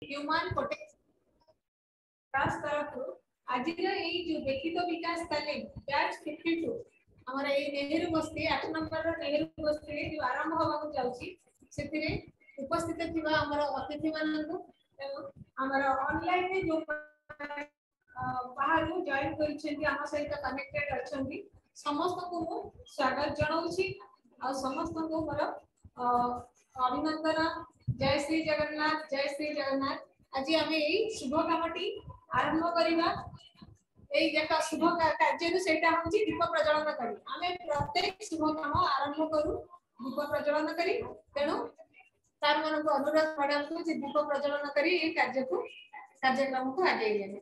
Humane potential ତରଫରୁ ଆଜିର ଏଇ ଯୋଉ ବ୍ୟକ୍ତିତ୍ୱ ବିକାଶ ତାଲିମ ବ୍ୟାଚ୍ 52 ଆମର ଏଇ ନେହେରୁ ବସ୍ତି 8 ନମ୍ବରର ନେହେରୁ ବସ୍ତିରେ ଯୋଉ ଆରମ୍ଭ ହବାକୁ ଯାଉଛି, ସେଥିରେ ଉପସ୍ଥିତ ଥିବା ଆମର ଅତିଥି ମାନଙ୍କୁ ଏବଂ ଆମର ଅନଲାଇନରେ ଯୋଉ ବାହାରୁ ଜଏନ କରିଛନ୍ତି, ଆମ ସହିତ କନେକ୍ଟେଡ ଅଛନ୍ତି, ସମସ୍ତଙ୍କୁ ମୁଁ ସ୍ୱାଗତ ଜଣାଉଛି ଆଉ ସମସ୍ତଙ୍କୁ ମୋର ଅଭିନନ୍ଦନ। ଜୟ ଶ୍ରୀ ଜଗନ୍ନାଥ, ଜୟ ଶ୍ରୀ ଜଗନ୍ନାଥ। ଆଜି ଆମେ ଏଇ ଶୁଭ କାମଟି ଆରମ୍ଭ କରିବା। ଏଇ ଏକ ଶୁଭ କାର୍ଯ୍ୟରୁ ସେଇଟା ହଉଛି ଦୀପ ପ୍ରଜ୍ୱଳନ କରି। ଆମେ ପ୍ରତ୍ୟେକ ଶୁଭ କାମ ଆରମ୍ଭ କରୁ ଦୀପ ପ୍ରଜ୍ୱଳନ କରି। ତେଣୁ ସାର୍ ମାନଙ୍କୁ ଅନୁରୋଧ ମ୍ୟାଡାମକୁ ଯେ ଦୀପ ପ୍ରଜ୍ୱଳନ କରି ଏଇ କାର୍ଯ୍ୟକ୍ରମକୁ ଆଗେଇ ନେବେ।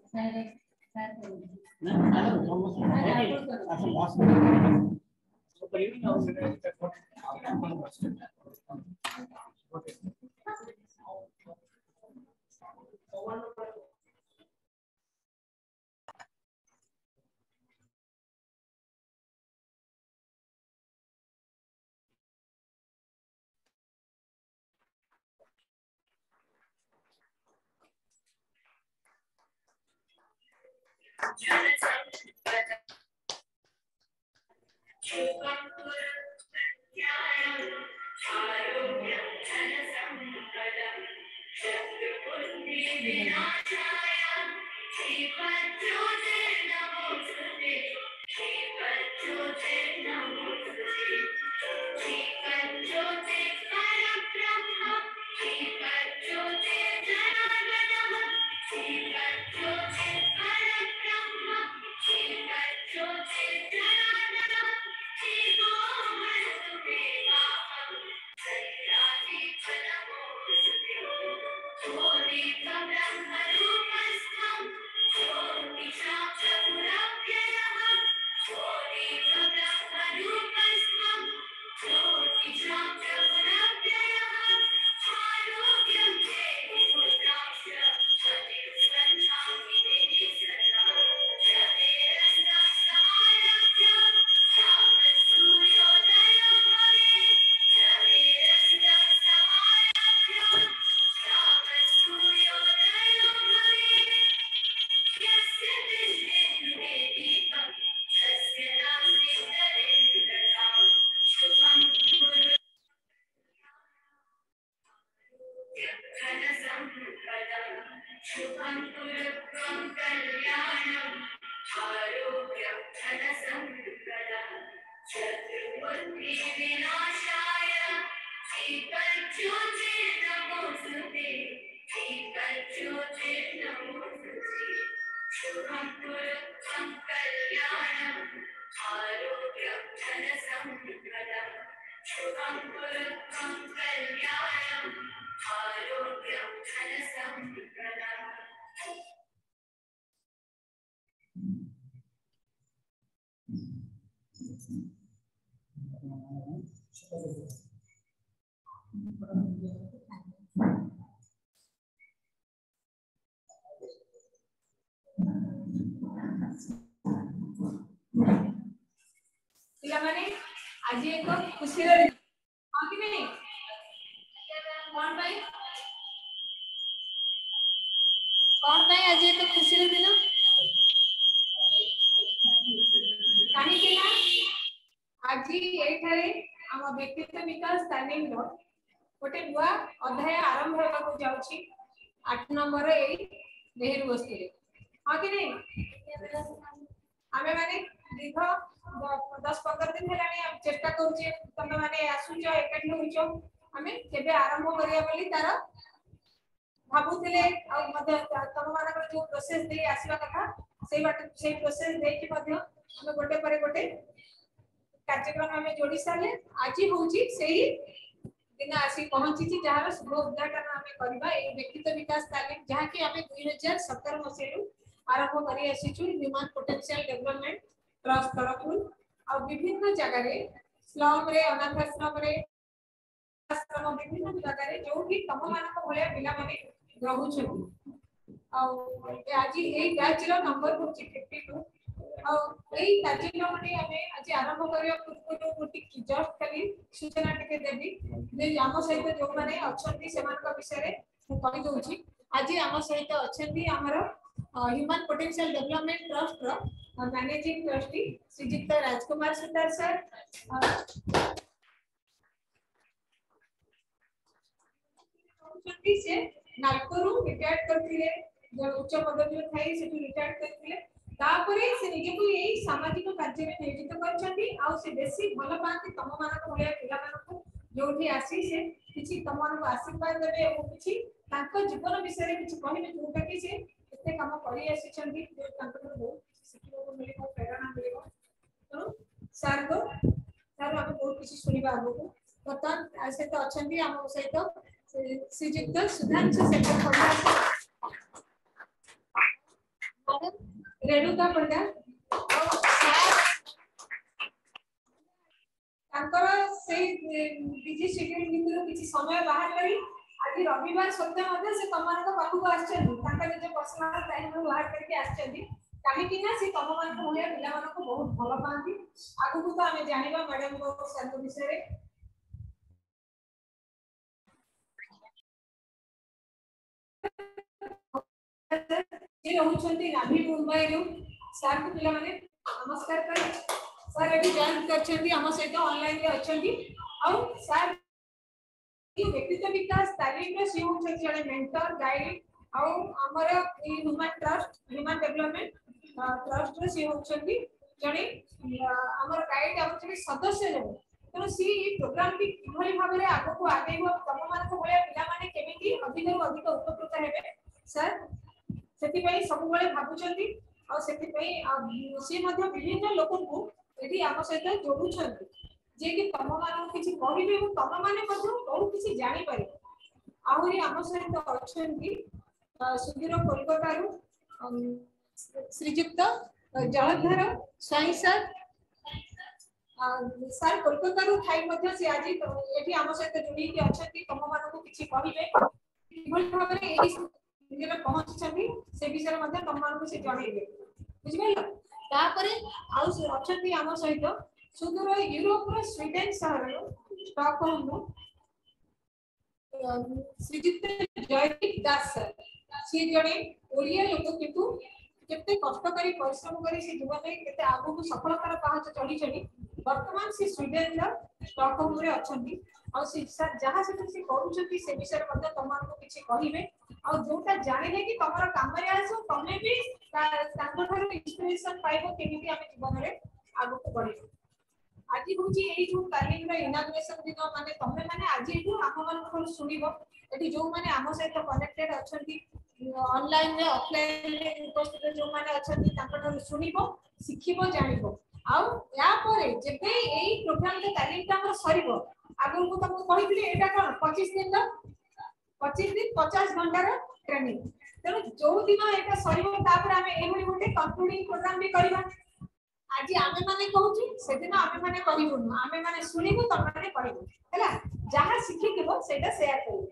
ପିଲାମାନେ, ଆଜି ଏକ ଖୁସିର ଦିନ, ହଁ କି ନାଇଁ? କଣ ପାଇଁ, କଣ ପାଇଁ ଆଜି ଏକ ଖୁସିର ଦିନ? କାହିଁକି ନା ଆଜି ଏଇଠାରେ ଆମ ବ୍ୟକ୍ତିତ୍ୱ ବିକାଶ ତାଲିମର ଗୋଟେ ନୂଆ ଅଧ୍ୟାୟ ଆରମ୍ଭ ହେବାକୁ ଯାଉଛି 8 ନମ୍ବର ଏଇ ନେହେରୁ ବସ୍ତିରେ, ହଁ କି ନାଇଁ? ଆମେ ମାନେ ଦୀର୍ଘ 10-15 ଦିନ ହେଲାଣି ଚେଷ୍ଟା କରୁଛେ, ତମେ ମାନେ ଆସୁଛ, ଏକାଠି ହଉଛ, ଆମେ କେବେ ଆରମ୍ଭ କରିବା ବୋଲି ତାର ଭାବୁଥିଲେ। ଆଉ ମଧ୍ୟ ତମ ମାନଙ୍କର ଯୋଉ ପ୍ରୋସେସ ଦେଇ ଆସିବା କଥା ସେଇ ବାଟ, ସେଇ ପ୍ରୋସେସ ଦେଇକି ମଧ୍ୟ ଆମେ ଗୋଟେ ପରେ ଗୋଟେ କାର୍ଯ୍ୟକ୍ରମ ଆମେ ଯୋଡି ସାରିଲେ। ଆଜି ହଉଛି ସେଇ ଦିନ ଆସି ପହଞ୍ଚିଛି ଯାହାର ଶୁଭ ଉଦ୍ଘାଟନ ଆମେ କରିବା ଏଇ ବ୍ୟକ୍ତିତ୍ୱ ବିକାଶ ତାଲିମ, ଯାହାକି ଆମେ 2017 ମସିହାରୁ ଆରମ୍ଭ କରି ଆସିଛୁ ହ୍ୟୁମାନ ପୋଟେନ୍ସିଆଲ ଡେଭଲପମେଣ୍ଟ ଟ୍ରଷ୍ଟ ତରଫରୁ। ଆଉ ବିଭିନ୍ନ ଜାଗାରେ, ସ୍ଲମରେ, ଅନାଥ ଆଶ୍ରମରେ, ଆଶ୍ରମ, ବିଭିନ୍ନ ଜାଗାରେ ଯୋଉଠି ତମ ମାନଙ୍କ ଭଳିଆ ପିଲାମାନେ ରହୁଛନ୍ତି। ଆଉ ଆଜି ଏଇ ବ୍ୟାଚ୍ ର ନମ୍ବର ହଉଛି 52। ଆଉ ଏଇ କାର୍ଯ୍ୟକ୍ରମଟି ଆମେ ଆଜି ଆରମ୍ଭ କରିବା ପୂର୍ବରୁ ମୁଁ ଟିକେ ଜଷ୍ଟ ଖାଲି ସୂଚନା ଟିକେ ଦେବି ଯେ ଆମ ସହିତ ଯୋଉମାନେ ଅଛନ୍ତି ସେମାନଙ୍କ ବିଷୟରେ ମୁଁ କହିଦଉଛି। ଆଜି ଆମ ସହିତ ଅଛନ୍ତି ଆମର ହ୍ୟୁମାନ ପୋଟେନସିଆଲ ଡେଭଲପମେଣ୍ଟ ଟ୍ରଷ୍ଟର ମ୍ୟାନେଜିଂ ଟ୍ରଷ୍ଟି ଶ୍ରୀଯୁକ୍ତ ରାଜକୁମାର ସୁତାର ସାର୍। ସେ ନାଲକୋରୁ ରିଟାୟାର୍ଡ କରିଥିଲେ, ଜଣେ ଉଚ୍ଚ ପଦବୀରେ ଥାଇ ସେଠୁ ରିଟାୟାର୍ଡ କରିଥିଲେ। ତାପରେ ସେ ନିଜକୁ ଏଇ ସାମାଜିକ କାର୍ଯ୍ୟରେ ନିୟୋଜିତ କରିଛନ୍ତି ଆଉ ସେ ବେଶୀ ଭଲ ପାଆନ୍ତି ତମମାନଙ୍କ ଭଳିଆ ପିଲାମାନଙ୍କୁ, ଯୋଉଠି ଆସି ସେ କିଛି ତମମାନଙ୍କୁ ଆଶୀର୍ବାଦ ଦେବେ ଏବଂ କିଛି ତାଙ୍କ ଜୀବନ ବିଷୟରେ କିଛି କହିବେ, ଯୋଉଟା କି ସେ ଏତେ କାମ କରି ଆସିଛନ୍ତି, ଯୋଉ ତାଙ୍କଠାରୁ ବହୁତ କିଛି ଶିଖିବାକୁ ମିଳିବ, ପ୍ରେରଣା ମିଳିବ। ତେଣୁ ସାର୍ଙ୍କ ସାର୍ ଆମେ ବହୁତ କିଛି ଶୁଣିବା ଆଗକୁ। ବର୍ତ୍ତମାନ ତା ସହିତ ଅଛନ୍ତି ଆମ ସହିତ ଶ୍ରୀଯୁକ୍ତ ସୁଧାଂଶୁ ଶେଖର ପଣ୍ଡା, ରେଣୁକା ପଣ୍ଡା। ଆଉ ତାଙ୍କର ସେଇ ବିଜି ସିଡ୍ୟୁଲ ଭିତରୁ କିଛି ସମୟ ବାହାର କରି ଆଜି ରବିବାର ସତ୍ତ୍ୱେ ମଧ୍ୟ ସେ ତମମାନଙ୍କ ପାଖକୁ ଆସିଛନ୍ତି, ତାଙ୍କ ନିଜ ପର୍ସନାଲ ଟାଇମରୁ ବାହାର କରିକି ଆସିଛନ୍ତି, କାହିଁକି ନା ସେ ତମମାନଙ୍କ ଭଳିଆ ପିଲାମାନଙ୍କୁ ବହୁତ ଭଲ ପାଆନ୍ତି। ଆଗକୁ ତ ଆମେ ଜାଣିବା ମ୍ୟାଡାମଙ୍କ ସାର୍ଙ୍କ ବିଷୟରେ। ସେ ରହୁଛନ୍ତି ନାଭି ମୁମ୍ବାଇରୁ। ସାର୍ଙ୍କୁ ପିଲାମାନେ ନମସ୍କାର କରି ସାର୍ ଏଠି ଜଏନ୍ କରିଛନ୍ତି, ଆମ ସହିତ ଅନଲାଇନରେ ଅଛନ୍ତି। ଆଉ ସାର୍ ବ୍ୟକ୍ତିତ୍ୱ ବିକାଶ ତାଲିମରେ ସିଏ ହଉଛନ୍ତି ଜଣେ ମେଣ୍ଟର, ଗାଇଡ, ଆଉ ଆମର ଏଇ ହ୍ୟୁମାନ ଟ୍ରଷ୍ଟ, ହ୍ୟୁମାନ ଡେଭଲପମେଣ୍ଟ ଟ୍ରଷ୍ଟର ସିଏ ହଉଛନ୍ତି ଜଣେ ଆମର ଗାଇଡ, ଆମର ଜଣେ ସଦସ୍ୟ ଜଣେ। ତେଣୁ ସିଏ ଏଇ ପ୍ରୋଗ୍ରାମଟି କିଭଳି ଭାବରେ ଆଗକୁ ଆଗେଇବ, ତମମାନଙ୍କ ଭଳିଆ ପିଲାମାନେ କେମିତି ଅଧିକରୁ ଅଧିକ ଉପକୃତ ହେବେ, ସାର୍ ସେଥିପାଇଁ ସବୁବେଳେ ଭାବୁଛନ୍ତି। ଆଉ ସେଥିପାଇଁ ସିଏ ମଧ୍ୟ ବିଭିନ୍ନ ଲୋକଙ୍କୁ ଏଠି ଆମ ସହିତ ଯୋଡୁଛନ୍ତି, ଯିଏକି ତମମାନଙ୍କୁ କିଛି କହିବେ ଏବଂ ତମମାନେ ମଧ୍ୟ ବହୁତ କିଛି ଜାଣିପାରିବ। ଆହୁରି ଆମ ସହିତ ଅଛନ୍ତି ସୁଦୂର କୋଲକାତାରୁ ଶ୍ରୀଯୁକ୍ତ ଜଳଧର ସ୍ୱାଇଁ ସାର୍। ସାର୍ କୋଲକାତାରୁ ଥାଇ ମଧ୍ୟ ସେ ଆଜି ଏଠି ଆମ ସହିତ ଯୋଡିକି ଅଛନ୍ତି, ତମମାନଙ୍କୁ କିଛି କହିବେ, କିଭଳି ଭାବରେ ଏଇ ପହଞ୍ଚିଛନ୍ତି ସେ ବିଷୟରେ ମଧ୍ୟ ତମମାନଙ୍କୁ ସେ ଜଣେଇବେ, ବୁଝିପାରିଲ? ତାପରେ ଆଉ ଅଛନ୍ତି ଆମ ସହିତ ସୁଦୂର ୟୁରୋପର ସ୍ୱିଡେନ ସହରରୁ ଷ୍ଟକହୋମରୁ ଶ୍ରୀଯୁକ୍ତ ଜୟଦୀପ ଦାସ ସାର୍। ସିଏ ଜଣେ ଓଡ଼ିଆ ଲୋକ, କିନ୍ତୁ କେତେ କଷ୍ଟ କରି ପରିଶ୍ରମ କରି ସେ ଜୀବନରେ କେତେ ଆଗକୁ ସଫଳତାର ପାହାଚ ଚଢି ଚଢି ବର୍ତ୍ତମାନ ସେ ସ୍ୱିଡେନର ଷ୍ଟକହୋମରେ ଅଛନ୍ତି। ଆଉ ସେ ସାର୍ ଯାହା ସେଠି ସେ କରୁଛନ୍ତି ସେ ବିଷୟରେ ମଧ୍ୟ ତମମାନଙ୍କୁ କିଛି କହିବେ, ଆଉ ଯୋଉଟା ଜାଣିଲେ କି ତମର କାମରେ ଆସିବ, ତମେ ବି ତାଙ୍କଠାରୁ ଇନ୍ସପିରେସନ ପାଇବ କେମିତି ଆମେ ଜୀବନରେ ଆଗକୁ ବଢିବ। ଆଜି ହଉଛି ଏଇ ଯୋଉ ତାଲିମର ଇନାଗୁରେସନ ଦିନ, ମାନେ ତମେ ମାନେ ଆଜି ଏଠୁ ଆମମାନଙ୍କ ଠାରୁ ଶୁଣିବ। ଏଠି ଯୋଉମାନେ ଆମ ସହିତ କନେକ୍ଟେଡ ଅଛନ୍ତି ଅନଲାଇନରେ, ଅଫଲାଇନରେ ଉପସ୍ଥିତ ଯୋଉମାନେ ଅଛନ୍ତି ତାଙ୍କଠାରୁ ଶୁଣିବ, ଶିଖିବ, ଜାଣିବ। ଆଉ ୟା ପରେ ଯେବେ ଏଇ ପ୍ରୋଗ୍ରାମର ତାଲିମଟା ଆମର ସରିବ, ଆଗରୁ ମୁଁ ତମକୁ କହିଥିଲି ଏଇଟା କଣ 25 ଦିନର, 25 ଦିନ 50 ଘଣ୍ଟାର ଟ୍ରେନିଂ। ତେଣୁ ଯୋଉ ଦିନ ଏଇଟା ସରିବ ତାପରେ ଆମେ ଏଇଭଳି ଗୋଟେ କନକ୍ଲୁଡିଂ ପ୍ରୋଗ୍ରାମ ବି କରିବା। ଆଜି ଆମେ ମାନେ କହୁଛୁ, ସେଦିନ ଆମେ ମାନେ କହିବୁନୁ, ଆମେ ମାନେ ଶୁଣିବୁ, ତମେ କହିବୁ, ହେଲା? ଯାହା ଶିଖିଥିବ ସେଇଟା ସେୟାର କରିବ।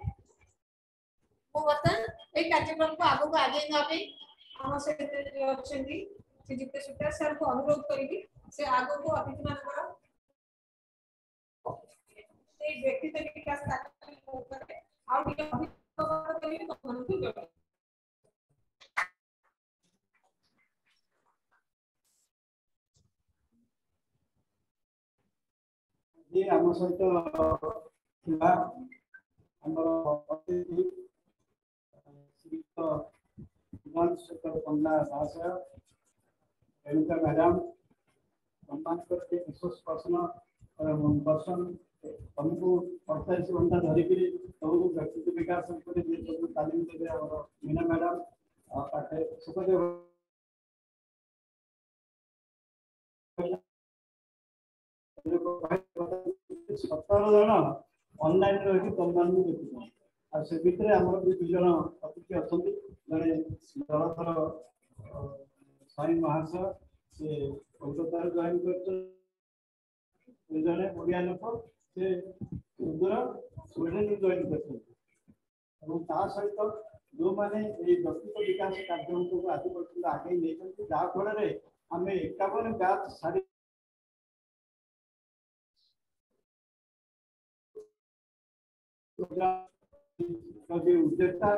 ମୁଁ ବର୍ତ୍ତମାନ ଏଇ କାର୍ଯ୍ୟକ୍ରମକୁ ଆଗକୁ ଆଗେଇ ନେବା ପାଇଁ ଆମ ସହିତ ଅଛନ୍ତି ଶ୍ରୀଯୁକ୍ତ ସୁତାର ସାର୍ଙ୍କୁ ଅନୁରୋଧ କରିବି, ସେ ଆଗକୁ ଅତିଥି ମାନଙ୍କର ସେଇ ବ୍ୟକ୍ତିତ୍ୱ ବିକାଶ ଉପରେ ଆଉ ଟିକେ ଅଧିକ କରିବେ, ତମମାନଙ୍କୁ ଜଣାଇବେ। ଆମ ସହିତ ଥିବା ଆମର ଅତିଥି ଶ୍ରୀଯୁକ୍ତ ସୁଧାଂଶୁ ଶେଖର ପଣ୍ଡା ମହାଶୟ, ରେଣୁକା ମ୍ୟାଡାମ, ତମମାନଙ୍କର ଯେ ରିସୋର୍ସ ପର୍ସନ ପର୍ସନ ତମକୁ 48 ଘଣ୍ଟା ଧରିକିରି ତମକୁ ବ୍ୟକ୍ତିତ୍ୱ ବିକାଶ ଉପରେ ଯିଏ ତମକୁ ତାଲିମ ଦେବେ ଆମର ମୀନା ମ୍ୟାଡାମ, ଆଉ ପାଖରେ ସୁଖଦେବ 17 ଜଣ ଅନଲାଇନ ରହିକି ତମମାନଙ୍କୁ ଦେଖୁଛନ୍ତି। ଆଉ ସେ ଭିତରେ ଆମର ବି 2 ଜଣ ଅତିଥି ଅଛନ୍ତି, ଜଣେ ଜଳଧର ସ୍ୱାଇଁ ମହାଶୟ, ସେ କୋଲକାତାରୁ ଜଏନ୍ କରିଛନ୍ତି, ଜଣେ ଓଡ଼ିଆ ଲୋକ, ସେ ସୁଦୂର ସ୍ୱିଡେନରୁ ଜଏନ୍ କରିଛନ୍ତି। ଏବଂ ତା ସହିତ ଯେଉଁମାନେ ଏଇ ବ୍ୟକ୍ତିତ୍ୱ ବିକାଶ କାର୍ଯ୍ୟକ୍ରମକୁ ଆଜି ପର୍ଯ୍ୟନ୍ତ ଆଗେଇ ନେଇଛନ୍ତି, ଯାହାଫଳରେ ଆମେ 51 ବ୍ୟାଚ୍ ସାରି ଉଦ୍ୟୋକ୍ତା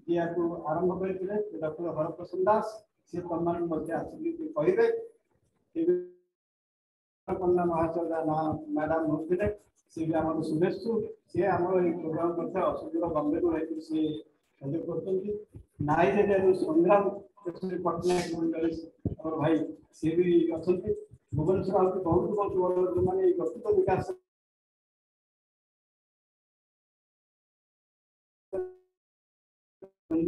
ଯିଏ ୟାକୁ ଆରମ୍ଭ କରିଥିଲେ ଡକ୍ଟର ହରପ୍ରସନ୍ନ ଦାସ, ସିଏ ତମମାନଙ୍କୁ ମଧ୍ୟ ଆସିକି କହିବେ। ପଣ୍ଡା ମହାଶୟ ନା ମ୍ୟାଡାମ ହେଉଥିଲେ, ସିଏ ବି ଆମର ଶୁଭେଚ୍ଛୁ। ସିଏ ଆମର ଏଇ ପ୍ରୋଗ୍ରାମ ମଧ୍ୟ ସୁଦୂର ବମ୍ବେରୁ ରହିକି ସିଏ ସହଯୋଗ କରୁଛନ୍ତି। ନାଇଜେରିଆରୁ ସଂଗ୍ରାମ କେଶରୀ ପଟ୍ଟନାୟକ ମଣ୍ଡଳୀ ଆମର ଭାଇ, ସିଏ ବି ଅଛନ୍ତି। ଭୁବନେଶ୍ୱର ଆହୁରି ବହୁତ ବହୁତ ବଡ଼ ଯେଉଁମାନେ ଏଇ ବ୍ୟକ୍ତିତ୍ୱ ବିକାଶ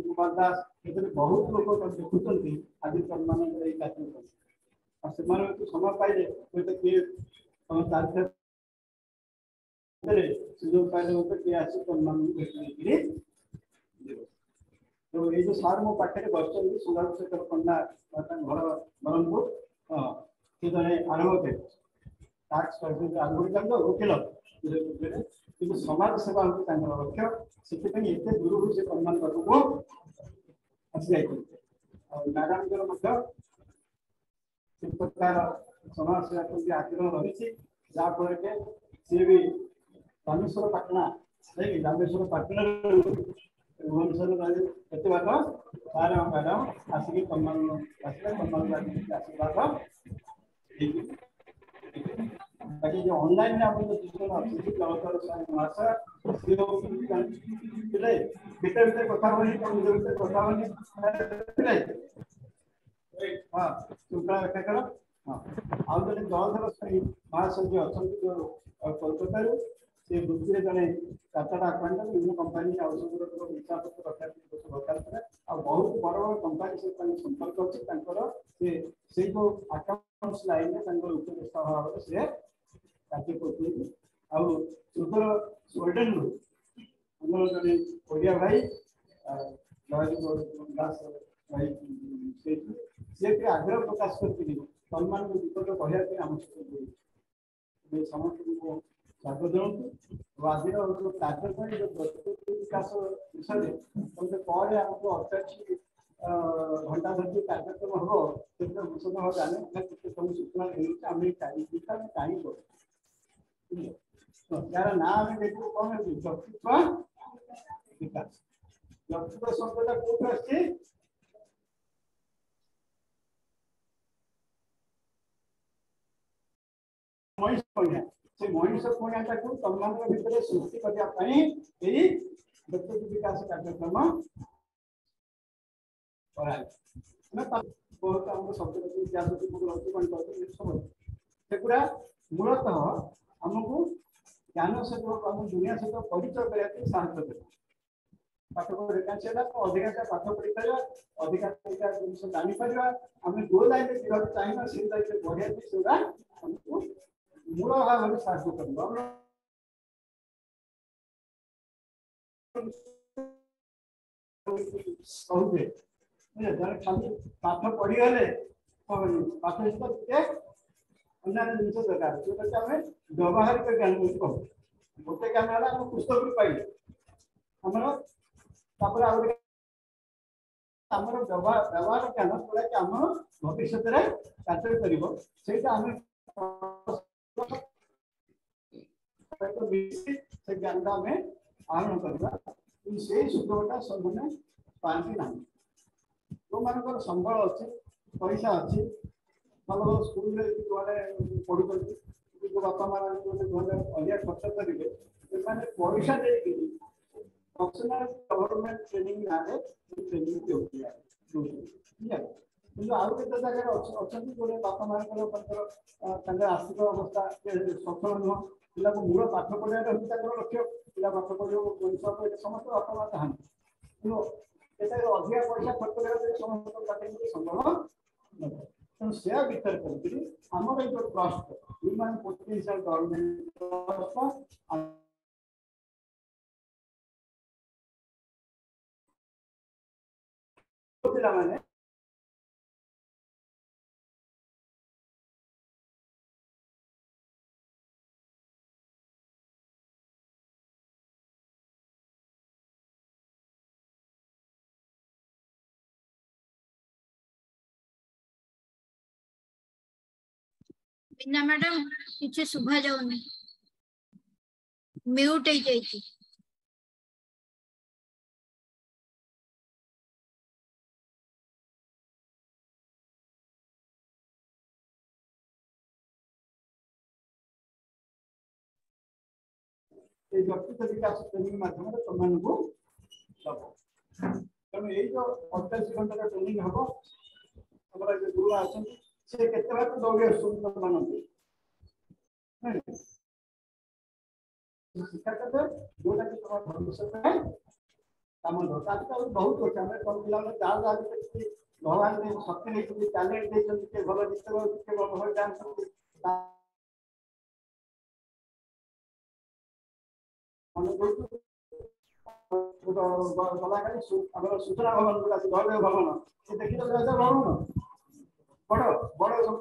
କୁମାର ଦାସ, ଏଥିରେ ବହୁତ ଲୋକ ଦେଖୁଛନ୍ତି ଆଜି ତମମାନଙ୍କର ଏଇ କାର୍ଯ୍ୟକ୍ରମ। ଆଉ ସେମାନେ ସମୟ ପାଇଲେ ହୁଏତ କିଏ ତମ ତାରିଖ ଭିତରେ ସୁଯୋଗ ପାଇଲେ ହୁଏତ କିଏ ଆସି ତମମାନଙ୍କୁ ଭେଟି ନେଇକିରି ଯିବ। ତ ଏଇ ଯୋଉ ସାର୍ ମୋ ପାଖରେ ବସିଛନ୍ତି, ସଂଗ୍ରାମ ଶେଖର ପଣ୍ଡା, ତାଙ୍କ ଘର ବ୍ରହ୍ମପୁର। ହଁ, ସେ ଜଣେ ଆଡଭୋକେଟ, ଟାକ୍ସ ଆଡଭୋକେଟ, ଓକିଲ, କିନ୍ତୁ ସମାଜ ସେବା ହେଉଛି ତାଙ୍କର ଲକ୍ଷ୍ୟ। ସେଥିପାଇଁ ଏତେ ଦୂରରୁ ସେ ସମ୍ମାନ ପାଖକୁ ଆସି ଯାଇଛନ୍ତି। ଆଉ ମ୍ୟାଡାମଙ୍କର ମଧ୍ୟ ସେ ପ୍ରକାର ସମାଜ ସେବା ପ୍ରତି ଆଗ୍ରହ ରହିଛି, ଯାହାଫଳରେ କି ସିଏ ବି ରାମେଶ୍ୱର ପାଟଣା ନାଇଁ, ରାମେଶ୍ୱର ପାଟଣାରୁ ଭୁବନେଶ୍ୱର କେତେ ବାଟ ସାର୍ ଆଉ ମ୍ୟାଡାମ ଆସିକି ତମମାନଙ୍କୁ ଆସିଲେ, ତମମାନଙ୍କୁ ଆସିକି ଆଶୀର୍ବାଦ ହେଇକି। ବାକି ଯୋଉ ଅନଲାଇନରେ ଆମର ଯୋଉ ଦୁଇ ଜଣ ଅଛନ୍ତି, ଜଳଧର ସ୍ୱାଇଁ ମହାଶୟ, ସିଏ ଥିଲେ ଭିତରେ ଭିତରେ କଥା ହବନି, ତମ ନିଜ ଭିତରେ କଥା ହବନି। ହଁ, ଶୃଙ୍ଖଳା ରକ୍ଷା କର। ହଁ, ଆଉ ଜଣେ ଜଳଧର ସ୍ୱାଇଁ ମହାଶୟ ଯିଏ ଅଛନ୍ତି ଯୋଉ କୋଲକାତାରୁ, ସେ ବୃତ୍ତିରେ ଜଣେ ଚାର୍ଟାର୍ଡ ଆକାଉଣ୍ଟାଣ୍ଟ। ବିଭିନ୍ନ କମ୍ପାନୀ ଆଉ ସବୁ ହିସାବ ପତ୍ର ରଖିବା ପାଇଁ ଦରକାର ଥିଲା, ଆଉ ବହୁତ ବଡ଼ ବଡ଼ କମ୍ପାନୀ ସହିତ ତାଙ୍କ ସମ୍ପର୍କ ଅଛି ତାଙ୍କର। ସେ ସେଇ ଯୋଉ ଆକାଉଣ୍ଟସ ଲାଇନରେ ତାଙ୍କର ଉପଦେଷ୍ଟା ଭାବରେ ସେ କାର୍ଯ୍ୟ କରୁଛନ୍ତି। ଆଉ ସୁଦୂର ସ୍ୱିଡେନରୁ ଆମର ଜଣେ ଓଡ଼ିଆ ଭାଇ ଜୟଦେବ ଦାସ ଭାଇ, ସେଇଠୁ ସିଏ ବି ଆଗ୍ରହ ପ୍ରକାଶ କରିଥିଲେ ତମମାନଙ୍କୁ ବିପଦ କହିବା ପାଇଁ ଆମ ସହିତ ଯୋଡ଼ିଛି। ସମସ୍ତଙ୍କୁ ମୁଁ ସ୍ୱାଗତ ଜଣାଉଛି। ଆଉ ଆଜିର ଯୋଉ କାର୍ଯ୍ୟକ୍ରମ ଯୋଉ ବ୍ୟକ୍ତିତ୍ୱ ବିକାଶ ବିଷୟରେ ତମେ ପରେ ଆମକୁ 48 ଘଣ୍ଟା ଧରି କାର୍ଯ୍ୟକ୍ରମ ହବ, ସେଥିରେ ଘୋଷଣା ଭାବେ ଜାଣେ କେତେ ସବୁ ସୂଚନା ମିଳୁଛି। ଆମେ ଆମେ କାହିଁ କରୁ, ଯାହାର ନାଁ ଆମେ ଦେଖିବୁ କଣ ହେଉଛି ବ୍ୟକ୍ତିତ୍ୱ ବିକାଶ। ବ୍ୟକ୍ତିତ୍ୱ ଶବ୍ଦଟା କୋଉଠୁ ଆସିଛି? ମଣିଷ ପଣିଆ। ସେ ମଣିଷ ପଣିଆଟାକୁ ତମମାନଙ୍କ ଭିତରେ ସୃଷ୍ଟି କରିବା ପାଇଁ ଏଇ ବ୍ୟକ୍ତିତ୍ୱ ବିକାଶ କାର୍ଯ୍ୟକ୍ରମ କରାଯାଇଛି। ବହୁତ ଆମର ଶବ୍ଦ ଇତିହାସ ଅଛି, ଗଣିତ ଅଛି, ସବୁ ସେଗୁଡ଼ା ମୂଳତଃ ଆମକୁ ଜ୍ଞାନ ସହିତ ଆମ ଦୁନିଆ ସହିତ ପରିଚୟ କରିବା ପାଇଁ ସାହାଯ୍ୟ କରିବ। ପାଠ ପଢି ସେଇଟା ଅଧିକା ପାଠ ପଢିପାରିବା, ଅଧିକା ଜିନିଷ ଜାଣିପାରିବା, ଆମେ ଯୋଉ ଲାଇନରେ ଯିବାକୁ ଚାହିଁବା ସେଇ ଲାଇନରେ ବଢିବା ପାଇଁ ସେଗୁଡ଼ା ଆମକୁ ମୂଳ ଭାବରେ ସାହାଯ୍ୟ କରିବ। କହୁଛେ ଜଣେ ଖାଲି ପାଠ ପଢିଗଲେ ହବନି, ପାଠ ସହିତ ଟିକେ ଅନ୍ୟାନ୍ୟ ଜିନିଷ ଦରକାର, ଯୋଉଟାକି ଆମେ ବ୍ୟବହାରିକ ଜ୍ଞାନ ବୋଲି କହୁ। ଗୋଟେ ଜ୍ଞାନ ହେଲା ଆମ ପୁସ୍ତକରୁ ପାଇଲେ ଆମର, ତାପରେ ଆଉ ଗୋଟେ ଆମର ବ୍ୟବହାର ଜ୍ଞାନ, ଯୋଉଟାକି ଆମ ଭବିଷ୍ୟତରେ କାର୍ଯ୍ୟ କରିବ, ସେଇଟା ଆମେ ସେ ଜ୍ଞାନଟା ଆମେ ଆହରଣ କରିବା। କିନ୍ତୁ ସେଇ ସୁଯୋଗଟା ସେମାନେ ପାଆନ୍ତି ନାହିଁ। ଯୋଉମାନଙ୍କର ସମ୍ବଳ ଅଛି, ପଇସା ଅଛି, ଭଲ ଭଲ ସ୍କୁଲରେ ଯୋଉମାନେ ପଢୁଛନ୍ତି, ଯୋଉ ବାପା ମା ମାନେ ଘରେ ଅଧିକା ଖର୍ଚ୍ଚ କରିବେ, ସେମାନେ ପଇସା ଦେଇକି ପର୍ସନାଲ ଗଭର୍ଣ୍ଣମେଣ୍ଟ ଟ୍ରେନିଂ ନାଁରେ ଟ୍ରେନିଂ ଦେଉଛନ୍ତି। କିନ୍ତୁ ଆଉ କେତେ ଜାଗାରେ ଅଛନ୍ତି ଯୋଉମାନେ ବାପା ମାଙ୍କର ତାଙ୍କର ଆର୍ଥିକ ଅବସ୍ଥା ସଚ୍ଛଳ ନୁହଁ, ପିଲାକୁ ମୂଳ ପାଠ ପଢିବାଟା ହେଉଛି ତାଙ୍କର ଲକ୍ଷ୍ୟ। ପିଲା ପାଠ ପଢିବ, ମଣିଷ ହବ, ଏଇଟା ସମସ୍ତେ ବାପା ମା ଚାହାନ୍ତି। କିନ୍ତୁ ଏଟା ଅଧିକା ପଇସା ଖର୍ଚ୍ଚ କରିବା ପାଇଁ ସମସ୍ତଙ୍କ ପାଖରେ ସମ୍ଭବ ନଥାଏ। ତେଣୁ ସେୟା ବିଚାର କରିକିରି ଆମର ଏଇ ଯୋଉ trust human potential development trust ପିଲାମାନେ ବିନା ମ୍ୟାଡାମ କିଛି ଶୁଭା ଯାଉନି, ମ୍ୟୁଟ ହେଇଯାଇଛି। ଏଇ ବ୍ୟକ୍ତିତ୍ୱ ବିକାଶ ଟ୍ରେନିଂ ମାଧ୍ୟମରେ ତମମାନଙ୍କୁ ଦବ। ତେଣୁ ଏଇ ଯୋଉ 48 ଘଣ୍ଟାର ଟ୍ରେନିଂ ହବ, ଆମର ଯୋଉ ଗୁରୁମା ଅଛନ୍ତି ସେ କେତେ ବାଟ ଦୌଡ଼ି ଆସୁଛନ୍ତି ତମମାନଙ୍କୁ ଶିକ୍ଷା ଦେବେ, ଯୋଉଟା କି ତମ ଭବିଷ୍ୟତ ପାଇଁ କାମ ଦବ। ତା ଭିତରେ ବହୁତ ଅଛି। ଆମେ ତମ ପିଲାମାନେ ଯାହା ଯାହା ଭିତରେ ଭଗବାନ ଶକ୍ତି ଦେଇଛନ୍ତି, ଟ୍ୟାଲେଣ୍ଟ ଦେଇଛନ୍ତି, କିଏ ଭଲ ଗୀତ ଗାଉଛି, କିଏ ଭଲ ଡ୍ୟାନ୍ସ କରୁଛି, ଗଲାକାଲି ଆମର ସୂଚନା ଭବନ ଯୋଉଟା ଅଛି, ଜୟଦେବ ଭବନ, ସେ ଦେଖିଲ ଜୟଦେବ ଭବନ ବଡ ବଡ ସବୁ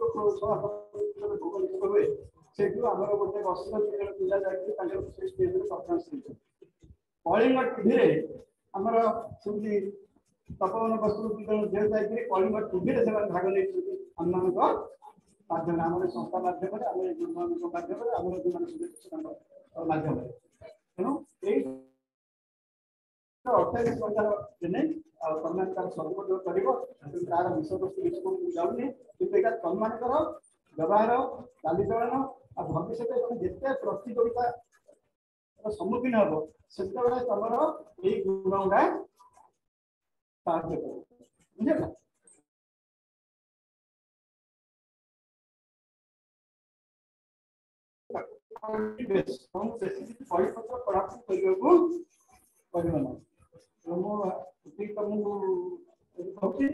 ଭୁବନେଶ୍ୱର ହୁଏ, ସେଇଠୁ ଆମର ଗୋଟେ ବସ୍ତିର 2 ଜଣ ପିଲା ଯାଇକି ତାଙ୍କର ସେ ଷ୍ଟେଜରେ ପରଫର୍ମାନ୍ସ ଦେଇଛନ୍ତି। କଳିଙ୍ଗ ଟିଭିରେ ଆମର ସେମିତି ତପୋବନ ବସ୍ତିରୁ 2 ଜଣ ଝିଅ ଯାଇକିରି କଳିଙ୍ଗ ଟିଭିରେ ସେମାନେ ଭାଗ ନେଇଛନ୍ତି ଆମମାନଙ୍କ ମାଧ୍ୟମରେ, ଆମର ସଂସ୍ଥା ମାଧ୍ୟମରେ, ଆମର ଗୁରୁମାନଙ୍କ ମାଧ୍ୟମରେ, ଆମର ଯେଉଁମାନେ ସେମାନଙ୍କ ମାଧ୍ୟମରେ। ତେଣୁ ଏଇ 48 ଘଣ୍ଟାର ଟ୍ରେନିଂ ଆଉ ତମେ ତାର ସଦୁପଯୋଗ କରିବ। ତାର ବିଷୟବସ୍ତୁ ବିଷୟକୁ ଯାଉନି, କିନ୍ତୁ ଏଇଟା ତମମାନଙ୍କର ବ୍ୟବହାର, ଚାଲିଚଳନ ଆଉ ଭବିଷ୍ୟତରେ ତମେ ଯେତେ ପ୍ରତିଯୋଗିତା ସମ୍ମୁଖୀନ ହବ ସେତେବେଳେ ତମର ଏଇ ଗୁଣ ଗୁଡା ସାହାଯ୍ୟ କରିବ। ବୁଝିଲା? ବେଶୀ କିଛି ବହିପତ୍ର ପଢାପଢି କରିବାକୁ ପଡିବ ନାହିଁ। ମୁଁ ଏତିକି ତମକୁ କହୁଛି,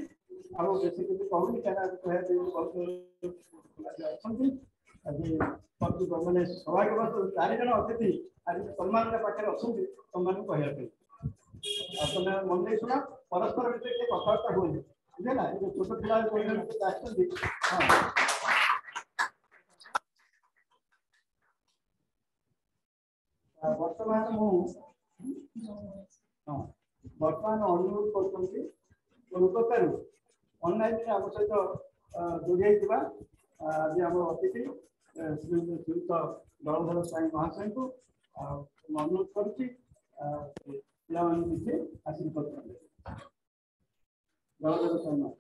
ଆଉ ବେଶୀ କିଛି କହୁନି, କାହିଁକିନା କହିବା ପାଇଁ ବହୁତ ଅଛନ୍ତି। ଆଜି ମାନେ ସୌଭାଗ୍ୟବଶତଃ 4 ଜଣ ଅତିଥି ଆଜି ତମମାନଙ୍କ ପାଖରେ ଅଛନ୍ତି ତମମାନଙ୍କୁ କହିବା ପାଇଁ। ଆଉ ତମେ ମନ ଦେଇ ଶୁଣ, ପରସ୍ପର ଭିତରେ ଟିକେ କଥାବାର୍ତ୍ତା ହୁଅନି, ବୁଝିଲା? ଏ ଯୋଉ ଛୋଟ ପିଲା ଆସିଛନ୍ତି, ହଁ, ବର୍ତ୍ତମାନ ମୁଁ ହଁ ବର୍ତ୍ତମାନ ଅନୁରୋଧ କରୁଛନ୍ତି କୋଲକାତାରୁ ଅନଲାଇନରେ ଆମ ସହିତ ଯୋଡ଼ି ହେଇଥିବା ଆଜି ଆମର ଅତିଥି ଶ୍ରୀଯୁକ୍ତ ଜଳଧର ସ୍ୱାଇଁ ମହାଶୟଙ୍କୁ ଆଉ ମୁଁ ଅନୁରୋଧ କରୁଛି ପିଲାମାନଙ୍କୁ କିଛି ଆଶୀର୍ବାଦ କରିବେ। ଜଳଧର ସ୍ୱାଇଁ ମହାଶୟ।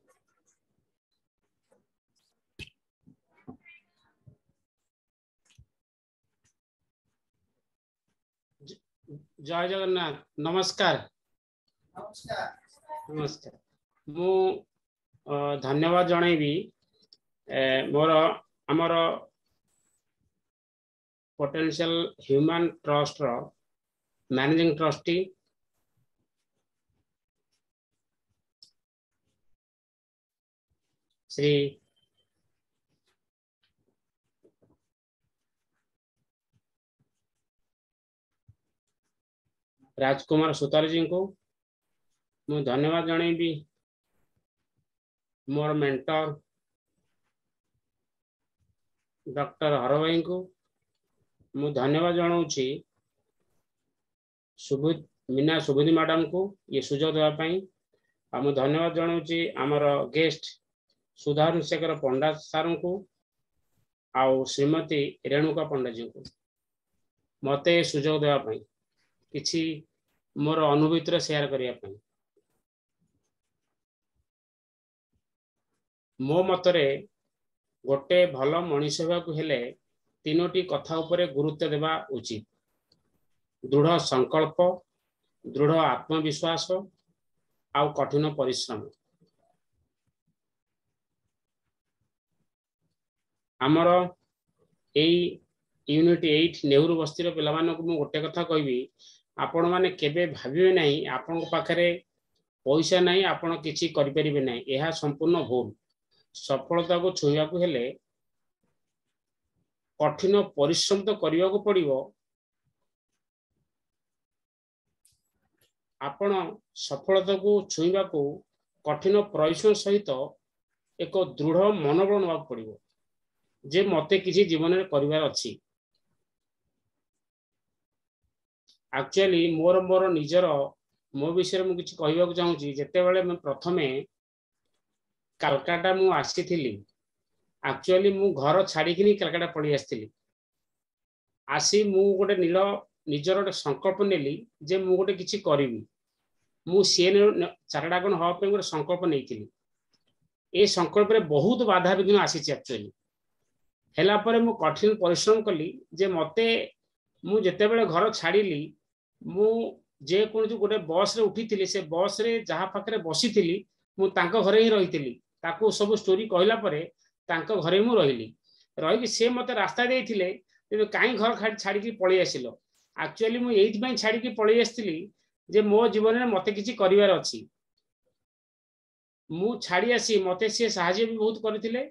ଜୟ ଜଗନ୍ନାଥ। ନମସ୍କାର। ନମସ୍କାର। ମୁଁ ଧନ୍ୟବାଦ ଜଣାଇବି ମୋର ଆମର ପୋଟେନ୍ସିଆଲ ହ୍ୟୁମାନ ଟ୍ରଷ୍ଟର ମ୍ୟାନେଜିଂ ଟ୍ରଷ୍ଟି ଶ୍ରୀ ରାଜକୁମାର ସୁତାରଜୀଙ୍କୁ। ମୁଁ ଧନ୍ୟବାଦ ଜଣାଇବି ମୋର ମେଣ୍ଟର ଡକ୍ଟର ହରଭାଇଙ୍କୁ। ମୁଁ ଧନ୍ୟବାଦ ଜଣାଉଛି ମୀନା ସୁବୁଧି ମ୍ୟାଡ଼ାମକୁ ଇଏ ସୁଯୋଗ ଦେବା ପାଇଁ। ଆଉ ମୁଁ ଧନ୍ୟବାଦ ଜଣାଉଛି ଆମର ଗେଷ୍ଟ ସୁଧାଂଶୁ ଶେଖର ପଣ୍ଡା ସାର୍ଙ୍କୁ ଆଉ ଶ୍ରୀମତୀ ରେଣୁକା ପଣ୍ଡାଜୀଙ୍କୁ ମୋତେ ସୁଯୋଗ ଦେବା ପାଇଁ, କିଛି ମୋର ଅନୁଭୂତିର ସେୟାର କରିବା ପାଇଁ। ମୋ ମତରେ ଗୋଟେ ଭଲ ମଣିଷ ହେବାକୁ ହେଲେ 3ଟି କଥା ଉପରେ ଗୁରୁତ୍ୱ ଦେବା ଉଚିତ: ଦୃଢ଼ ସଂକଳ୍ପ, ଦୃଢ଼ ଆତ୍ମବିଶ୍ୱାସ ଆଉ କଠିନ ପରିଶ୍ରମ। ଆମର ଏଇ ୟୁନିଟ୍ 8 ନେହେରୁ ବସ୍ତିର ପିଲାମାନଙ୍କୁ ମୁଁ ଗୋଟେ କଥା କହିବି, ଆପଣମାନେ କେବେ ଭାବିବେ ନାହିଁ ଆପଣଙ୍କ ପାଖରେ ପଇସା ନାହିଁ, ଆପଣ କିଛି କରିପାରିବେ ନାହିଁ। ଏହା ସମ୍ପୂର୍ଣ୍ଣ ଭୁଲ। ସଫଳତାକୁ ଛୁଇଁବାକୁ ହେଲେ କଠିନ ପରିଶ୍ରମ ତ କରିବାକୁ ପଡ଼ିବ। ଆପଣ ସଫଳତାକୁ ଛୁଇଁବାକୁ କଠିନ ପରିଶ୍ରମ ସହିତ ଏକ ଦୃଢ଼ ମନୋବଳ ନେବାକୁ ପଡ଼ିବ ଯେ ମୋତେ କିଛି ଜୀବନରେ କରିବାର ଅଛି। ଆକ୍ଚୁଆଲି ମୋର ମୋର ନିଜର ମୋ ବିଷୟରେ ମୁଁ କିଛି କହିବାକୁ ଚାହୁଁଛି। ଯେତେବେଳେ ମୁଁ ପ୍ରଥମେ କାଲକାଟା ମୁଁ ଆସିଥିଲି, ଆକ୍ଚୁଆଲି ମୁଁ ଘର ଛାଡ଼ିକିନି କାଲକାଟା ପଳେଇ ଆସିଥିଲି। ଆସି ମୁଁ ଗୋଟେ ନିଜର ଗୋଟେ ସଂକଳ୍ପ ନେଲି ଯେ ମୁଁ ଗୋଟେ କିଛି କରିବି। ମୁଁ ସିଏନ୍ ଚାର୍ଟାର୍ଡ ଆକାଉଣ୍ଟାଣ୍ଟ ହେବା ପାଇଁ ଗୋଟେ ସଂକଳ୍ପ ନେଇଥିଲି। ଏ ସଂକଳ୍ପରେ ବହୁତ ବାଧାବିଘ୍ନ ଆସିଛି। ଆକ୍ଚୁଆଲି ହେଲା ପରେ ମୁଁ କଠିନ ପରିଶ୍ରମ କଲି ଯେ ମୋତେ ମୁଁ ଯେତେବେଳେ ଘର ଛାଡ଼ିଲି, ମୁଁ ଯେକୌଣସି ଗୋଟେ ବସ୍ରେ ଉଠିଥିଲି, ସେ ବସ୍ରେ ଯାହା ପାଖରେ ବସିଥିଲି, ମୁଁ ତାଙ୍କ ଘରେ ହିଁ ରହିଥିଲି। ତାକୁ ସବୁ ଷ୍ଟୋରି କହିଲା ପରେ ତାଙ୍କ ଘରେ ମୁଁ ରହିଲି। ରହିକି ସେ ମୋତେ ରାସ୍ତା ଦେଇଥିଲେ, ତେବେ କାହିଁ ଘର ଛାଡ଼ିକି ପଳେଇ ଆସିଲ? ଆକ୍ଚୁଆଲି ମୁଁ ଏଇଥିପାଇଁ ଛାଡ଼ିକି ପଳେଇ ଆସିଥିଲି ଯେ ମୋ ଜୀବନରେ ମୋତେ କିଛି କରିବାର ଅଛି। ମୁଁ ଛାଡ଼ି ଆସି ମୋତେ ସିଏ ସାହାଯ୍ୟ ବି ବହୁତ କରିଥିଲେ।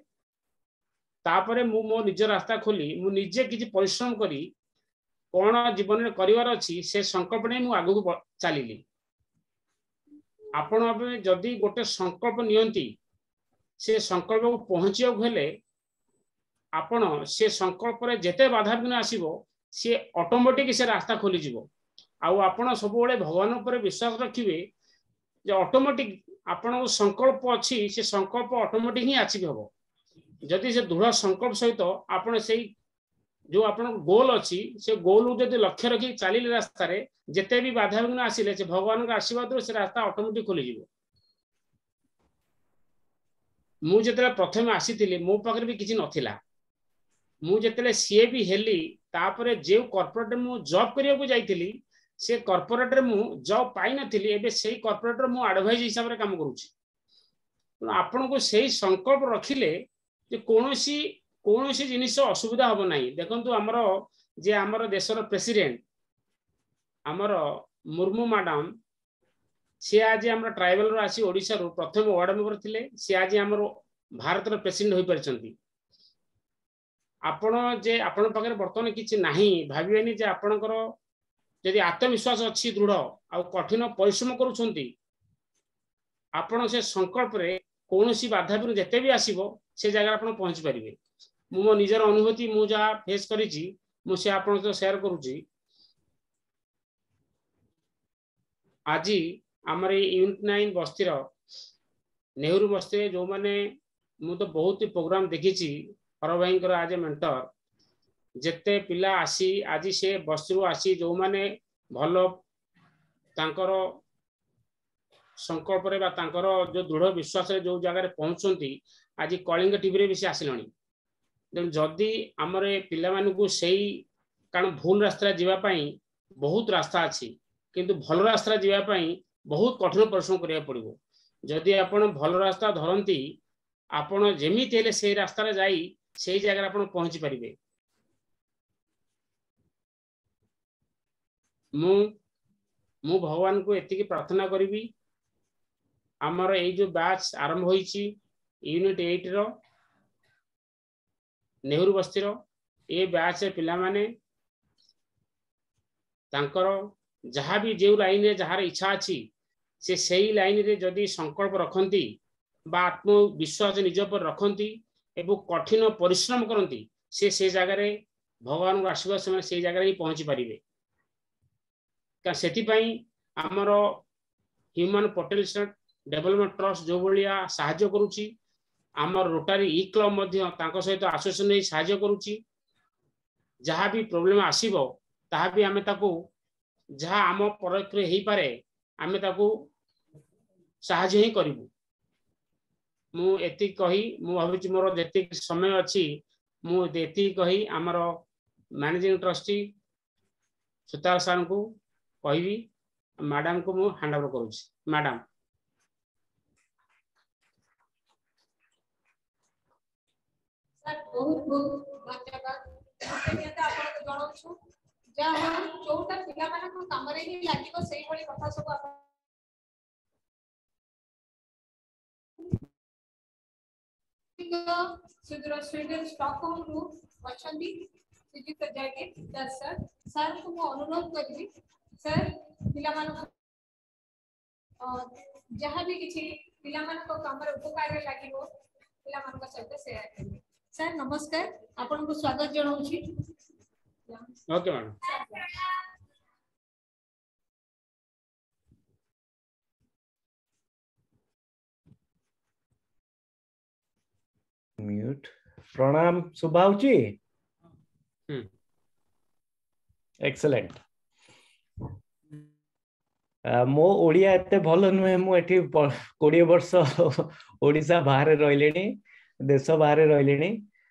ତାପରେ ମୁଁ ମୋ ନିଜ ରାସ୍ତା ଖୋଲି ମୁଁ ନିଜେ କିଛି ପରିଶ୍ରମ କରି କ'ଣ ଜୀବନରେ କରିବାର ଅଛି, ସେ ସଂକଳ୍ପ ନେଇ ମୁଁ ଆଗକୁ ଚାଲିଲି। ଆପଣ ଏବେ ଯଦି ଗୋଟେ ସଂକଳ୍ପ ନିଅନ୍ତି, ସେ ସଂକଳ୍ପକୁ ପହଞ୍ଚିବାକୁ ହେଲେ ଆପଣ ସେ ସଂକଳ୍ପରେ ଯେତେ ବାଧାବିଘ୍ନ ଆସିବ, ସିଏ ଅଟୋମେଟିକ ସେ ରାସ୍ତା ଖୋଲିଯିବ। ଆଉ ଆପଣ ସବୁବେଳେ ଭଗବାନ ଉପରେ ବିଶ୍ୱାସ ରଖିବେ ଯେ ଅଟୋମେଟିକ ଆପଣଙ୍କ ସଂକଳ୍ପ ଅଛି, ସେ ସଂକଳ୍ପ ଅଟୋମେଟିକ ହିଁ ଆଚିଭ୍ ହବ। ଯଦି ସେ ଦୃଢ଼ ସଂକଳ୍ପ ସହିତ ଆପଣ ସେଇ ଯୋଉ ଆପଣଙ୍କ ଗୋଲ ଅଛି, ସେ ଗୋଲକୁ ଯଦି ଲକ୍ଷ୍ୟ ରଖି ଚାଲିଲେ, ରାସ୍ତାରେ ଯେତେ ବି ବାଧାବିଘ୍ନ ଆସିଲେ ସେ ଭଗବାନଙ୍କ ଆଶୀର୍ବାଦରୁ ସେ ରାସ୍ତା ଅଟୋମେଟିକ ଖୋଲିଯିବ। ମୁଁ ଯେତେବେଳେ ପ୍ରଥମେ ଆସିଥିଲି, ମୋ ପାଖରେ ବି କିଛି ନଥିଲା। ମୁଁ ଯେତେବେଳେ ସିଏ ବି ହେଲି, ତାପରେ ଯେଉଁ କର୍ପୋରେଟରେ ମୁଁ ଜବ୍ କରିବାକୁ ଯାଇଥିଲି, ସେ କର୍ପୋରେଟରେ ମୁଁ ଜବ୍ ପାଇନଥିଲି। ଏବେ ସେଇ କର୍ପୋରେଟରେ ମୁଁ ଆଡଭାଇଜ ହିସାବରେ କାମ କରୁଛି। ତେଣୁ ଆପଣଙ୍କୁ ସେଇ ସଂକଳ୍ପ ରଖିଲେ ଯେ କୌଣସି ଜିନିଷ ଅସୁବିଧା ହବ ନାହିଁ। ଦେଖନ୍ତୁ, ଆମର ଯେ ଆମର ଦେଶର ପ୍ରେସିଡେଣ୍ଟ ଆମର ମୁର୍ମୁ ମ୍ୟାଡାମ, ସିଏ ଆଜି ଆମର ଟ୍ରାଇବାଲରୁ ଆସି ଓଡ଼ିଶାରୁ ପ୍ରଥମ ୱାର୍ଡ ମେମ୍ବର ଥିଲେ। ସିଏ ଆଜି ଆମର ଭାରତର ପ୍ରେସିଡେଣ୍ଟ ହୋଇପାରିଛନ୍ତି। ଆପଣ ଯେ ଆପଣଙ୍କ ପାଖରେ ବର୍ତ୍ତମାନ କିଛି ନାହିଁ ଭାବିବେନି। ଯେ ଆପଣଙ୍କର ଯଦି ଆତ୍ମବିଶ୍ୱାସ ଅଛି ଦୃଢ଼ ଆଉ କଠିନ ପରିଶ୍ରମ କରୁଛନ୍ତି, ଆପଣ ସେ ସଂକଳ୍ପରେ କୌଣସି ବାଧାବିଘ୍ନ ଯେତେ ବି ଆସିବ, ସେ ଜାଗାରେ ଆପଣ ପହଞ୍ଚି ପାରିବେ। ମୁଁ ମୋ ନିଜର ଅନୁଭୂତି, ମୁଁ ଯାହା ଫେସ୍ କରିଛି, ମୁଁ ସେ ଆପଣଙ୍କ ସହିତ ସେୟାର କରୁଛି। ଆଜି ଆମର ଏଇ ୟୁନିଟ୍ 9 ବସ୍ତିର ନେହେରୁ ବସ୍ତିରେ ଯୋଉମାନେ, ମୁଁ ତ ବହୁତ ପ୍ରୋଗ୍ରାମ ଦେଖିଛି ହର ଭାଇଙ୍କର ଆଜ୍ ଏ ମେଣ୍ଟର, ଯେତେ ପିଲା ଆସି ଆଜି ସେ ବସ୍ତିରୁ ଆସି ଯୋଉମାନେ ଭଲ ତାଙ୍କର ସଂକଳ୍ପରେ ବା ତାଙ୍କର ଯୋଉ ଦୃଢ଼ ବିଶ୍ୱାସରେ ଯୋଉ ଜାଗାରେ ପହଞ୍ଚୁଛନ୍ତି, ଆଜି କଳିଙ୍ଗ ଟିଭିରେ ବି ସେ ଆସିଲେଣି। ତେଣୁ ଯଦି ଆମର ଏ ପିଲାମାନଙ୍କୁ ସେଇ, କାରଣ ଭୁଲ ରାସ୍ତାରେ ଯିବା ପାଇଁ ବହୁତ ରାସ୍ତା ଅଛି, କିନ୍ତୁ ଭଲ ରାସ୍ତାରେ ଯିବା ପାଇଁ ବହୁତ କଠିନ ପରିଶ୍ରମ କରିବାକୁ ପଡ଼ିବ। ଯଦି ଆପଣ ଭଲ ରାସ୍ତା ଧରନ୍ତି, ଆପଣ ଯେମିତି ହେଲେ ସେଇ ରାସ୍ତାରେ ଯାଇ ସେଇ ଜାଗାରେ ଆପଣ ପହଞ୍ଚି ପାରିବେ। ମୁଁ ଭଗବାନଙ୍କୁ ଏତିକି ପ୍ରାର୍ଥନା କରିବି, ଆମର ଏଇ ଯୋଉ ବ୍ୟାଚ୍ ଆରମ୍ଭ ହୋଇଛି ୟୁନିଟ୍ 8ର ନେହେରୁ ବସ୍ତିର, ଏ ବ୍ୟାଚ୍ରେ ପିଲାମାନେ ତାଙ୍କର ଯାହା ବି ଯେଉଁ ଲାଇନରେ ଯାହାର ଇଚ୍ଛା ଅଛି, ସେ ସେଇ ଲାଇନରେ ଯଦି ସଂକଳ୍ପ ରଖନ୍ତି ବା ଆତ୍ମବିଶ୍ୱାସ ନିଜ ଉପରେ ରଖନ୍ତି ଏବଂ କଠିନ ପରିଶ୍ରମ କରନ୍ତି, ସେ ସେ ଜାଗାରେ ଭଗବାନଙ୍କ ଆଶୀର୍ବାଦ ସେମାନେ ସେଇ ଜାଗାରେ ହିଁ ପହଞ୍ଚି ପାରିବେ। କାରଣ ସେଥିପାଇଁ ଆମର ହ୍ୟୁମାନ ପୋଟେନ୍ସିଆଲ ଡେଭଲପମେଣ୍ଟ ଟ୍ରଷ୍ଟ ଯେଉଁ ଭଳିଆ ସାହାଯ୍ୟ କରୁଛି, ଆମର ରୋଟାରୀ ଇ କ୍ଲବ ମଧ୍ୟ ତାଙ୍କ ସହିତ ଆସୋସିଏସନ ହେଇ ସାହାଯ୍ୟ କରୁଛି। ଯାହା ବି ପ୍ରୋବ୍ଲେମ ଆସିବ, ତାହା ବି ଆମେ ତାକୁ ଯାହା ଆମ ପରୋକ୍ଷରେ ହେଇପାରେ, ଆମେ ତାକୁ ସାହାଯ୍ୟ ହିଁ କରିବୁ। ମୁଁ ଏତିକି କହି, ମୁଁ ଭାବୁଛି ମୋର ଯେତିକି ସମୟ ଅଛି, ମୁଁ ଏତିକି କହି ଆମର ମ୍ୟାନେଜିଂ ଟ୍ରଷ୍ଟି ସୁତାର ସାର୍ଙ୍କୁ କହିବି। ମ୍ୟାଡାମକୁ ମୁଁ ହ୍ୟାଣ୍ଡ ଓଭର କରୁଛି। ମ୍ୟାଡାମ। ସାର୍, ବହୁତ ବହୁତ ଧନ୍ୟବାଦ, କୃତଜ୍ଞତା ଆପଣଙ୍କୁ ଜଣାଉଛୁ। ଯାହା ହଉ, ଯୋଉଟା ପିଲାମାନଙ୍କ କାମରେ ହିଁ ଲାଗିବ, ସେଇଭଳି କଥା ସବୁ ଆପଣ ସୁଦୂର ସ୍ୱିଡେନ ଷ୍ଟକହୋମରୁ ଅଛନ୍ତି ଶ୍ରୀଯୁକ୍ତ ଜୟଦୀପ ଦାସ ସାର୍। ସାର୍ଙ୍କୁ ମୁଁ ଅନୁରୋଧ କରିବି, ସାର୍ ପିଲାମାନଙ୍କୁ ଯାହା ବି କିଛି ପିଲାମାନଙ୍କ କାମରେ ଉପକାରରେ ଲାଗିବ, ପିଲାମାନଙ୍କ ସହିତ ସେୟାର କରିବେ। ସାର୍ ନମସ୍କାର, ଆପଣଙ୍କୁ ସ୍ୱାଗତ ଜଣାଉଛି। Okay madam. Mute. ପ୍ରଣାମ, ଶୁଭା ହଉଛି? ହୁଁ। ଏକ୍ସେଲେଣ୍ଟ। ମୋ ଓଡ଼ିଆ ଏତେ ଭଲ ନୁହେଁ। ମୁଁ ଏଠି 20 ବର୍ଷ ଓଡ଼ିଶା ବାହାରେ ରହିଲିଣି, ଦେଶ ବାହାରେ ରହିଲିଣି।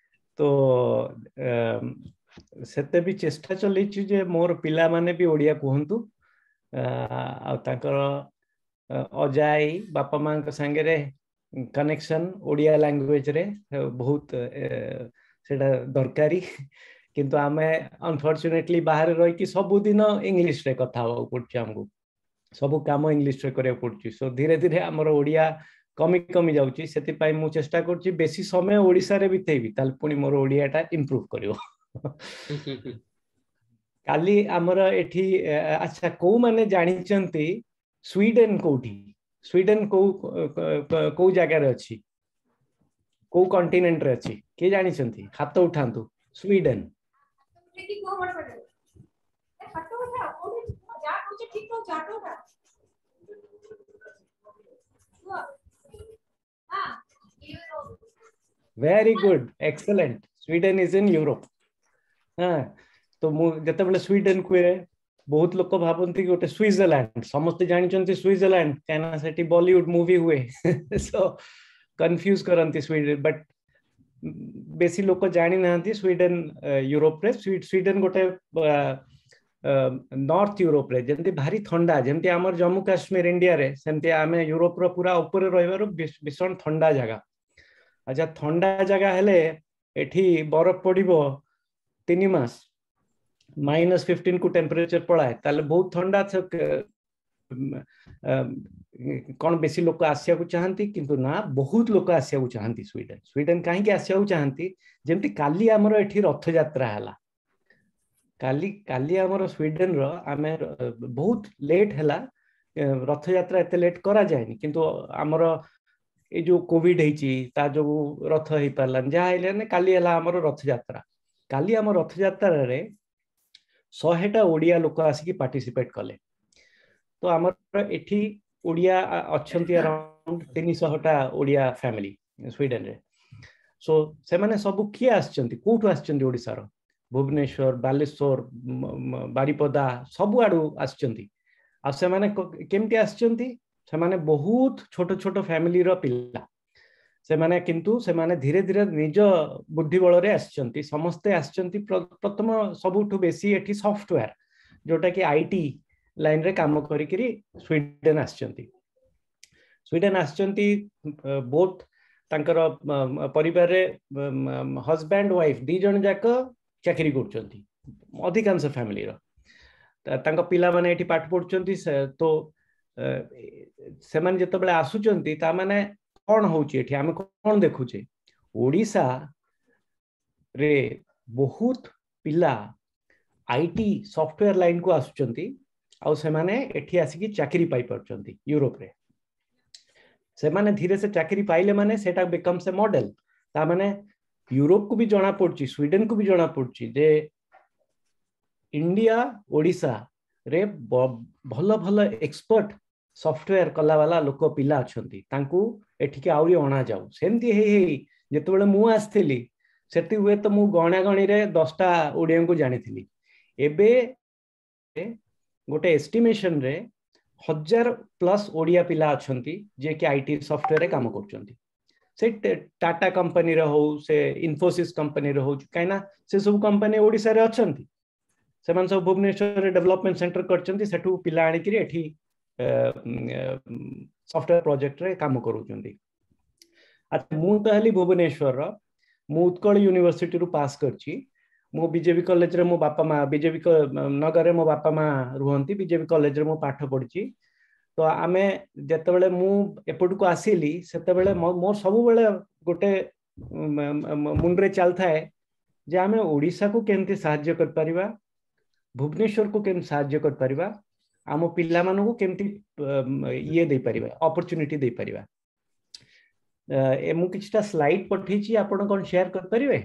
ତ ସେତେ ବି ଚେଷ୍ଟା ଚଲେଇଛି ଯେ ମୋର ପିଲାମାନେ ବି ଓଡ଼ିଆ କୁହନ୍ତୁ। ଆଉ ତାଙ୍କର ଅଜା ଆଈ ବାପା ମାଙ୍କ ସାଙ୍ଗରେ କନେକ୍ସନ ଓଡ଼ିଆ ଲାଙ୍ଗୁଏଜରେ ବହୁତ ସେଇଟା ଦରକାରୀ। କିନ୍ତୁ ଆମେ ଅନଫର୍ଚୁନେଟଲି ବାହାରେ ରହିକି ସବୁଦିନ ଇଂଲିଶରେ କଥା ହେବାକୁ ପଡୁଛି, ଆମକୁ ସବୁ କାମ ଇଂଲିଶରେ କରିବାକୁ ପଡୁଛି। ସୋ ଧୀରେ ଧୀରେ ଆମର ଓଡ଼ିଆ କମି କମି ଯାଉଛି। ସେଥିପାଇଁ ମୁଁ ଚେଷ୍ଟା କରୁଛି ବେଶୀ ସମୟ ଓଡ଼ିଶାରେ ବିତେଇବି, ତାହେଲେ ପୁଣି ମୋର ଓଡ଼ିଆଟା ଇମ୍ପ୍ରୁଭ କରିବ। କାଲି ଆମର ଏଠି, ଆଚ୍ଛା, କୋଉମାନେ ଜାଣିଛନ୍ତି ସ୍ୱିଡେନ କୋଉଠି? ସ୍ୱିଡେନ କୋଉ କୋଉ ଜାଗାରେ ଅଛି, କୋଉ କଣ୍ଟିନେଣ୍ଟରେ ଅଛି, କିଏ ଜାଣିଛନ୍ତି? ହାତ ଉଠାନ୍ତୁ। ସ୍ୱିଡେନ। ଉଠେଇକି କୁହ ବଡ ବଡ। ଏ ହାତ ଉଠା, କୋଉଠି ଯାହା କହୁଛ ଠିକ କହୁଛ, ହାତ ଉଠା କୁହ। ହଁ। Very good, excellent. Sweden is in Europe. ହଁ, ତ ମୁଁ ଯେତେବେଳେ ସ୍ୱିଡେନ କୁହେ, ବହୁତ ଲୋକ ଭାବନ୍ତି କି ଗୋଟେ ସୁଇଜରଲ୍ୟାଣ୍ଡ। ସମସ୍ତେ ଜାଣିଛନ୍ତି ସୁଇଜରଲ୍ୟାଣ୍ଡ, କାହିଁକିନା ସେଠି ବଲିଉଡ ମୁଭି ହୁଏ। ସୋ କନଫ୍ୟୁଜ କରନ୍ତି ସ୍ୱିଡେନ, ବଟ୍ ବେଶୀ ଲୋକ ଜାଣିନାହାନ୍ତି ସ୍ୱିଡେନ ୟୁରୋପରେ। ସ୍ୱିଡେନ ଗୋଟେ ନର୍ଥ ୟୁରୋପରେ, ଯେମିତି ଭାରି ଥଣ୍ଡା, ଯେମିତି ଆମର ଜମ୍ମୁ କାଶ୍ମୀର ଇଣ୍ଡିଆରେ, ସେମିତି ଆମେ ୟୁରୋପର ପୁରା ଉପରେ ରହିବାରୁ ଭୀଷଣ ଥଣ୍ଡା ଜାଗା। ଆଚ୍ଛା, ଥଣ୍ଡା ଜାଗା ହେଲେ ଏଠି ବରଫ ପଡିବ 3 ମାସ, -15 କୁ ଟେମ୍ପରେଚର ପଳାଏ, ତାହେଲେ ବହୁତ ଥଣ୍ଡା। କଣ ବେଶୀ ଲୋକ ଆସିବାକୁ ଚାହାନ୍ତି? କିନ୍ତୁ ନା, ବହୁତ ଲୋକ ଆସିବାକୁ ଚାହାନ୍ତି ସ୍ୱିଡେନ। ସ୍ୱିଡେନ କାହିଁକି ଆସିବାକୁ ଚାହାନ୍ତି? ଯେମିତି କାଲି ଆମର ଏଠି ରଥଯାତ୍ରା ହେଲା, କାଲି କାଲି ଆମର ସ୍ୱିଡେନର ଆମେ ବହୁତ ଲେଟ୍ ହେଲା। ରଥଯାତ୍ରା ଏତେ ଲେଟ୍ କରାଯାଏନି, କିନ୍ତୁ ଆମର ଏଇ ଯୋଉ କୋଭିଡ ହେଇଛି, ତା ଯୋଗୁ ରଥ ହେଇପାରିଲାନି, ଯାହା ହେଲାନି, କାଲି ହେଲା ଆମର ରଥଯାତ୍ରା। କାଲି ଆମ ରଥଯାତ୍ରାରେ 100ଟା ଓଡ଼ିଆ ଲୋକ ଆସିକି ପାର୍ଟିସିପେଟ କଲେ। ତ ଆମର ଏଠି ଓଡ଼ିଆ ଅଛନ୍ତି ଆରାଉଣ୍ଡ 300ଟା ଓଡ଼ିଆ ଫ୍ୟାମିଲି ସ୍ୱିଡେନରେ। ସୋ ସେମାନେ ସବୁ କିଏ ଆସିଛନ୍ତି, କୋଉଠୁ ଆସିଛନ୍ତି? ଓଡ଼ିଶାର ଭୁବନେଶ୍ୱର, ବାଲେଶ୍ୱର, ବାରିପଦା, ସବୁଆଡୁ ଆସିଛନ୍ତି। ଆଉ ସେମାନେ କେମିତି ଆସିଛନ୍ତି? ସେମାନେ ବହୁତ ଛୋଟ ଛୋଟ ଫ୍ୟାମିଲିର ପିଲା ସେମାନେ, କିନ୍ତୁ ସେମାନେ ଧୀରେ ଧୀରେ ନିଜ ବୁଦ୍ଧି ବଳରେ ଆସିଛନ୍ତି। ସମସ୍ତେ ଆସିଛନ୍ତି। ପ୍ରଥମ ସବୁଠୁ ବେଶୀ ଏଠି ସଫ୍ଟୱେୟାର, ଯୋଉଟା କି IT ଲାଇନରେ କାମ କରିକିରି ସ୍ୱିଡେନ ଆସିଛନ୍ତି। ସ୍ୱିଡେନ ଆସିଛନ୍ତି ବୋଥ ତାଙ୍କର ପରିବାରରେ ହଜବ୍ୟାଣ୍ଡ ୱାଇଫ ଦି ଜଣ ଯାକ ଚାକିରି କରୁଛନ୍ତି ଅଧିକାଂଶ ଫ୍ୟାମିଲିର। ତାଙ୍କ ପିଲାମାନେ ଏଠି ପାଠ ପଢୁଛନ୍ତି। ତ ସେମାନେ ଯେତେବେଳେ ଆସୁଛନ୍ତି, ତା ମାନେ କଣ ହଉଛି ଏଠି, ଆମେ କଣ ଦେଖୁଛେ? ଓଡ଼ିଶା ରେ ବହୁତ ପିଲା IT software ଲାଇନକୁ ଆସୁଛନ୍ତି ଆଉ ସେମାନେ ଏଠି ଆସିକି ଚାକିରି ପାଇପାରୁଛନ୍ତି ୟୁରୋପରେ। ସେମାନେ ଧୀରେ ସେ ଚାକିରି ପାଇଲେ ମାନେ ସେଟା ବିକମ୍ସ ଏ ମଡେଲ। ତା ମାନେ ୟୁରୋପକୁ ବି ଜଣା ପଡୁଛି, ସ୍ୱିଡେନକୁ ବି ଜଣା ପଡୁଛି ଯେ ଇଣ୍ଡିଆ, ଓଡ଼ିଶା ରେ ଭଲ ଭଲ ଏକ୍ସପର୍ଟ ସଫ୍ଟୱେୟାର କଲା ବାଲା ଲୋକ, ପିଲା ଅଛନ୍ତି, ତାଙ୍କୁ ଏଠିକି ଆହୁରି ଅଣାଯାଉ। ସେମିତି ହେଇ ହେଇ ଯେତେବେଳେ ମୁଁ ଆସିଥିଲି, ସେଠି ହୁଏତ ମୁଁ ଗଣାଗଣିରେ 10ଟା ଓଡ଼ିଆଙ୍କୁ ଜାଣିଥିଲି। ଏବେ ଗୋଟେ ଏଷ୍ଟିମେସନରେ 1000 ପ୍ଲସ୍ ଓଡ଼ିଆ ପିଲା ଅଛନ୍ତି, ଯିଏକି IT ସଫ୍ଟୱେୟାରରେ କାମ କରୁଛନ୍ତି। ସେ ଟାଟା କମ୍ପାନୀର ହଉ, ସେ ଇନଫୋସିସ୍ କମ୍ପାନୀର ହଉ, କାହିଁକିନା ସେ ସବୁ କମ୍ପାନୀ ଓଡ଼ିଶାରେ ଅଛନ୍ତି। ସେମାନେ ସବୁ ଭୁବନେଶ୍ୱରରେ ଡେଭଲପମେଣ୍ଟ ସେଣ୍ଟର କରିଛନ୍ତି, ସେଠୁ ପିଲା ଆଣିକିରି ଏଠି ସଫ୍ଟୱେୟାର ପ୍ରୋଜେକ୍ଟରେ କାମ କରୁଛନ୍ତି। ଆଚ୍ଛା, ମୁଁ ତ ହେଲି ଭୁବନେଶ୍ୱରର। ମୁଁ ଉତ୍କଳ ୟୁନିଭର୍ସିଟିରୁ ପାସ୍ କରିଛି। ମୁଁ ବିଜେପି କଲେଜରେ, ମୋ ବାପା ମା ବିଜେପି ନଗରରେ ମୋ ବାପା ମା ରୁହନ୍ତି, ବିଜେପି କଲେଜରେ ମୁଁ ପାଠ ପଢିଛି। ତ ଆମେ ଯେତେବେଳେ ମୁଁ ଏପଟକୁ ଆସିଲି, ସେତେବେଳେ ମୋର ସବୁବେଳେ ଗୋଟେ ମୁଣ୍ଡରେ ଚାଲିଥାଏ ଯେ ଆମେ ଓଡ଼ିଶାକୁ କେମିତି ସାହାଯ୍ୟ କରିପାରିବା, ଭୁବନେଶ୍ୱରକୁ କେମିତି ସାହାଯ୍ୟ କରିପାରିବା, ଆମ ପିଲାମାନଙ୍କୁ କେମିତି ଇଏ ଦେଇପାରିବା, ଅପରଚୁନିଟି ଦେଇପାରିବା। ଏ ମୁଁ କିଛିଟା ସ୍ଲାଇଡ୍ ପଠେଇଛି, ଆପଣ କଣ ସେୟାର କରିପାରିବେ?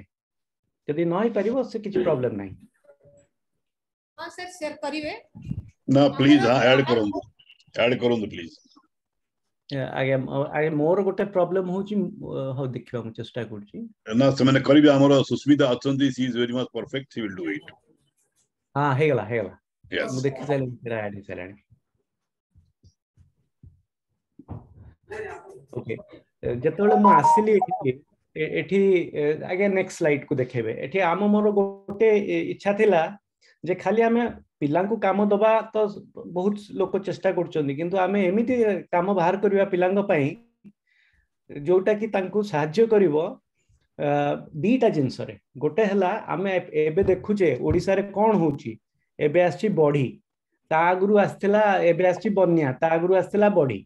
ଯଦି ନ ହେଇପାରିବ, ସେ କିଛି ପ୍ରୋବ୍ଲେମ ନାହିଁ। ହଁ ସାର୍, ସେୟାର କରିବେ। ନା, ପ୍ଲିଜ, ହଁ, ଆଡ୍ କରନ୍ତୁ, ଆଡ୍ କରନ୍ତୁ ପ୍ଲିଜ। ଆଜ୍ଞା ଆଜ୍ଞା, ମୋର ଗୋଟେ ପ୍ରୋବ୍ଲେମ ହଉଛି। ହଉ, ଦେଖିବା, ମୁଁ ଚେଷ୍ଟା କରୁଛି। ନା, ସେମାନେ କରିବେ। ଆମର ସୁସ୍ମିତା ଅଛନ୍ତି, she is very much perfect, she will do it. ହଁ, ହେଇଗଲା, ହେଇଗଲା। ମୁଁ ଦେଖି ସାରିଲିଣି, ସେଟା ଆଡ୍ ହେଇସାରିଲାଣି। ଓକେ, ଯେତେବେଳେ ମୁଁ ଆସିଲି ଏଠିକି, ଏଠି ଆଜ୍ଞା ନେକ୍ସଟ ସ୍ଲାଇଡ୍ କୁ ଦେଖେଇବେ। ଏଠି ଆମ ମୋର ଗୋଟେ ଇଚ୍ଛା ଥିଲା ଯେ ଖାଲି ଆମେ ପିଲାଙ୍କୁ କାମ ଦବା ତ ବହୁତ ଲୋକ ଚେଷ୍ଟା କରୁଛନ୍ତି, କିନ୍ତୁ ଆମେ ଏମିତି କାମ ବାହାର କରିବା ପିଲାଙ୍କ ପାଇଁ ଯୋଉଟା କି ତାଙ୍କୁ ସାହାଯ୍ୟ କରିବ ଦିଟା ଜିନିଷରେ। ଗୋଟେ ହେଲା ଆମେ ଏବେ ଦେଖୁଛେ ଓଡ଼ିଶାରେ କଣ ହଉଛି, ଏବେ ଆସିଛି ବଢି, ତା ଆଗରୁ ଆସିଥିଲା, ଏବେ ଆସିଛି ବନ୍ୟା, ତା ଆଗରୁ ଆସିଥିଲା ବଢି,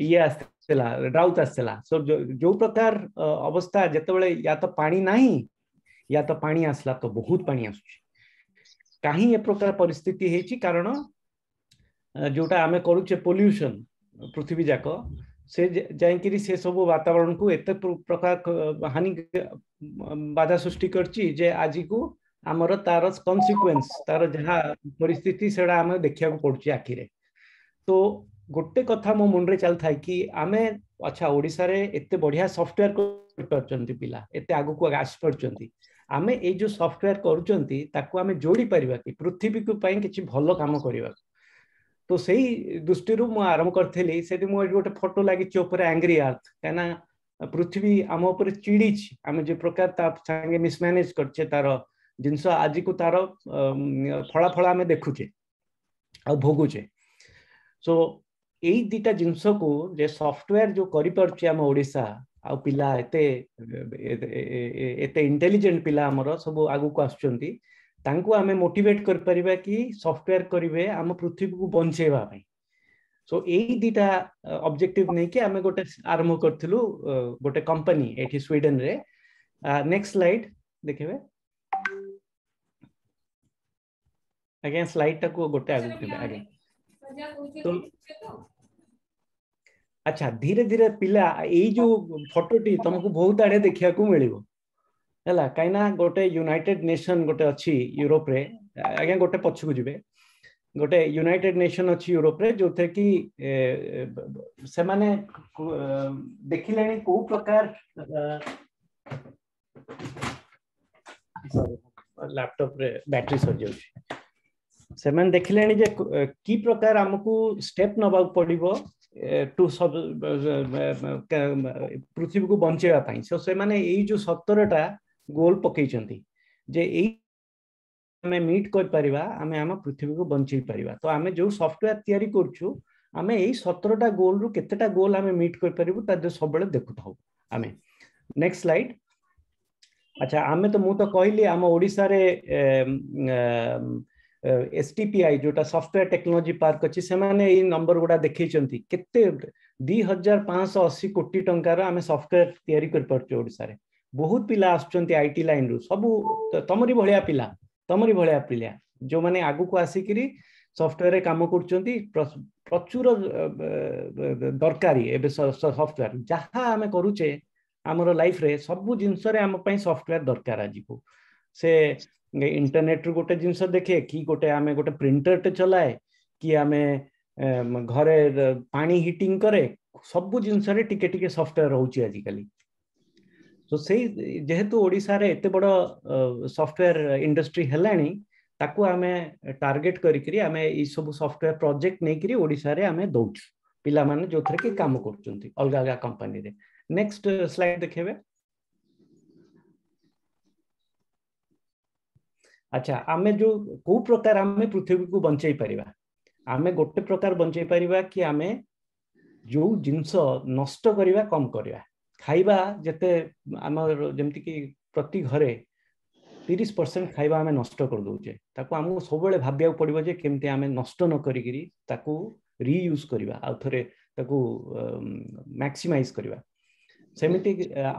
ଇଏ ଆସିଥିଲା ଡ୍ରାଉଟ୍ ଆସିଥିଲା। ସୋ ଯୋଉ ପ୍ରକାର ଅବସ୍ଥା, ଯେତେବେଳେ ୟା ତ ପାଣି ନାହିଁ ୟା ତ ପାଣି ଆସିଲା ତ ବହୁତ ପାଣି ଆସୁଛି। କାହିଁ ଏ ପ୍ରକାର ପରିସ୍ଥିତି ହେଇଛି? କାରଣ ଯୋଉଟା ଆମେ କରୁଛେ ପଲ୍ୟୁସନ ପୃଥିବୀ ଯାକ, ସେ ଯାଇକିରି ସେ ସବୁ ବାତାବରଣକୁ ଏତେ ପ୍ରକାର ହାନି ବାଧା ସୃଷ୍ଟି କରିଛି ଯେ ଆଜିକୁ ଆମର ତାର କନସିକ୍ୱେନ୍ସ, ତାର ଯାହା ପରିସ୍ଥିତି ସେଟା ଆମେ ଦେଖିବାକୁ ପଡୁଛି ଆଖିରେ। ତ ଗୋଟେ କଥା ମୋ ମୁଣ୍ଡରେ ଚାଲିଥାଏ କି ଆମେ ଆଚ୍ଛା ଓଡ଼ିଶାରେ ଏତେ ବଢିଆ ସଫ୍ଟୱେୟାର କରିପାରୁଛନ୍ତି ପିଲା, ଏତେ ଆଗକୁ ଆସିପାରୁଛନ୍ତି, ଆମେ ଏଇ ଯୋଉ ସଫ୍ଟୱେୟାର କରୁଛନ୍ତି ତାକୁ ଆମେ ଯୋଡ଼ି ପାରିବା କି ପୃଥିବୀକୁ ପାଇଁ କିଛି ଭଲ କାମ କରିବାକୁ। ତ ସେଇ ଦୃଷ୍ଟିରୁ ମୁଁ ଆରମ୍ଭ କରିଥିଲି। ସେଠି ମୁଁ ଏଠି ଗୋଟେ ଫଟୋ ଲାଗିଛି ଉପରେ ଆଙ୍ଗ୍ରି ଆର୍ଥ, କାହିଁକିନା ପୃଥିବୀ ଆମ ଉପରେ ଚିଡ଼ିଛି, ଆମେ ଯେ ପ୍ରକାର ତା ସାଙ୍ଗେ ମିସମ୍ୟାନେଜ କରିଛେ ତାର ଜିନିଷ, ଆଜିକୁ ତାର ଫଳାଫଳ ଆମେ ଦେଖୁଛେ ଆଉ ଭୋଗୁଛେ। ସୋ ଏଇ ଦିଟା ଜିନିଷକୁ ଯେ ସଫ୍ଟୱେୟାର ଯୋଉ କରିପାରୁଛି ଆମ ଓଡ଼ିଶା, ଆଉ ପିଲା ଏତେ ଏତେ ଇଣ୍ଟେଲିଜେଣ୍ଟ ପିଲା ଆମର ସବୁ ଆଗକୁ ଆସୁଛନ୍ତି, ତାଙ୍କୁ ଆମେ ମୋଟିଭେଟ କରିପାରିବା କି ସଫ୍ଟୱେୟାର କରିବେ ଆମ ପୃଥିବୀକୁ ବଞ୍ଚେଇବା ପାଇଁ। ସୋ ଏଇ ଦିଟା ଅବଜେକ୍ଟିଭ ନେଇକି ଆମେ ଗୋଟେ ଆରମ୍ଭ କରିଥିଲୁ ଗୋଟେ କମ୍ପାନୀ ଏଠି ସ୍ୱିଡେନରେ। ନେକ୍ସଟ ସ୍ଲାଇଡ ଦେଖିବେ ଆଜ୍ଞା, ସ୍ଲାଇଡ ଟାକୁ ଗୋଟେ ଆଗକୁ ଯିବେ ଆଜ୍ଞା। ତ ଆଚ୍ଛା ଧୀରେ ଧୀରେ ପିଲା ଏଇ ଯୋଉ ଫଟୋଟି ତମକୁ ବହୁତ ଆଡେ ଦେଖିବାକୁ ମିଳିବ ହେଲା, କାହିଁକିନା ଗୋଟେ ୟୁନାଇଟେଡ ନେସନ ଗୋଟେ ଅଛି ୟୁରୋପରେ, ଆଜ୍ଞା ଗୋଟେ ପଛକୁ ଯିବେ, ଗୋଟେ ୟୁନାଇଟେଡ ନେସନ ଅଛି ୟୁରୋପରେ ଯୋଉଥିରେ କି ସେମାନେ ଦେଖିଲେଣି କୋଉ ପ୍ରକାର ଲାପଟପରେ ବ୍ୟାଟେରୀ ସରିଯାଉଛି, ସେମାନେ ଦେଖିଲେଣି ଯେ କି ପ୍ରକାର ଆମକୁ ଷ୍ଟେପ ନବାକୁ ପଡିବ ଟୁ ପୃଥିବୀକୁ ବଞ୍ଚେଇବା ପାଇଁ। ସୋ ସେମାନେ ଏଇ ଯୋଉ 17ଟା ଗୋଲ ପକେଇଛନ୍ତି ଯେ ଏଇ ଆମେ ମିଟ୍ କରିପାରିବା, ଆମେ ଆମ ପୃଥିବୀକୁ ବଞ୍ଚେଇ ପାରିବା। ତ ଆମେ ଯୋଉ ସଫ୍ଟୱେୟାର ତିଆରି କରୁଛୁ, ଆମେ ଏଇ 17ଟା ଗୋଲରୁ କେତେଟା ଗୋଲ ଆମେ ମିଟ୍ କରିପାରିବୁ ତା ଦେହରେ ସବୁବେଳେ ଦେଖୁଥାଉ ଆମେ। Next slide. ଆଚ୍ଛା ଆମେ ତ ମୁଁ ତ କହିଲି ଆମ ଓଡ଼ିଶାରେ STPI ଯୋଉଟା ସଫ୍ଟୱେୟାର ଟେକ୍ନୋଲୋଜି ପାର୍କ ଅଛି, ସେମାନେ ଏଇ ନମ୍ବର ଗୁଡା ଦେଖେଇଛନ୍ତି କେତେ 2580 କୋଟି ଟଙ୍କାର ଆମେ ସଫ୍ଟୱେୟାର ତିଆରି କରିପାରୁଛୁ ଓଡ଼ିଶାରେ। ବହୁତ ପିଲା ଆସୁଛନ୍ତି IT ଲାଇନରୁ, ସବୁ ତମରି ଭଳିଆ ପିଲା, ତମରି ଭଳିଆ ପିଲା ଯୋଉମାନେ ଆଗକୁ ଆସିକିରି ସଫ୍ଟୱେୟାରରେ କାମ କରୁଛନ୍ତି। ପ୍ରଚୁର ଦରକାରୀ ଏବେ ସଫ୍ଟୱେୟାର, ଯାହା ଆମେ କରୁଛେ ଆମର ଲାଇଫରେ ସବୁ ଜିନିଷରେ ଆମ ପାଇଁ ସଫ୍ଟୱେୟାର ଦରକାର ଆଜିକୁ। ସେ ଇଣ୍ଟରନେଟରୁ ଗୋଟେ ଜିନିଷ ଦେଖେ କି ଗୋଟେ ଆମେ ଗୋଟେ ପ୍ରିଣ୍ଟରଟେ ଚଲାଏ କି ଆମେ ଘରେ ପାଣି ହିଟିଂ କରେ, ସବୁ ଜିନିଷରେ ଟିକେ ଟିକେ ସଫ୍ଟୱେୟାର ରହୁଛି ଆଜିକାଲି। ତ ସେଇ ଯେହେତୁ ଓଡ଼ିଶାରେ ଏତେ ବଡ଼ ସଫ୍ଟୱେୟାର ଇଣ୍ଡଷ୍ଟ୍ରି ହେଲାଣି, ତାକୁ ଆମେ ଟାର୍ଗେଟ କରିକିରି ଆମେ ଏଇ ସବୁ ସଫ୍ଟୱେୟାର ପ୍ରୋଜେକ୍ଟ ନେଇକିରି ଓଡ଼ିଶାରେ ଆମେ ଦଉଛୁ ପିଲାମାନେ ଯୋଉଥିରେ କି କାମ କରୁଛନ୍ତି ଅଲଗା ଅଲଗା କମ୍ପାନୀରେ। ନେକ୍ସଟ ସ୍ଲାଇଡ ଦେଖେଇବେ। ଆଚ୍ଛା ଆମେ ଯୋଉ କୋଉ ପ୍ରକାର ଆମେ ପୃଥିବୀକୁ ବଞ୍ଚେଇ ପାରିବା, ଆମେ ଗୋଟେ ପ୍ରକାର ବଞ୍ଚେଇ ପାରିବା କି ଆମେ ଯୋଉ ଜିନିଷ ନଷ୍ଟ କରିବା କମ କରିବା। ଖାଇବା ଯେତେ ଆମର ଯେମିତିକି ପ୍ରତି ଘରେ 30% ଖାଇବା ଆମେ ନଷ୍ଟ କରିଦଉଛେ, ତାକୁ ଆମକୁ ସବୁବେଳେ ଭାବିବାକୁ ପଡିବ ଯେ କେମିତି ଆମେ ନଷ୍ଟ ନ କରିକିରି ତାକୁ ରିୟୁଜ କରିବା, ଆଉ ଥରେ ତାକୁ ମ୍ୟାକ୍ସିମାଇଜ କରିବା। ସେମିତି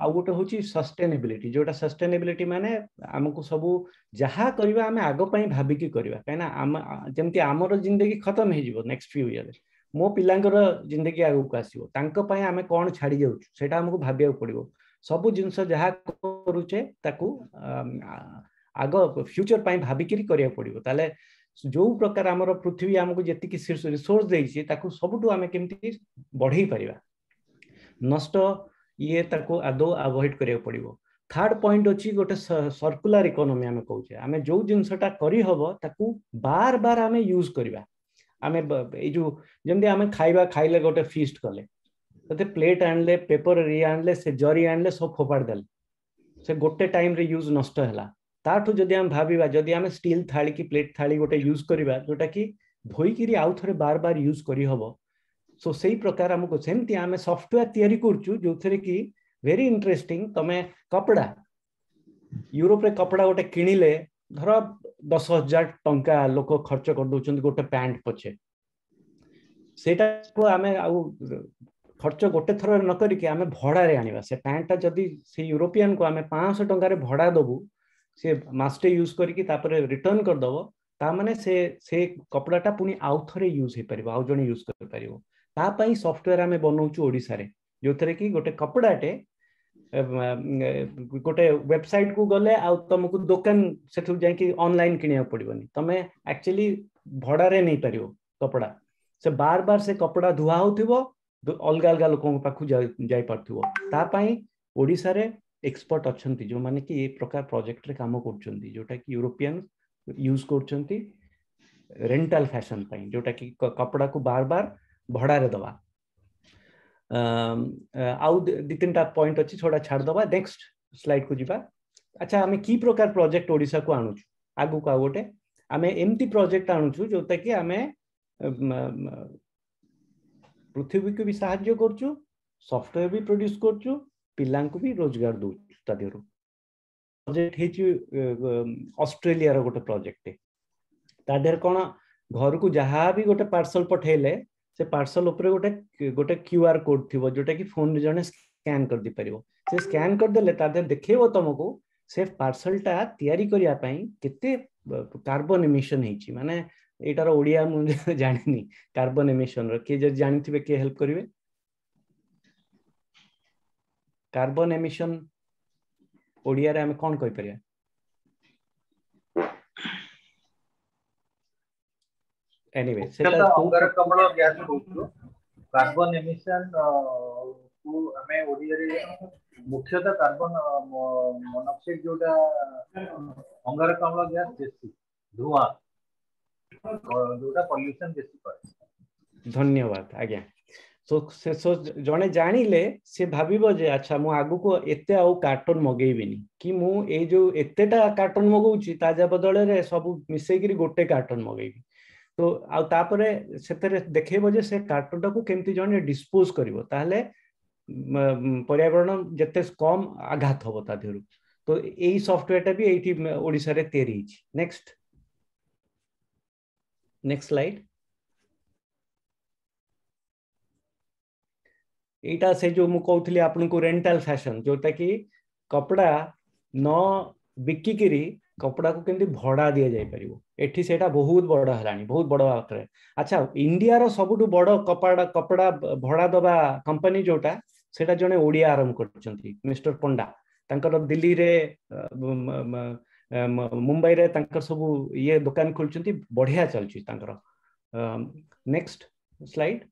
ଆଉ ଗୋଟେ ହଉଛି ସଷ୍ଟେନେବିଲିଟି, ଯୋଉଟା ସଷ୍ଟେନେବିଲିଟି ମାନେ ଆମକୁ ସବୁ ଯାହା କରିବା ଆମେ ଆଗ ପାଇଁ ଭାବିକି କରିବା, କାହିଁକିନା ଆମ ଯେମିତି ଆମର ଜିନ୍ଦଗି ଖତମ ହେଇଯିବ ନେକ୍ସଟ ଫ୍ୟୁ ଇୟର, ମୋ ପିଲାଙ୍କର ଜିନ୍ଦଗି ଆଗକୁ ଆସିବ, ତାଙ୍କ ପାଇଁ ଆମେ କଣ ଛାଡି ଯାଉଛୁ ସେଇଟା ଆମକୁ ଭାବିବାକୁ ପଡିବ। ସବୁ ଜିନିଷ ଯାହା କରୁଛେ ତାକୁ ଆଗ ଫ୍ୟୁଚର ପାଇଁ ଭାବିକିରି କରିବାକୁ ପଡିବ। ତାହେଲେ ଯୋଉ ପ୍ରକାର ଆମର ପୃଥିବୀ ଆମକୁ ଯେତିକି ରିସୋର୍ସ ଦେଇଛି ତାକୁ ସବୁଠୁ ଆମେ କେମିତି ବଢେଇ ପାରିବା, ନଷ୍ଟ ଇଏ ତାକୁ ଆଦୌ ଆଭଏଡ କରିବାକୁ ପଡିବ। ଥାର୍ଡ ପଏଣ୍ଟ ଅଛି ଗୋଟେ ସର୍କୁଲାର ଇକୋନୋମି ଆମେ କହୁଛେ, ଆମେ ଯୋଉ ଜିନିଷଟା କରିହବ ତାକୁ ବାର ବାର ଆମେ ୟୁଜ କରିବା। ଆମେ ଏଇ ଯୋଉ ଯେମିତି ଆମେ ଖାଇବା ଖାଇଲେ ଗୋଟେ ଫିଷ୍ଟ କଲେ, ତତେ ପ୍ଲେଟ ଆଣିଲେ, ପେପର ଇଏ ଆଣିଲେ, ସେ ଜରି ଆଣିଲେ, ସବୁ ଫୋପାଡ଼ି ଦେଲେ, ସେ ଗୋଟେ ଟାଇମ୍ରେ ୟୁଜ୍ ନଷ୍ଟ ହେଲା। ତାଠୁ ଯଦି ଆମେ ଭାବିବା, ଯଦି ଆମେ ଷ୍ଟିଲ୍ ଥାଳି କି ପ୍ଲେଟ୍ ଥାଳି ଗୋଟେ ୟୁଜ୍ କରିବା ଯୋଉଟା କି ଧୋଇକିରି ଆଉ ଥରେ ବାର ବାର ୟୁଜ୍ କରିହବ, ସୋ ସେଇ ପ୍ରକାର ଆମକୁ ସେମିତି ଆମେ ସଫ୍ଟୱେୟାର ତିଆରି କରୁଛୁ ଯୋଉଥିରେ କି ଭେରି ଇଣ୍ଟରେଷ୍ଟିଂ, ତମେ କପଡ଼ା ୟୁରୋପରେ କପଡ଼ା ଗୋଟେ କିଣିଲେ ଧର 10,000 ଟଙ୍କା ଲୋକ ଖର୍ଚ୍ଚ କରିଦଉଛନ୍ତି ଗୋଟେ ପ୍ୟାଣ୍ଟ ପଛେ, ସେଇଟାକୁ ଆମେ ଆଉ ଖର୍ଚ୍ଚ ଗୋଟେ ଥର ନ କରିକି ଆମେ ଭଡ଼ାରେ ଆଣିବା। ସେ ପ୍ୟାଣ୍ଟଟା ଯଦି ସେ ୟୁରୋପିଆନକୁ ଆମେ 500 ଟଙ୍କାରେ ଭଡ଼ା ଦବୁ, ସେ ମାସଟେ ୟୁଜ୍ କରିକି ତାପରେ ରିଟର୍ନ କରିଦବ, ତା ମାନେ ସେ କପଡ଼ାଟା ପୁଣି ଆଉ ଥରେ ୟୁଜ୍ ହେଇପାରିବ, ଆଉ ଜଣେ ୟୁଜ୍ କରିପାରିବ। ତା ପାଇଁ ସଫ୍ଟୱେୟାର ଆମେ ବନଉଛୁ ଓଡ଼ିଶାରେ, ଯୋଉଥିରେ କି ଗୋଟେ କପଡ଼ାଟେ ଗୋଟେ ୱେବସାଇଟ୍ କୁ ଗଲେ ଆଉ ତମକୁ ଦୋକାନ ସେଠୁ ଯାଇକି ଅନଲାଇନ କିଣିବାକୁ ପଡିବନି, ତମେ ଆକ୍ଚୁଆଲି ଭଡ଼ାରେ ନେଇପାରିବ କପଡ଼ା। ସେ ବାର ବାର ସେ କପଡ଼ା ଧୁଆ ହଉଥିବ, ଅଲଗା ଅଲଗା ଲୋକଙ୍କ ପାଖକୁ ଯାଇପାରୁଥିବ। ତା ପାଇଁ ଓଡ଼ିଶାରେ ଏକ୍ସପର୍ଟ ଅଛନ୍ତି ଯୋଉମାନେ କି ଏ ପ୍ରକାର ପ୍ରୋଜେକ୍ଟରେ କାମ କରୁଛନ୍ତି, ଯୋଉଟା କି ୟୁରୋପିଆନ ୟୁଜ୍ କରୁଛନ୍ତି ରେଣ୍ଟାଲ ଫ୍ୟାସନ ପାଇଁ, ଯୋଉଟା କି କପଡ଼ାକୁ ବାର ବାର ଭଡ଼ାରେ ଦବା। ଆଉ ଦି ତିନିଟା ପଏଣ୍ଟ ଅଛି, ଛୋଟା ଛାଡ଼ିଦବା, ନେକ୍ସଟ ସ୍ଲାଇଡ୍ କୁ ଯିବା। ଆଚ୍ଛା, ଆମେ କି ପ୍ରକାର ପ୍ରୋଜେକ୍ଟ ଓଡ଼ିଶାକୁ ଆଣୁଛୁ ଆଗକୁ? ଆଉ ଗୋଟେ ଆମେ ଏମିତି ପ୍ରୋଜେକ୍ଟ ଆଣୁଛୁ ଯୋଉଟା କି ଆମେ ପୃଥିବୀକୁ ବି ସାହାଯ୍ୟ କରୁଛୁ, ସଫ୍ଟୱେୟାର ବି ପ୍ରଡ୍ୟୁସ କରୁଛୁ, ପିଲାଙ୍କୁ ବି ରୋଜଗାର ଦଉଛୁ। ତା ଦେହରୁ ପ୍ରୋଜେକ୍ଟ ହେଇଛି ଅଷ୍ଟ୍ରେଲିଆର ଗୋଟେ ପ୍ରୋଜେକ୍ଟ। ତା ଦେହରେ କ'ଣ, ଘରକୁ ଯାହା ବି ଗୋଟେ ପାର୍ସଲ ପଠେଇଲେ ସେ ପାର୍ସଲ ଉପରେ ଗୋଟେ ଗୋଟେ କ୍ୟୁଆର କୋଡ୍ ଥିବ, ଯୋଉଟା କି ଫୋନରେ ଜଣେ ସ୍କାନ କରିଦେଇପାରିବ। ସେ ସ୍କାନ କରିଦେଲେ ତା ଦେହରେ ଦେଖେଇବ ତମକୁ ସେ ପାର୍ସଲଟା ତିଆରି କରିବା ପାଇଁ କେତେ କାର୍ବନ ଏମିସନ ହେଇଛି। ମାନେ ଏଇଟାର ଓଡ଼ିଆ ମୁଁ ଜାଣିନି, କାର୍ବନ ଏମିସନର କିଏ ଯଦି ଜାଣିଥିବେ କିଏ ହେଲ୍ପ କରିବେ? କାର୍ବନ ଏମିସନ ଓଡ଼ିଆରେ ଆମେ କ'ଣ କହିପାରିବା? ଏନିୱେ, ସେଟା ଅଙ୍ଗାରକାମ୍ଳ ଗ୍ୟାସ କହୁଛୁ। କାର୍ବନ ଏମିସନ କୁ ଆମେ ଓଡ଼ିଆରେ ମୁଖ୍ୟତଃ କାର୍ବନ ମନୋକ୍ସାଇଡ, ଯୋଉଟା ଅଙ୍ଗାରକାମ୍ଳ ଗ୍ୟାସ ବେଶୀ ଧୂଆଁ, ଯୋଉଟା ପଲ୍ୟୁସନ ବେଶୀ କରେ। ଧନ୍ୟବାଦ ଆଜ୍ଞା। ସେ ଜଣେ ଜାଣିଲେ ସେ ଭାବିବ ଯେ ଆଚ୍ଛା, ମୁଁ ଆଗକୁ ଏତେ ଆଉ କାର୍ଟୁନ ମଗେଇବିନି, କି ମୁଁ ଏଇ ଯୋଉ ଏତେଟା କାର୍ଟୁନ ମଗଉଛି ତା ଯା ବଦଳରେ ସବୁ ମିଶେଇକିରି ଗୋଟେ କାର୍ଟୁନ ମଗେଇବି। ତ ଆଉ ତାପରେ ସେଥିରେ ଦେଖେଇବ ଯେ ସେ କାର୍ଟୁନଟାକୁ କେମିତି ଜଣେ ଡିସ୍ପୋଜ କରିବ, ତାହେଲେ ପର୍ୟାବରଣ ଯେତେ କମ ଆଘାତ ହବ ତା ଦେହରୁ। ତ ଏଇ ସଫ୍ଟୱେୟାରଟା ବି ଏଇଠି ଓଡ଼ିଶାରେ ତିଆରି ହେଇଛି। Next next slide. ଏଇଟା ସେ ଯୋଉ ମୁଁ କହୁଥିଲି ଆପଣଙ୍କୁ ରେଣ୍ଟାଲ ଫ୍ୟାସନ, ଯୋଉଟା କି କପଡ଼ା ନ ବିକିକିରି କପଡ଼ାକୁ କେମିତି ଭଡ଼ା ଦିଆଯାଇପାରିବ। ଏଠି ସେଇଟା ବହୁତ ବଡ଼ ହେଲାଣି, ବହୁତ ବଡ଼ ମାତ୍ରାରେ। ଆଚ୍ଛା, ଇଣ୍ଡିଆର ସବୁଠୁ ବଡ଼ କପଡ଼ା କପଡ଼ା ଭଡ଼ା ଦବା କମ୍ପାନୀ ଯୋଉଟା, ସେଇଟା ଜଣେ ଓଡ଼ିଆ ଆରମ୍ଭ କରିଛନ୍ତି, ମିଷ୍ଟର ପଣ୍ଡା। ତାଙ୍କର ଦିଲ୍ଲୀରେ, ମୁମ୍ବାଇରେ ତାଙ୍କର ସବୁ ଇଏ ଦୋକାନ ଖୋଲିଛନ୍ତି, ବଢିଆ ଚାଲୁଛି ତାଙ୍କର। Next slide.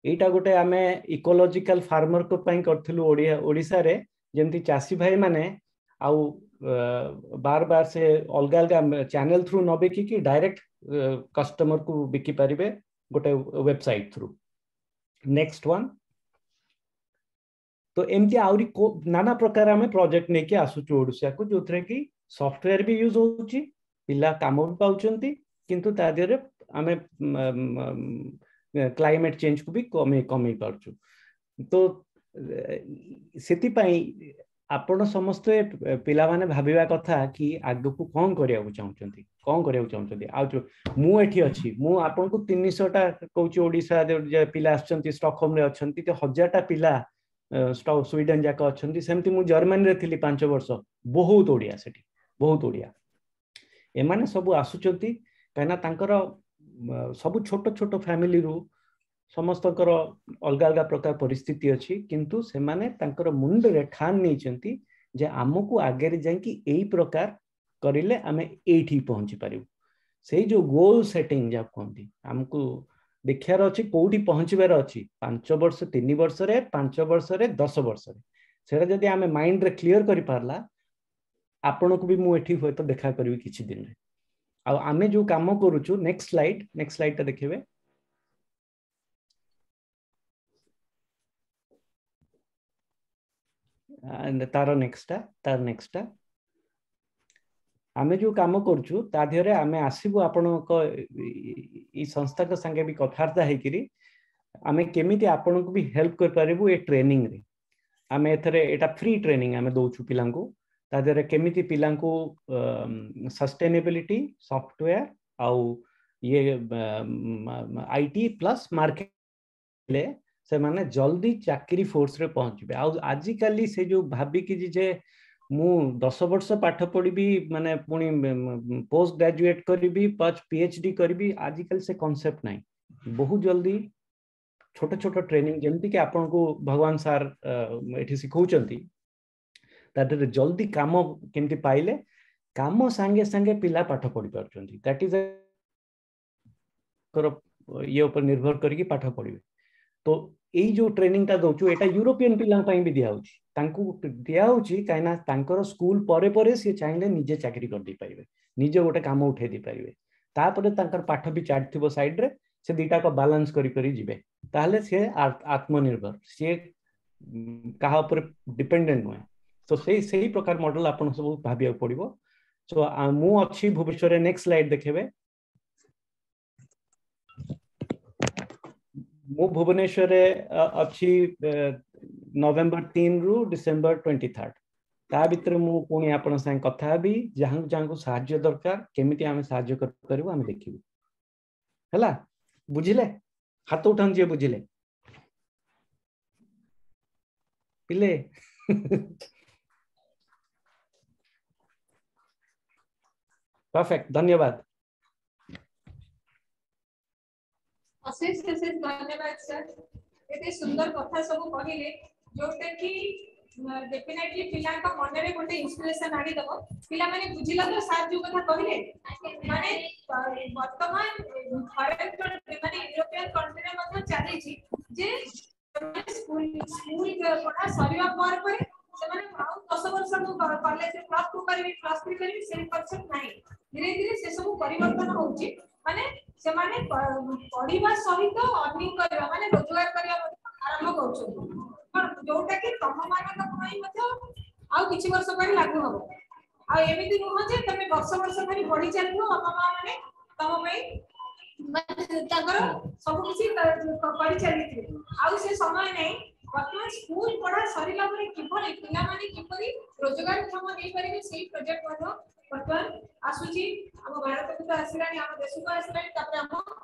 ଏଇଟା ଗୋଟେ ଆମେ ଇକୋଲୋଜିକାଲ ଫାର୍ମରଙ୍କ ପାଇଁ କରିଥିଲୁ ଓଡ଼ିଆ ଓଡ଼ିଶାରେ, ଯେମିତି ଚାଷୀ ଭାଇ ମାନେ ଆଉ ବାର ବାର ସେ ଅଲଗା ଅଲଗା ଚ୍ୟାନେଲ ଥ୍ରୁ ନ ବିକିକି ଡାଇରେକ୍ଟ କଷ୍ଟମରକୁ ବିକି ପାରିବେ ଗୋଟେ ୱେବସାଇଟ ଥ୍ରୁ। Next one. ତ ଏମିତି ଆହୁରି ନାନା ପ୍ରକାର ଆମେ ପ୍ରୋଜେକ୍ଟ ନେଇକି ଆସୁଛୁ ଓଡ଼ିଶାକୁ, ଯୋଉଥିରେ କି ସଫ୍ଟୱେୟାର ବି ୟୁଜ୍ ହଉଛି, ପିଲା କାମ ବି ପାଉଛନ୍ତି, କିନ୍ତୁ ତା ଦେହରେ ଆମେ କ୍ଲାଇମେଟ ଚେଞ୍ଜକୁ ବି କମେଇ କମେଇ ପାରୁଛୁ। ତ ସେଥିପାଇଁ ଆପଣ ସମସ୍ତେ ପିଲାମାନେ ଭାବିବା କଥା କି ଆଗକୁ କ'ଣ କରିବାକୁ ଚାହୁଁଛନ୍ତି, କ'ଣ କରିବାକୁ ଚାହୁଁଛନ୍ତି। ଆଉ ଯୋଉ ମୁଁ ଏଠି ଅଛି, ମୁଁ ଆପଣଙ୍କୁ 300ଟା କହୁଛି, ଓଡ଼ିଶା ପିଲା ଆସିଛନ୍ତି, ଷ୍ଟକହୋମରେ ଅଛନ୍ତି, 1000ଟା ପିଲା ସ୍ୱିଡେନ ଯାକ ଅଛନ୍ତି। ସେମିତି ମୁଁ ଜର୍ମାନୀରେ ଥିଲି 5 ବର୍ଷ, ବହୁତ ଓଡ଼ିଆ ସେଠି, ବହୁତ ଓଡ଼ିଆ। ଏମାନେ ସବୁ ଆସୁଛନ୍ତି କାହିଁକିନା ତାଙ୍କର ସବୁ ଛୋଟ ଛୋଟ ଫ୍ୟାମିଲିରୁ ସମସ୍ତଙ୍କର ଅଲଗା ଅଲଗା ପ୍ରକାର ପରିସ୍ଥିତି ଅଛି, କିନ୍ତୁ ସେମାନେ ତାଙ୍କର ମୁଣ୍ଡରେ ଠାନ ନେଇଛନ୍ତି ଯେ ଆମକୁ ଆଗରେ ଯାଇକି ଏଇ ପ୍ରକାର କରିଲେ ଆମେ ଏଇଠି ପହଞ୍ଚି ପାରିବୁ। ସେଇ ଯୋଉ ଗୋଲ ସେଟିଂ ଯାହା କୁହନ୍ତି, ଆମକୁ ଦେଖିବାର ଅଛି କୋଉଠି ପହଞ୍ଚିବାର ଅଛି 5 ବର୍ଷ, 3 ବର୍ଷରେ, 5 ବର୍ଷରେ, 10 ବର୍ଷରେ। ସେଇଟା ଯଦି ଆମେ ମାଇଣ୍ଡରେ କ୍ଲିୟର କରିପାରିଲା, ଆପଣଙ୍କୁ ବି ମୁଁ ଏଠି ହୁଏତ ଦେଖା କରିବି କିଛି ଦିନରେ। ଆଉ ଆମେ ଯୋଉ କାମ କରୁଛୁ, ନେକ୍ସଟ ସ୍ଲାଇଡ୍, ନେକ୍ସଟ ସ୍ଲାଇଡ୍ଟା ଦେଖିବେ। ତାର ନେକ୍ସଟଟା, ତାର ନେକ୍ସଟଟା। ଆମେ ଯୋଉ କାମ କରୁଛୁ ତା ଦେହରେ ଆମେ ଆସିବୁ ଆପଣଙ୍କ ଏଇ ସଂସ୍ଥାଙ୍କ ସାଙ୍ଗେ ବି କଥାବାର୍ତ୍ତା ହେଇକିରି ଆମେ କେମିତି ଆପଣଙ୍କୁ ବି ହେଲ୍ପ କରିପାରିବୁ ଏ ଟ୍ରେନିଂରେ। ଆମେ ଏଥିରେ ଏଇଟା ଫ୍ରି ଟ୍ରେନିଂ ଆମେ ଦଉଛୁ ପିଲାଙ୍କୁ। ତା ଦେହରେ କେମିତି ପିଲାଙ୍କୁ ସଷ୍ଟେନେବିଲିଟି, ସଫ୍ଟୱେୟାର ଆଉ ଇଏ IT plus market, ସେମାନେ ଜଲ୍ଦି ଚାକିରି ଫୋର୍ସରେ ପହଞ୍ଚିବେ। ଆଉ ଆଜିକାଲି ସେ ଯୋଉ ଭାବିକି ଯେ ମୁଁ 10 ବର୍ଷ ପାଠ ପଢିବି, ମାନେ ପୁଣି ପୋଷ୍ଟ ଗ୍ରାଜୁଏଟ କରିବି, PhD କରିବି, ଆଜିକାଲି ସେ କନସେପ୍ଟ ନାହିଁ। ବହୁତ ଜଲ୍ଦି ଛୋଟ ଛୋଟ ଟ୍ରେନିଂ ଯେମିତିକି ଆପଣଙ୍କୁ ଭଗବାନ ସାର୍ ଏଠି ଶିଖଉଛନ୍ତି, ତା ଦେହରେ ଜଲ୍ଦି କାମ କେମିତି ପାଇଲେ, କାମ ସାଙ୍ଗେ ସାଙ୍ଗେ ପିଲା ପାଠ ପଢି ପାରୁଛନ୍ତି। That is ଇଏ ଉପରେ ନିର୍ଭର କରିକି ପାଠ ପଢିବେ। ତ ଏଇ ଯୋଉ ଟ୍ରେନିଂଟା ଦଉଛୁ ଏଇଟା ୟୁରୋପିଆନ ପିଲାଙ୍କ ପାଇଁ ବି ଦିଆହଉଛି, ତାଙ୍କୁ ଦିଆହଉଛି କାହିଁକିନା ତାଙ୍କର ସ୍କୁଲ ପରେ ପରେ ସିଏ ଚାହିଁଲେ ନିଜେ ଚାକିରି କରିଦେଇ ପାରିବେ, ନିଜେ ଗୋଟେ କାମ ଉଠେଇ ଦେଇପାରିବେ। ତାପରେ ତାଙ୍କର ପାଠ ବି ଚାଲିଥିବ ସାଇଡରେ, ସେ ଦିଟାକ ବାଲାନ୍ସ କରି କରି ଯିବେ। ତାହେଲେ ସିଏ ଆତ୍ମନିର୍ଭର, ସିଏ କାହା ଉପରେ ଡିପେଣ୍ଡେଣ୍ଟ ନୁହେଁ। ତ ସେଇ ସେଇ ପ୍ରକାର ମଡେଲ ଆପଣ ସବୁ ଭାବିବାକୁ ପଡିବ। ସୋ ମୁଁ ଅଛି ଭୁବନେଶ୍ୱରରେ, ନେକ୍ସଟ ସ୍ଲାଇଡ ଦେଖେଇବେ। ମୁଁ ଭୁବନେଶ୍ୱରରେ ଅଛି ନଭେମ୍ବର 3ରୁ ଡିସେମ୍ବର 23। ତା ଭିତରେ ମୁଁ ପୁଣି ଆପଣଙ୍କ ସାଙ୍ଗେ କଥା ହେବି। ଯାହାଙ୍କୁ ଯାହାଙ୍କୁ ସାହାଯ୍ୟ ଦରକାର, କେମିତି ଆମେ ସାହାଯ୍ୟ କରିପାରିବୁ ଆମେ ଦେଖିବୁ। ହେଲା, ବୁଝିଲେ? ହାତ ଉଠାନ୍ତୁ ଯିଏ ବୁଝିଲେ। ପିଲେ ପରଫେକ୍ଟ, ଧନ୍ୟବାଦ। ଅଶେଷ ଅଶେଷ ଧନ୍ୟବାଦ ସାର୍, ଏତେ ସୁନ୍ଦର କଥା ସବୁ କହିଲେ ଯୋଉଟା କି ଡେଫିନେଟଲି ପିଲାଙ୍କ ମନରେ ଗୋଟେ ଇନ୍ସପିରେସନ ଆଣିଦବ। ପିଲାମାନେ ବୁଝିଲ ତ ସାର୍ ଯୋଉ କଥା କହିଲେ? ମାନେ ବର୍ତ୍ତମାନ ଫରେନ୍ କଣ୍ଟ୍ରି ମାନେ ୟୁରୋପିଆନ କଣ୍ଟ୍ରିରେ ମଧ୍ୟ ଚାଲିଛି ଯେ ସ୍କୁଲ ପଢା ସରିବା ପରେ ପରେ ସେମାନେ ଆଉ 10 ବର୍ଷ ମୁଁ କଲେଜରେ +2 କରିବି, +3 କରିବି, ସେ କନସେପ୍ଟ ନାହିଁ। ଧୀରେ ଧୀରେ ସେ ସବୁ ପରିବର୍ତ୍ତନ ହଉଛି। ମାନେ ସେମାନେ ପଢିବା ସହିତ ଅର୍ନିଂ କରିବା ମାନେ ରୋଜଗାର କରିବା ମଧ୍ୟ ଆରମ୍ଭ କରୁଛନ୍ତି, କଣ ଯୋଉଟା କି ତମ ମାନଙ୍କ ପାଇଁ ମଧ୍ୟ ଆଉ କିଛି ବର୍ଷ ପରେ ଲାଗୁ ହବ। ଆଉ ଏମିତି ନୁହଁ ଯେ ତମେ ବର୍ଷ ବର୍ଷ ଧରି ପଢି ଚାଲିଥିବ, ବାପା ମା ମାନେ ତମ ପାଇଁ ତାଙ୍କର ସବୁ କିଛି କରି ଚାଲିଥିବେ, ଆଉ ସେ ସମୟ ନାହିଁ। ବର୍ତ୍ତମାନ ସ୍କୁଲ ପଢା ସରିଲା ପରେ କିଭଳି ପିଲାମାନେ କିପରି ରୋଜଗାରକ୍ଷମ ହେଇପାରିବେ ସେଇ ପ୍ରୋଜେକ୍ଟ ମଧ୍ୟ ବର୍ତ୍ତମାନ ଆସୁଛି। ଆମ ଭାରତକୁ ତ ଆସିଲାଣି, ଆମ ଦେଶକୁ ଆସିଲାଣି, ତାପରେ ଆମ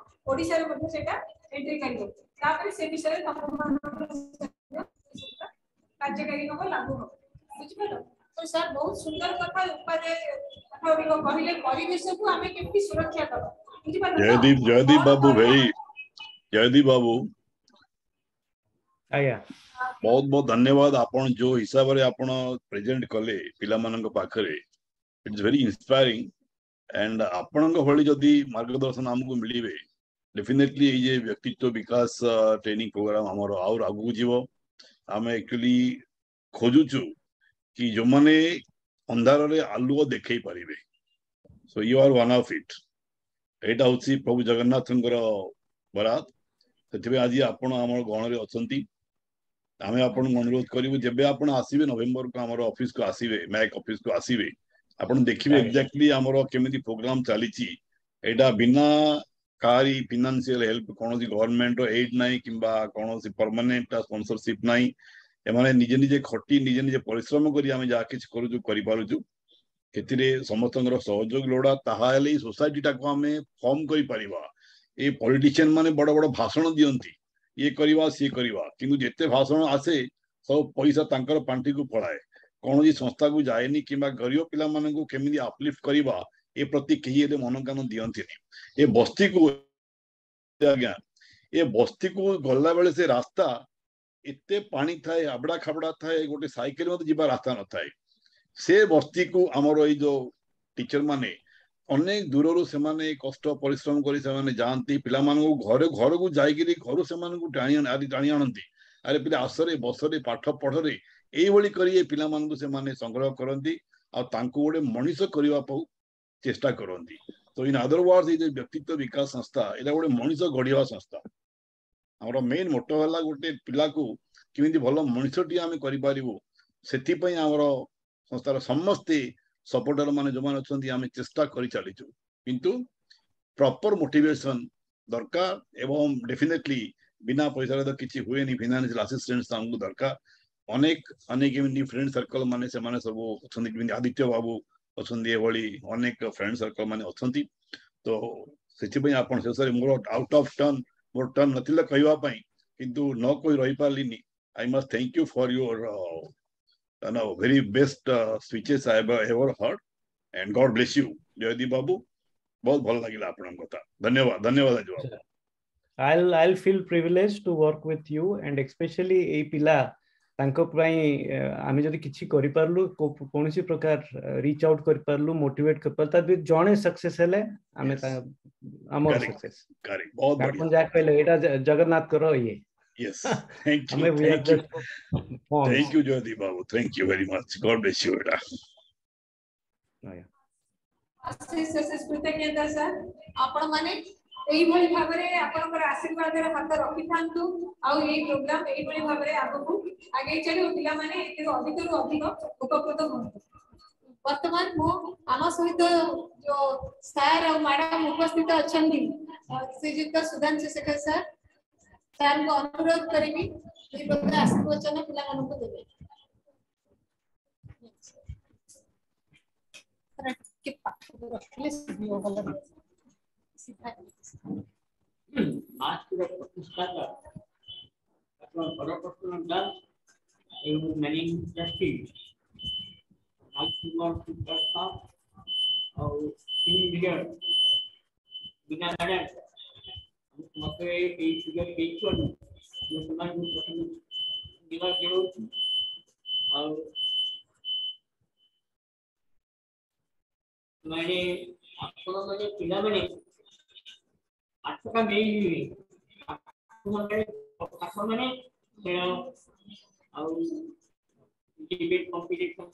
ଓଡିଶାରେ ମଧ୍ୟ ସେଇଟା ଏଣ୍ଟ୍ରି କରିବ। ତାପରେ ସେ ବିଷୟରେ କାର୍ଯ୍ୟକାରୀ ହବ, ଲାଗୁ ହବ। ବୁଝିପାରିଲ ତ ସାର୍? ବହୁତ ସୁନ୍ଦର କଥା, ଉପାଦେୟ କଥା ଗୁଡିକ କହିଲେ, ପରିବେଶକୁ ଆମେ କେମିତି ସୁରକ୍ଷା ଦବା। ବୁଝିପାରିଲ? ଜୟଦୀପ, ଜୟଦୀପ ବାବୁ, ଭେରି ଜୟଦୀପ ବାବୁ ଆଜ୍ଞା, ବହୁତ ବହୁତ ଧନ୍ୟବାଦ। ଆପଣ ଯୋଉ ହିସାବରେ ଆପଣ ପ୍ରେଜେଣ୍ଟ କଲେ ପିଲାମାନଙ୍କ ପାଖରେ, it's very ଇନ୍ସପାୟାରିଂ। ଆଣ୍ଡ ଆପଣଙ୍କ ଭଳି ଯଦି ମାର୍ଗଦର୍ଶନ ଆମକୁ ମିଳିବେ, ଡେଫିନେଟଲି ଏଇ ଯେ ବ୍ୟକ୍ତିତ୍ୱ ବିକାଶ ଟ୍ରେନିଂ ପ୍ରୋଗ୍ରାମ ଆମର ଆଉ ଆଗକୁ ଯିବ। ଆମେ ଆକ୍ଚୁଆଲି ଖୋଜୁଛୁ କି ଯୋଉମାନେ ଅନ୍ଧାରରେ ଆଲୁଅ ଦେଖେଇ ପାରିବେ। So you are one of it. ଏଇଟା ହଉଛି ପ୍ରଭୁ ଜଗନ୍ନାଥଙ୍କର ବରାଦ। ସେଥିପାଇଁ ଆଜି ଆପଣ ଆମର ଗଣରେ ଅଛନ୍ତି। ଆମେ ଆପଣଙ୍କୁ ଅନୁରୋଧ କରିବୁ, ଯେବେ ଆପଣ ଆସିବେ ନଭେମ୍ବରକୁ ଆମର ଅଫିସକୁ ଆସିବେ, ମ୍ୟାକ୍ ଅଫିସକୁ ଆସିବେ, ଆପଣ ଦେଖିବେ ଏକ୍ଜାକ୍ଟଲି ଆମର କେମିତି ପ୍ରୋଗ୍ରାମ ଚାଲିଛି। ଏଇଟା ବିନା କାହାରି ଫିନାନ୍ସିଆଲ ହେଲ୍ପ, କୌଣସି ଗଭର୍ଣ୍ଣମେଣ୍ଟର ଏଇଡ୍ ନାହିଁ କିମ୍ବା କୌଣସି ପରମାନେଣ୍ଟ ସ୍ପନ୍ସରସିପ ନାହିଁ। ଏମାନେ ନିଜେ ନିଜେ ଖଟି, ନିଜେ ନିଜେ ପରିଶ୍ରମ କରି ଆମେ ଯାହା କିଛି କରୁଛୁ କରିପାରୁଛୁ। ସେଥିରେ ସମସ୍ତଙ୍କର ସହଯୋଗ ଲୋଡା, ତାହାହେଲେ ଏଇ ସୋସାଇଟିଟାକୁ ଆମେ ଫର୍ମ କରିପାରିବା। ଏ ପଲିଟିସିଆନ ମାନେ ବଡ ବଡ ଭାଷଣ ଦିଅନ୍ତି, ଇଏ କରିବା ସିଏ କରିବା, କିନ୍ତୁ ଯେତେ ଭାଷଣ ଆସେ ସବୁ ପଇସା ତାଙ୍କର ପାଣ୍ଠିକୁ ପଳାଏ, କୌଣସି ସଂସ୍ଥାକୁ ଯାଏନି। କିମ୍ବା ଗରିବ ପିଲାମାନଙ୍କୁ କେମିତି ଅପଲିଫ୍ଟ କରିବା ଏ ପ୍ରତି କେହି ଏତେ ମନ କାନ ଦିଅନ୍ତିନି। ଏ ବସ୍ତିକୁ ଆଜ୍ଞା, ଏ ବସ୍ତିକୁ ଗଲାବେଳେ ସେ ରାସ୍ତା ଏତେ ପାଣି ଥାଏ, ଆବଡା ଖାବଡା ଥାଏ, ଗୋଟେ ସାଇକେଲ ମଧ୍ୟ ଯିବା ରାସ୍ତା ନଥାଏ। ସେ ବସ୍ତିକୁ ଆମର ଏଇ ଯୋଉ ଟିଚର ମାନେ ଅନେକ ଦୂରରୁ ସେମାନେ କଷ୍ଟ ପରିଶ୍ରମ କରି ସେମାନେ ଯାଆନ୍ତି, ପିଲାମାନଙ୍କୁ ଘରେ ଘରକୁ ଯାଇକିରି ଘରୁ ସେମାନଙ୍କୁ ଟାଣି ଟାଣି ଆଣନ୍ତି। ଆରେ ପିଲା ଆସରେ, ବସରେ, ପାଠ ପଢରେ, ଏଇଭଳି କରି ଏ ପିଲାମାନଙ୍କୁ ସେମାନେ ସଂଗ୍ରହ କରନ୍ତି ଆଉ ତାଙ୍କୁ ଗୋଟେ ମଣିଷ କରିବା ଚେଷ୍ଟା କରନ୍ତି। ତ ଇନ୍ ଅଦର ୱାର୍ଡ, ଏଇ ଯୋଉ ବ୍ୟକ୍ତିତ୍ୱ ବିକାଶ ସଂସ୍ଥା, ଏଇଟା ଗୋଟେ ମଣିଷ ଗଢିବା ସଂସ୍ଥା। ଆମର ମେନ୍ ମୋଟୋ ହେଲା ଗୋଟେ ପିଲାକୁ କେମିତି ଭଲ ମଣିଷଟିଏ ଆମେ କରିପାରିବୁ। ସେଥିପାଇଁ ଆମର ସଂସ୍ଥାର ସମସ୍ତେ ସପୋର୍ଟର ମାନେ ଯେଉଁମାନେ ଅଛନ୍ତି ଆମେ ଚେଷ୍ଟା କରି ଚାଲିଛୁ, କିନ୍ତୁ ପ୍ରପର ମୋଟିଭେସନ ଦରକାର ଏବଂ ଡେଫିନେଟଲି ବିନା ପଇସାରେ ତ କିଛି ହୁଏନି। ଫିନାନ୍ସିଆଲ ଆସିଷ୍ଟାନ୍ସ ଆମକୁ ଦରକାର। ଅନେକ ଅନେକ ଏମିତି ଫ୍ରେଣ୍ଡ ସର୍କଲ ମାନେ ସେମାନେ ସବୁ ଅଛନ୍ତି, ଯେମିତି ଆଦିତ୍ୟ ବାବୁ ଅଛନ୍ତି, ଏଭଳି ଅନେକ ଫ୍ରେଣ୍ଡ ସର୍କଲ ମାନେ ଅଛନ୍ତି। ତ ସେଥିପାଇଁ ଆପଣ ଶେଷରେ ମୋର ଆଉଟ ଅଫ ଟର୍ନ, ମୋର ଟର୍ନ ନଥିଲା କହିବା ପାଇଁ, କିନ୍ତୁ ନ କହି ରହିପାରିଲିନି। I must thank you for your very best speeches I have ever heard, and God bless you, Jaydeep babu. ବହୁତ ଭଲ ଲାଗିଲା ଆପଣଙ୍କ କଥା। ଧନ୍ୟବାଦ, ଧନ୍ୟବାଦ ବାବୁ। I'll feel privileged to work with you, and especially ଏଇ ପିଲା ତାଙ୍କ ପାଇଁ ଆମେ ଯଦି କିଛି କରିପାରିଲୁ, କୌଣସି ପ୍ରକାର ରିଚ୍ ଆଉଟ୍ କରିପାରିଲୁ, ମୋଟିଭେଟ୍ କରିପାରିଲୁ, ତା ଜଣେ ସକ୍ସେସ୍ ହେଲେ ଆମେ ଆମର ସକ୍ସେସ୍। ଆପଣ ଯାହା କହିଲେ ଏଇଟା ଜଗନ୍ନାଥଙ୍କର ଇଏ। Yes, thank you, thank you, thank you, Jaydeep Babu. Thank you very much. God bless you, beta. ଅଶେଷ ଅଶେଷ କୃତଜ୍ଞତା ସାର୍। ଆପଣ ମାନେ ଏଇଭଳି ଭାବରେ ଆପଣଙ୍କର ଆଶୀର୍ବାଦର ହାତ ରଖିଥାନ୍ତୁ ଆଉ ଏଇ ପ୍ରୋଗ୍ରାମ ଏଇଭଳି ଭାବରେ ଆଗକୁ ଆଗେଇ ଚାଲିବ, ପିଲାମାନେ ଏଥିରୁ ଅଧିକରୁ ଅଧିକ ଉପକୃତ ହୁଅନ୍ତୁ। ବର୍ତ୍ତମାନ ମୁଁ ଆମ ସହିତ ଯୋଉ ସାର୍ ଆଉ ମ୍ୟାଡାମ ଉପସ୍ଥିତ ଅଛନ୍ତି, ଶ୍ରୀଯୁକ୍ତ ସୁଧାଂଶୁ ଶେଖର ସାର୍, ସାର୍ଙ୍କୁ ଅନୁରୋଧ କରିବି ଦୁଇ ପଦ ଆଶୀର୍ବଚନ ପିଲାମାନଙ୍କୁ ଦେବେ। ଟିକେ ପାଖକୁ ରଖିଲେ ଶୁଭିବ ଭଲ। ସିଧା ମାସ୍କର ପ୍ରତିଷ୍ଠାତା ଡକ୍ଟର ହରକୃଷ୍ଣ ଦାସ ଏବଂ ମ୍ୟାନେଜିଂ ଟ୍ରଷ୍ଟି ରାଜକୁମାର ଦାସ ଆଉ ଟିମ୍ ଲିଡର ବିନା ମ୍ୟାଡାମ ମତେ ଏଇ ସୁଯୋଗ ଦେଇଥିବାରୁ ମୁଁ ସେମାନଙ୍କୁ ପ୍ରଥମେ ଧନ୍ୟବାଦ ଜଣାଉଛି। ଆଉ ମାନେ ଆପଣମାନେ ପିଲାମାନେ ପାଠଟା ମେନ୍ ନୁହେଁ, ପାଠ ମାନେ ଖେଳ ଆଉ ଡିବେଟ୍ କମ୍ପିଟିସନ।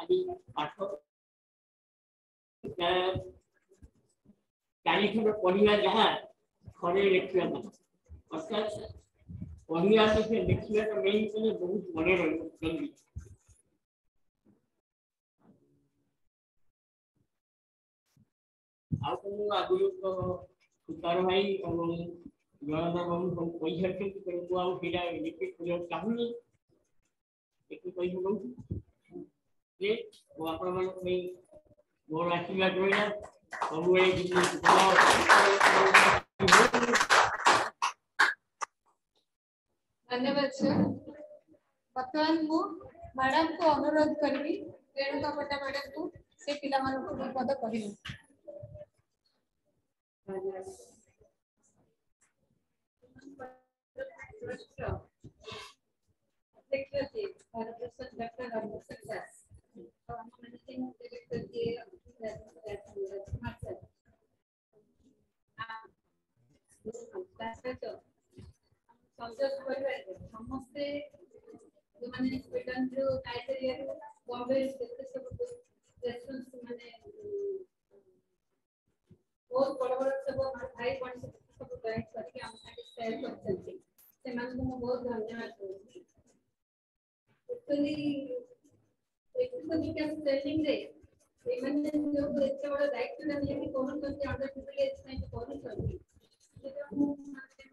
ଆଜି ପାଠ 4 ଥର ପଢିବା ଯାହା, ଥରେ ଲେଖିବା ତାହା। ଅର୍ଥାତ୍ ପଢିବା ଅପେକ୍ଷା ଲେଖିବାଟା ମେନ୍ କଲେ ବହୁତ ମନେ ରହିବ ଜଲ୍ଦି। ଆଉ ତ ମୁଁ ଆଗରୁ ତ ସୁତାର ଭାଇ ଏବଂ ଜଳନ୍ଧର ବାବୁ ସବୁ କହିସାରିଛନ୍ତି, ତେଣୁ ମୁଁ ଆଉ ସେଇଟା ରିପିଟ୍ କରିବାକୁ ଚାହୁଁନି। ଏତିକି କହି ପକାଉଛି ଯେ ମୁଁ ଆପଣମାନଙ୍କ ପାଇଁ ମୋର ଆଶୀର୍ବାଦ ରହିଲା ସବୁବେଳେ। ଧନ୍ୟବାଦ ସାର୍। ବର୍ତ୍ତମାନ ମୁଁ ମ୍ୟାଡାମକୁ ଅନୁରୋଧ କରିବି, ରେଣୁକା ପଣ୍ଡା ମ୍ୟାଡାମକୁ, ସେ ପିଲାମାନଙ୍କୁ ଦୁଇ ପଦ କହିବେ। ଅଧ୍ୟକ୍ଷ ଡକ୍ଟର ହରପ୍ରସାଦ ଦାସ ଆଉ ଆମ ମ୍ୟାନେଜିଂ ଡିରେକ୍ଟର ଯିଏ ରାଜକୁମାର ସାର୍, ତା ସହିତ ସଂଯୋଗ ପରିବାରରେ ସମସ୍ତେ ଯେଉଁମାନେ ସ୍ୱିଡେନରୁ, ନାଇଜେରିଆରୁ, ବମ୍ବେରୁ ଯେତେ ସବୁ ରେସ୍ପନ୍ସ ମାନେ ବହୁତ ବଡ଼ ବଡ଼ ସବୁ ଆମର ଭାଇ ଭଉଣୀ ସବୁ ଜଏନ୍ କରିକି ଆମ ସାଙ୍ଗେ ସେୟାର କରିଛନ୍ତି, ସେମାନଙ୍କୁ ମୁଁ ବହୁତ ଧନ୍ୟବାଦ ଦଉଛି। ଆକ୍ଚୁଆଲି ବ୍ୟକ୍ତିତ୍ୱ ବିକାଶ ଟ୍ରେନିଂରେ ଏମାନେ ଯୋଉ ଏତେ ବଡ଼ ଦାୟିତ୍ୱଟା ନେଇକି କରୁଛନ୍ତି, ଅଣ୍ଡର ପ୍ରିଭିଲେଜ ପାଇଁ କରୁଛନ୍ତି, ସେଟା ମୁଁ ମାନେ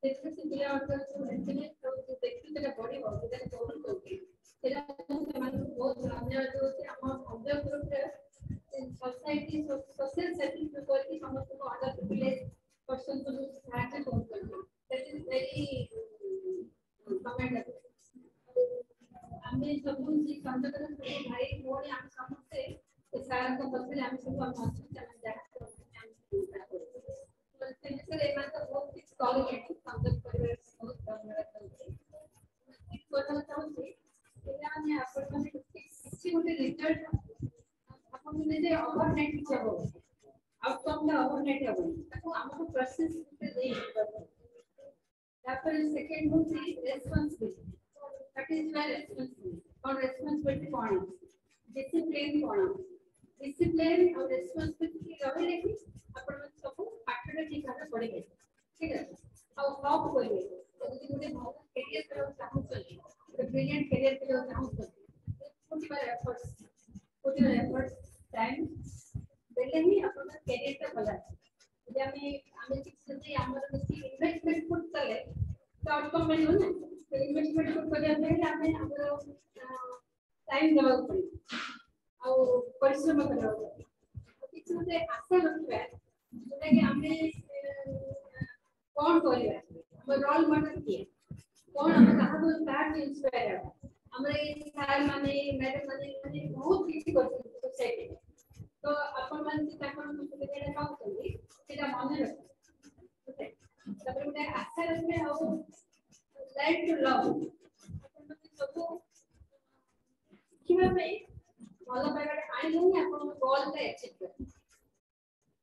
ଯେତେ ସେ ପିଲାମାନଙ୍କର ସବୁ ହ୍ୟାପିନେସ୍ ଆଉ ଯୋଉ ବ୍ୟକ୍ତିତ୍ୱଟା ବଢିବ ସେଟା କରୁଛନ୍ତି, ସେଟା ମୁଁ ସେମାନଙ୍କୁ ବହୁତ ଧନ୍ୟବାଦ ଦଉଛି। ଆମ ସଂଯୋଗ ଗ୍ରୁପରେ ସୋସାଇଟି ସୋସିଆଲ ସର୍ଭିସ କରିକି ସମସ୍ତଙ୍କୁ ଅଣ୍ଡର ପ୍ରିଭିଲେଜ ପର୍ସନ ସବୁ ସାହାଯ୍ୟ କରୁଛନ୍ତି, that is very commendable. ଆମେ ସବୁ ସେ ସଂଯୋଗର ସବୁ ଭାଇ ଭଉଣୀ ଆମେ ସମସ୍ତେ ସେ ସାରଙ୍କ ପଛରେ ଆମେ ସବୁ ଆମେ ଅଛୁ। ସେମାନେ ଯାହା କରୁଛନ୍ତି ଆମେ ସବୁ ତାହା କରୁଛୁ। ସେ ବିଷୟରେ ଏମାନେ ତ ବହୁତ କିଛି କହିଲେଣି। ସଂଯୋଗ ପରିବାର ବହୁତ ଧନ୍ୟବାଦ ଦଉଛି। କହିବାକୁ ଚାହୁଁଛି ପିଲାମାନେ, ଆପଣମାନେ କିଛି ଗୋଟେ ରେଜଲ୍ଟ ଆପଣଙ୍କୁ ନିଜେ ଓଭରନାଇଟ୍ କିଛି ହବ, ଆଉଟକମ୍ଟା ଓଭରନାଇଟ୍ ହବନି, ତାକୁ ଆମକୁ ପ୍ରୋସେସ ଦେଇ ଯିବାକୁ। ତାପରେ ସେକେଣ୍ଡ ହଉଛି responsibility. What is my responsibility? କଣ ରେସ୍ପନ୍ସିବିଲିଟି, କଣ ଡିସିପ୍ଲିନ, କଣ ଡିସିପ୍ଲିନ ଆଉ ରେସ୍ପନ୍ସିବିଲିଟି ରହିଲେ ହିଁ ଆପଣମାନେ ସବୁ ପାଠଟା ଠିକ ଭାବରେ ପଢିବେ। ଠିକ ଅଛି, ଆଉ ହକ୍ କରିବେ। ଯଦି ଗୋଟେ ଭଲ କ୍ୟାରିୟର କରିବାକୁ ଚାହୁଁଛନ୍ତି, ଗୋଟେ ବ୍ରିଲିଆଣ୍ଟ କ୍ୟାରିୟର କରିବାକୁ ଚାହୁଁଛନ୍ତି, put your efforts, time ଦେଲେ ହିଁ ଆପଣଙ୍କ କ୍ୟାରିୟରଟା ଭଲ ଆସିବ। ଯଦି ଆମେ ଯଦି ଆମର କିଛି ଇନଭେଷ୍ଟମେଣ୍ଟ ପୁଟ୍ କଲେ ତ ଆଉଟକମ୍ ମିଳିବ ନା। ତ ଇନଭେଷ୍ଟମେଣ୍ଟ ପୁଟ୍ କରିବା ପାଇଁ ହେଲେ ଆମେ ଆମର ଟାଇମ୍ ଦେବାକୁ ପଡିବ ଆଉ ପରିଶ୍ରମ କରିବାକୁ ପଡିବ। କିଛି ଗୋଟେ ଆଶା ରଖିବା, ଯୋଉଟାକି ଆମେ କଣ କରିବା, ଆମ ରୋଲ ମଡେଲ କିଏ, କଣ ଆମେ କାହାକୁ କାହାଠୁ ଇନ୍ସପାୟାର ହେବା। ଆମର ଏଇ ସାର୍ ମାନେ, ମ୍ୟାଡାମ ମାନେ ମାନେ ବହୁତ କିଛି କରିଛନ୍ତି ସୋସାଇଟିରେ। ତ ଆପଣମାନେ ଯେ ତାଙ୍କର ସୁବିଧାଟା ପାଉଛନ୍ତି ସେଇଟା ମନେ ରଖିବେ। ତାପରେ ଗୋଟେ ଆଶା ରଖିବେ ଆଉ ଲାଇଫ୍ ଟୁ ଲଭ୍, ଆପଣମାନେ ସବୁ ଶିଖିବା ପାଇଁ ଭଲ ପାଇବାଟା ଆଣିଲେ ହିଁ ଆପଣଙ୍କ ଗୋଲଟା ଆଚିଭ୍ କରିବେ।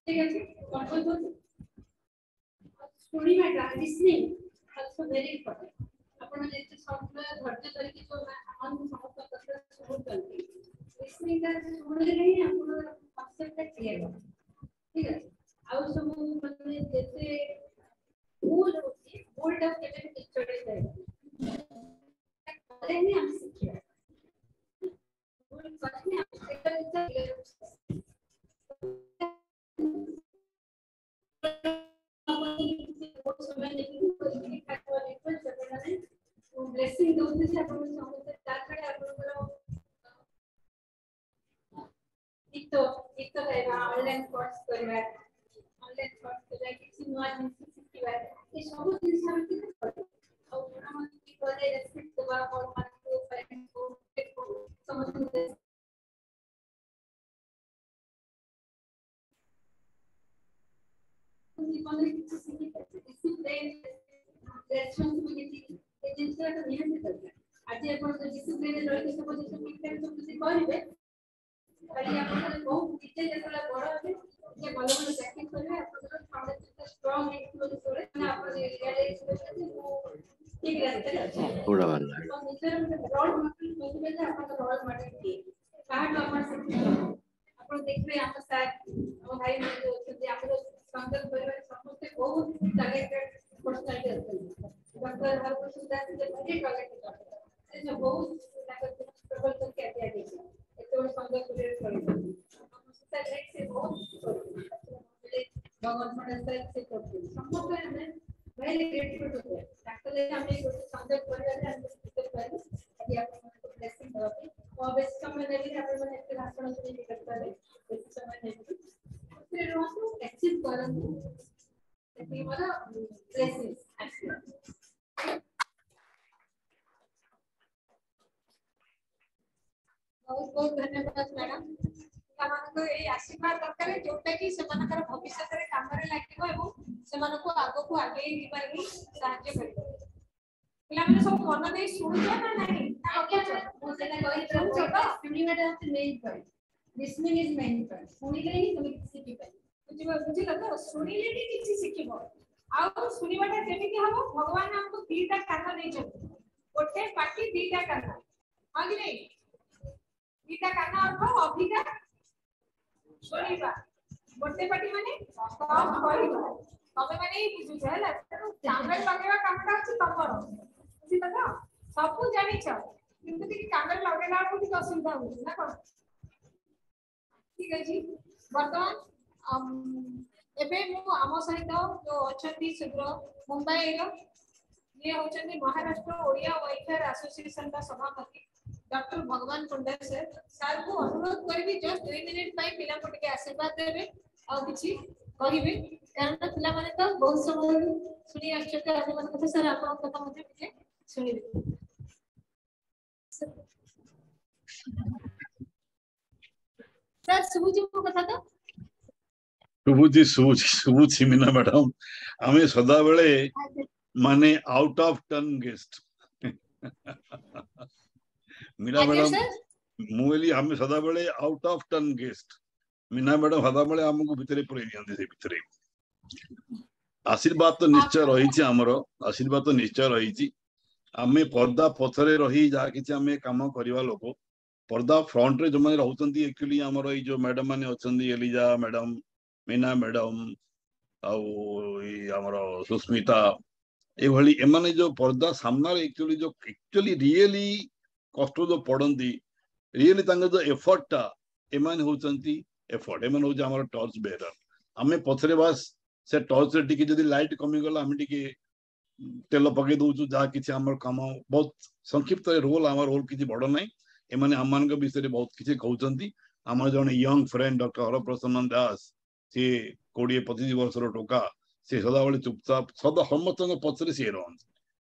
ଠିକ ଅଛି, କଣ କହୁଛନ୍ତି? ଶୁଣିବାଟା, ଲିସନିଂ ଅଲସୋ ଭେରି ଇମ୍ପୋର୍ଟାଣ୍ଟ। ଆପଣ ଯେତେ ସବୁବେଳେ ଧୈର୍ଯ୍ୟ ଧରିକି ଯୋଉ ଆମମାନଙ୍କୁ ସମସ୍ତଙ୍କ କଥା ଶୁଣୁଛନ୍ତି, ଲିସନିଂଟା ଶୁଣିଲେ ହିଁ ଆପଣଙ୍କର କନସେପ୍ଟଟା କ୍ଲିୟର ହବ। ଠିକ ଅଛି, ଆଉ ସବୁ ମାନେ ଯେତେ ଭୁଲ ହଉଛି, ଭୁଲଟାକୁ କେବେ ବି ଚଢେଇ ପାରିବନି, କଲେ ହିଁ ଆମେ ଶିଖିବା। ଭୁଲ କଲେ ହିଁ ଆମେ ସେଇଟା ଜିନିଷ କ୍ଲିୟର ବହୁତ ସମୟ ନେଇକି ବ୍ଲେସିଂ ଦଉଛନ୍ତି ଯେ ଆପଣ ସମସ୍ତେ। ତା ଛଡା ଆପଣଙ୍କର ଗୀତ ଗୀତ ଗାଇବା, ଅନଲାଇନ କୋର୍ସ କରିବା, ଅନଲାଇନ କୋର୍ସ କରିବା, କିଛି ନୂଆ ଜିନିଷ ଶିଖିବା, ଏ ସବୁ ଜିନିଷ ଆମେ କିନ୍ତୁ କରିବା। ଆଉ ବଡ଼ମାନଙ୍କୁ କଲେ ରେସପେକ୍ଟ ଦେବା, ବଡ଼ମାନଙ୍କୁ, ପ୍ୟାରେଣ୍ଟକୁ, ସମସ୍ତଙ୍କୁ। ଜୀବନରେ କିଛି ଶିଖିପାରିବେ, ଡିସିପ୍ଲିନ, ରେସ୍ପନ୍ସିବିଲିଟି, ଏ ଜିନିଷଟା ତ ନିହାତି ଦରକାର। ଆଜି ଆପଣ ଯଦି ଡିସିପ୍ଲିନରେ ରହିକି ସବୁ ଜିନିଷ ଠିକ ଠାକ ସବୁ ଯଦି କରିବେ, କାଲି ଆପଣଙ୍କର ବହୁତ ନିଜେ ଯେତେବେଳେ ବଡ ହେବେ, ନିଜେ ଭଲ ଭଲ ଚାକିରି କରିବେ, ଆପଣଙ୍କର ଫାଉଣ୍ଡେସନଟା ଷ୍ଟ୍ରଙ୍ଗ ହେଇଥିବ। ଯେତେବେଳେ ମାନେ ଆପଣ ରିଅଲାଇଜ କରିବେ ଯେ ମୁଁ ଠିକ ରାସ୍ତାରେ ଅଛି। ଆଉ ନିଜର ଗୋଟେ ରୋଲ ମଡେଲ ଖୋଜିବେ ଯେ ଆପଣଙ୍କ ରୋଲ ମଡେଲ କିଏ, କାହାଠୁ ଆପଣ ଶିଖିଛନ୍ତି। ଆପଣ ଦେଖିବେ ଆମ ସାର୍, ଆମ ଭାଇ ମାନେ ଯୋଉ ଅଛନ୍ତି, ଆମର ସଂଯୋଗ ପରିବାର ସମସ୍ତେ ବହୁତ ଟ୍ୟାଲେଣ୍ଟେଡ ପର୍ସନାଲିଟି ଅଛନ୍ତି। Doctor Haraprasad Das very talented doctor, ସେ ବହୁତ ତାଙ୍କର ଷ୍ଟ୍ରଗଲ କରିକି ଆଜି ଆଗେଇছে, ଏତେ ବଡ ସଂଯୋଗ ପରିବାର ଚଳେଇଛନ୍ତି। ସେ ବହୁତ କିଛି କରୁଛନ୍ତି। ଭଗବାନ ପଣ୍ଡା ସାର୍ ସେ କରୁଛନ୍ତି। ସମସ୍ତେ ଆମେ ଭେରି ଗ୍ରେଟଫୁଲ ଟୁ ଦେମ୍। ତାଙ୍କ ଲାଗି ଆମେ ଗୋଟେ ସଂଯୋଗ ପରିବାରରେ ଆମେ ପାଇଲୁ ଆଜି ଆପଣମାନଙ୍କୁ ବ୍ଲେସିଂ ଦେବା ପାଇଁ। ମୁଁ ବେଶୀ ସମୟ ନେବିନି, ଆପଣମାନେ ଏତେ ଭାଷଣ ଶୁଣିକି କରିପାରିବେ, ବେଶୀ ସମୟ ନେବିନି। ଖୁସିରେ ରୁହନ୍ତୁ, ଆଚିଭ୍ କରନ୍ତୁ, ସେତିକି ମୋର ବ୍ଲେସିଂ। ଆଶୀର୍ବାଦ। ବହୁତ ବହୁତ ଧନ୍ୟବାଦ ମ୍ୟାଡାମ। ପିଲାମାନଙ୍କୁ ଏଇ ଆଶୀର୍ବାଦ ଦରକାର, ଯୋଉଟା କି ସେମାନଙ୍କର ଭବିଷ୍ୟତରେ କାମରେ ଲାଗିବ ଏବଂ ସେମାନଙ୍କୁ ଆଗକୁ ଆଗେଇ ଯିବାରେ ବି ସାହାଯ୍ୟ କରିବ। ପିଲାମାନେ ସବୁ ମନ ଦେଇ ଶୁଣୁଛ ନା ନାହିଁ? ନା ରଖୁଛ? ମୁଁ ସେଇଟା କହିଲି, ଶୁଣୁଛ ତ? ଶୁଣିବାଟା ହଉଛି main point. Listening is main point. ଶୁଣିଲେ ହିଁ ତମେ କିଛି ଶିଖିପାରିବ। ବୁଝିଲ ତ? ଶୁଣିଲେ ବି କିଛି ଶିଖିବ। ଆଉ ଶୁଣିବାଟା କେମିତି ହବ? ଭଗବାନ ଆମକୁ ଦିଟା କାନ ଦେଇଛନ୍ତି, ଗୋଟେ ପାଟି, ଦିଟା କାନ, ହଁ କି ନାଇଁ? ଦିଟା କାନ ଅର୍ଥ ଅଧିକା ଶୁଣିବା, ଗୋଟେ ପାଟି ମାନେ କମ କହିବା। ତମେ ମାନେ ହିଁ ବୁଝୁଛ ହେଲା, ତେଣୁ କାନରେ ଲଗେଇବା କାମଟା ହଉଛି ତମର। ବୁଝିଲ ତ? ସବୁ ଜାଣିଛ କିନ୍ତୁ ଟିକେ କାନରେ ଲଗେଇଲା ବେଳକୁ ଟିକେ ଅସୁବିଧା ହଉଛି ନା କଣ? ଠିକ ଅଛି। ବର୍ତ୍ତମାନ ଏବେ ମୁଁ ଆମ ସହିତ ଯୋଉ ଅଛନ୍ତି ଶୀଘ୍ର ମୁମ୍ବାଇର, ଇଏ ହଉଛନ୍ତି ମହାରାଷ୍ଟ୍ର ଓଡ଼ିଆ ୱେଲଫେୟାର ଆସୋସିଏସନର ସଭାପତି ଡକ୍ଟର ଭଗବାନ ପଣ୍ଡା ସାର୍। ସାର୍ଙ୍କୁ ଅନୁରୋଧ କରିବି ଜଷ୍ଟ 2 ମିନିଟ୍ ପାଇଁ ପିଲାଙ୍କୁ ଟିକେ ଆଶୀର୍ବାଦ ଦେବେ ଆଉ କିଛି କହିବେ, କାରଣ ପିଲାମାନେ ତ ବହୁତ ସମୟରୁ ଶୁଣି ଆସୁଛନ୍ତି ଅନ୍ୟମାନଙ୍କ କଥା। ସାର୍, ଆପଣଙ୍କ କଥା ମଧ୍ୟ ଟିକେ ଶୁଣିବେ। ସାର୍, ଶୁଭୁଛି ମୋ କଥା ତ? ଶୁଭୁଛି, ଶୁଭୁଛି, ଶୁଭୁଛି ମୀନା ମ୍ୟାଡାମ। ଆମେ ସଦାବେଳେ ମାନେ out of turn guest Meena ଆଜ୍ଞା ମ୍ୟାଡାମ। ସାର୍, ମୁଁ କହିଲି ଆମେ ସଦାବେଳେ out of turn guest. Meena madam ସଦାବେଳେ ଆମକୁ ଭିତରେ ପୁରେଇ ଦିଅନ୍ତି। ସେ ଭିତରେ ଆଶୀର୍ବାଦ ତ ନିଶ୍ଚୟ ରହିଛି ଆମର, ଆଶୀର୍ବାଦ ତ ନିଶ୍ଚୟ ରହିଛି। ଆମେ ପର୍ଦା ପଛରେ ରହି ଯାହା କିଛି ଆମେ କାମ କରିବା ଲୋକ ପର୍ଦା ଫ୍ରଣ୍ଟରେ ଯୋଉମାନେ ରହୁଛନ୍ତି, ଆକ୍ଚୁଆଲି ଆମର ଏଇ ଯୋଉ ମ୍ୟାଡମ ମାନେ ଅଛନ୍ତି, ଏଲିଜା ମ୍ୟାଡମ, ମୀନା ମ୍ୟାଡମ ଆଉ ଏଇ ଆମର ସୁସ୍ମିତା, ଏଇଭଳି ଏମାନେ ଯୋଉ ପର୍ଦା ସାମ୍ନାରେ ଆକ୍ଚୁଆଲି ଯୋଉ ଆକ୍ଚୁଆଲି ରିଏଲି କଷ୍ଟ ଯୋଉ ପଡନ୍ତି, ରିଏଲି ତାଙ୍କର ଯୋଉ ଏଫର୍ଟଟା, ଏମାନେ ହଉଛନ୍ତି ଏଫର୍ଟ, ଏମାନେ ହଉଛି ଆମର ଟର୍ଚ ବେରର। ଆମେ ପଛରେ ବାସ୍ ସେ ଟର୍ଚରେ ଟିକେ ଯଦି ଲାଇଟ୍ କମିଗଲା ଆମେ ଟିକେ ତେଲ ପକେଇ ଦଉଛୁ, ଯାହା କିଛି ଆମର କାମ ବହୁତ ସଂକ୍ଷିପ୍ତରେ ରୋଲ, ଆମର ରୋଲ କିଛି ବଡ ନାହିଁ। ଏମାନେ ଆମମାନଙ୍କ ବିଷୟରେ ବହୁତ କିଛି କହୁଛନ୍ତି। ଆମର ଜଣେ young friend doctor Haraprasanna Das, ସିଏ 20-25 ବର୍ଷର ଟୋକା, ସେ ସଦାବେଳେ ଚୁପଚାପ ସଦା ସମସ୍ତଙ୍କ ପଛରେ ସିଏ ରହନ୍ତି।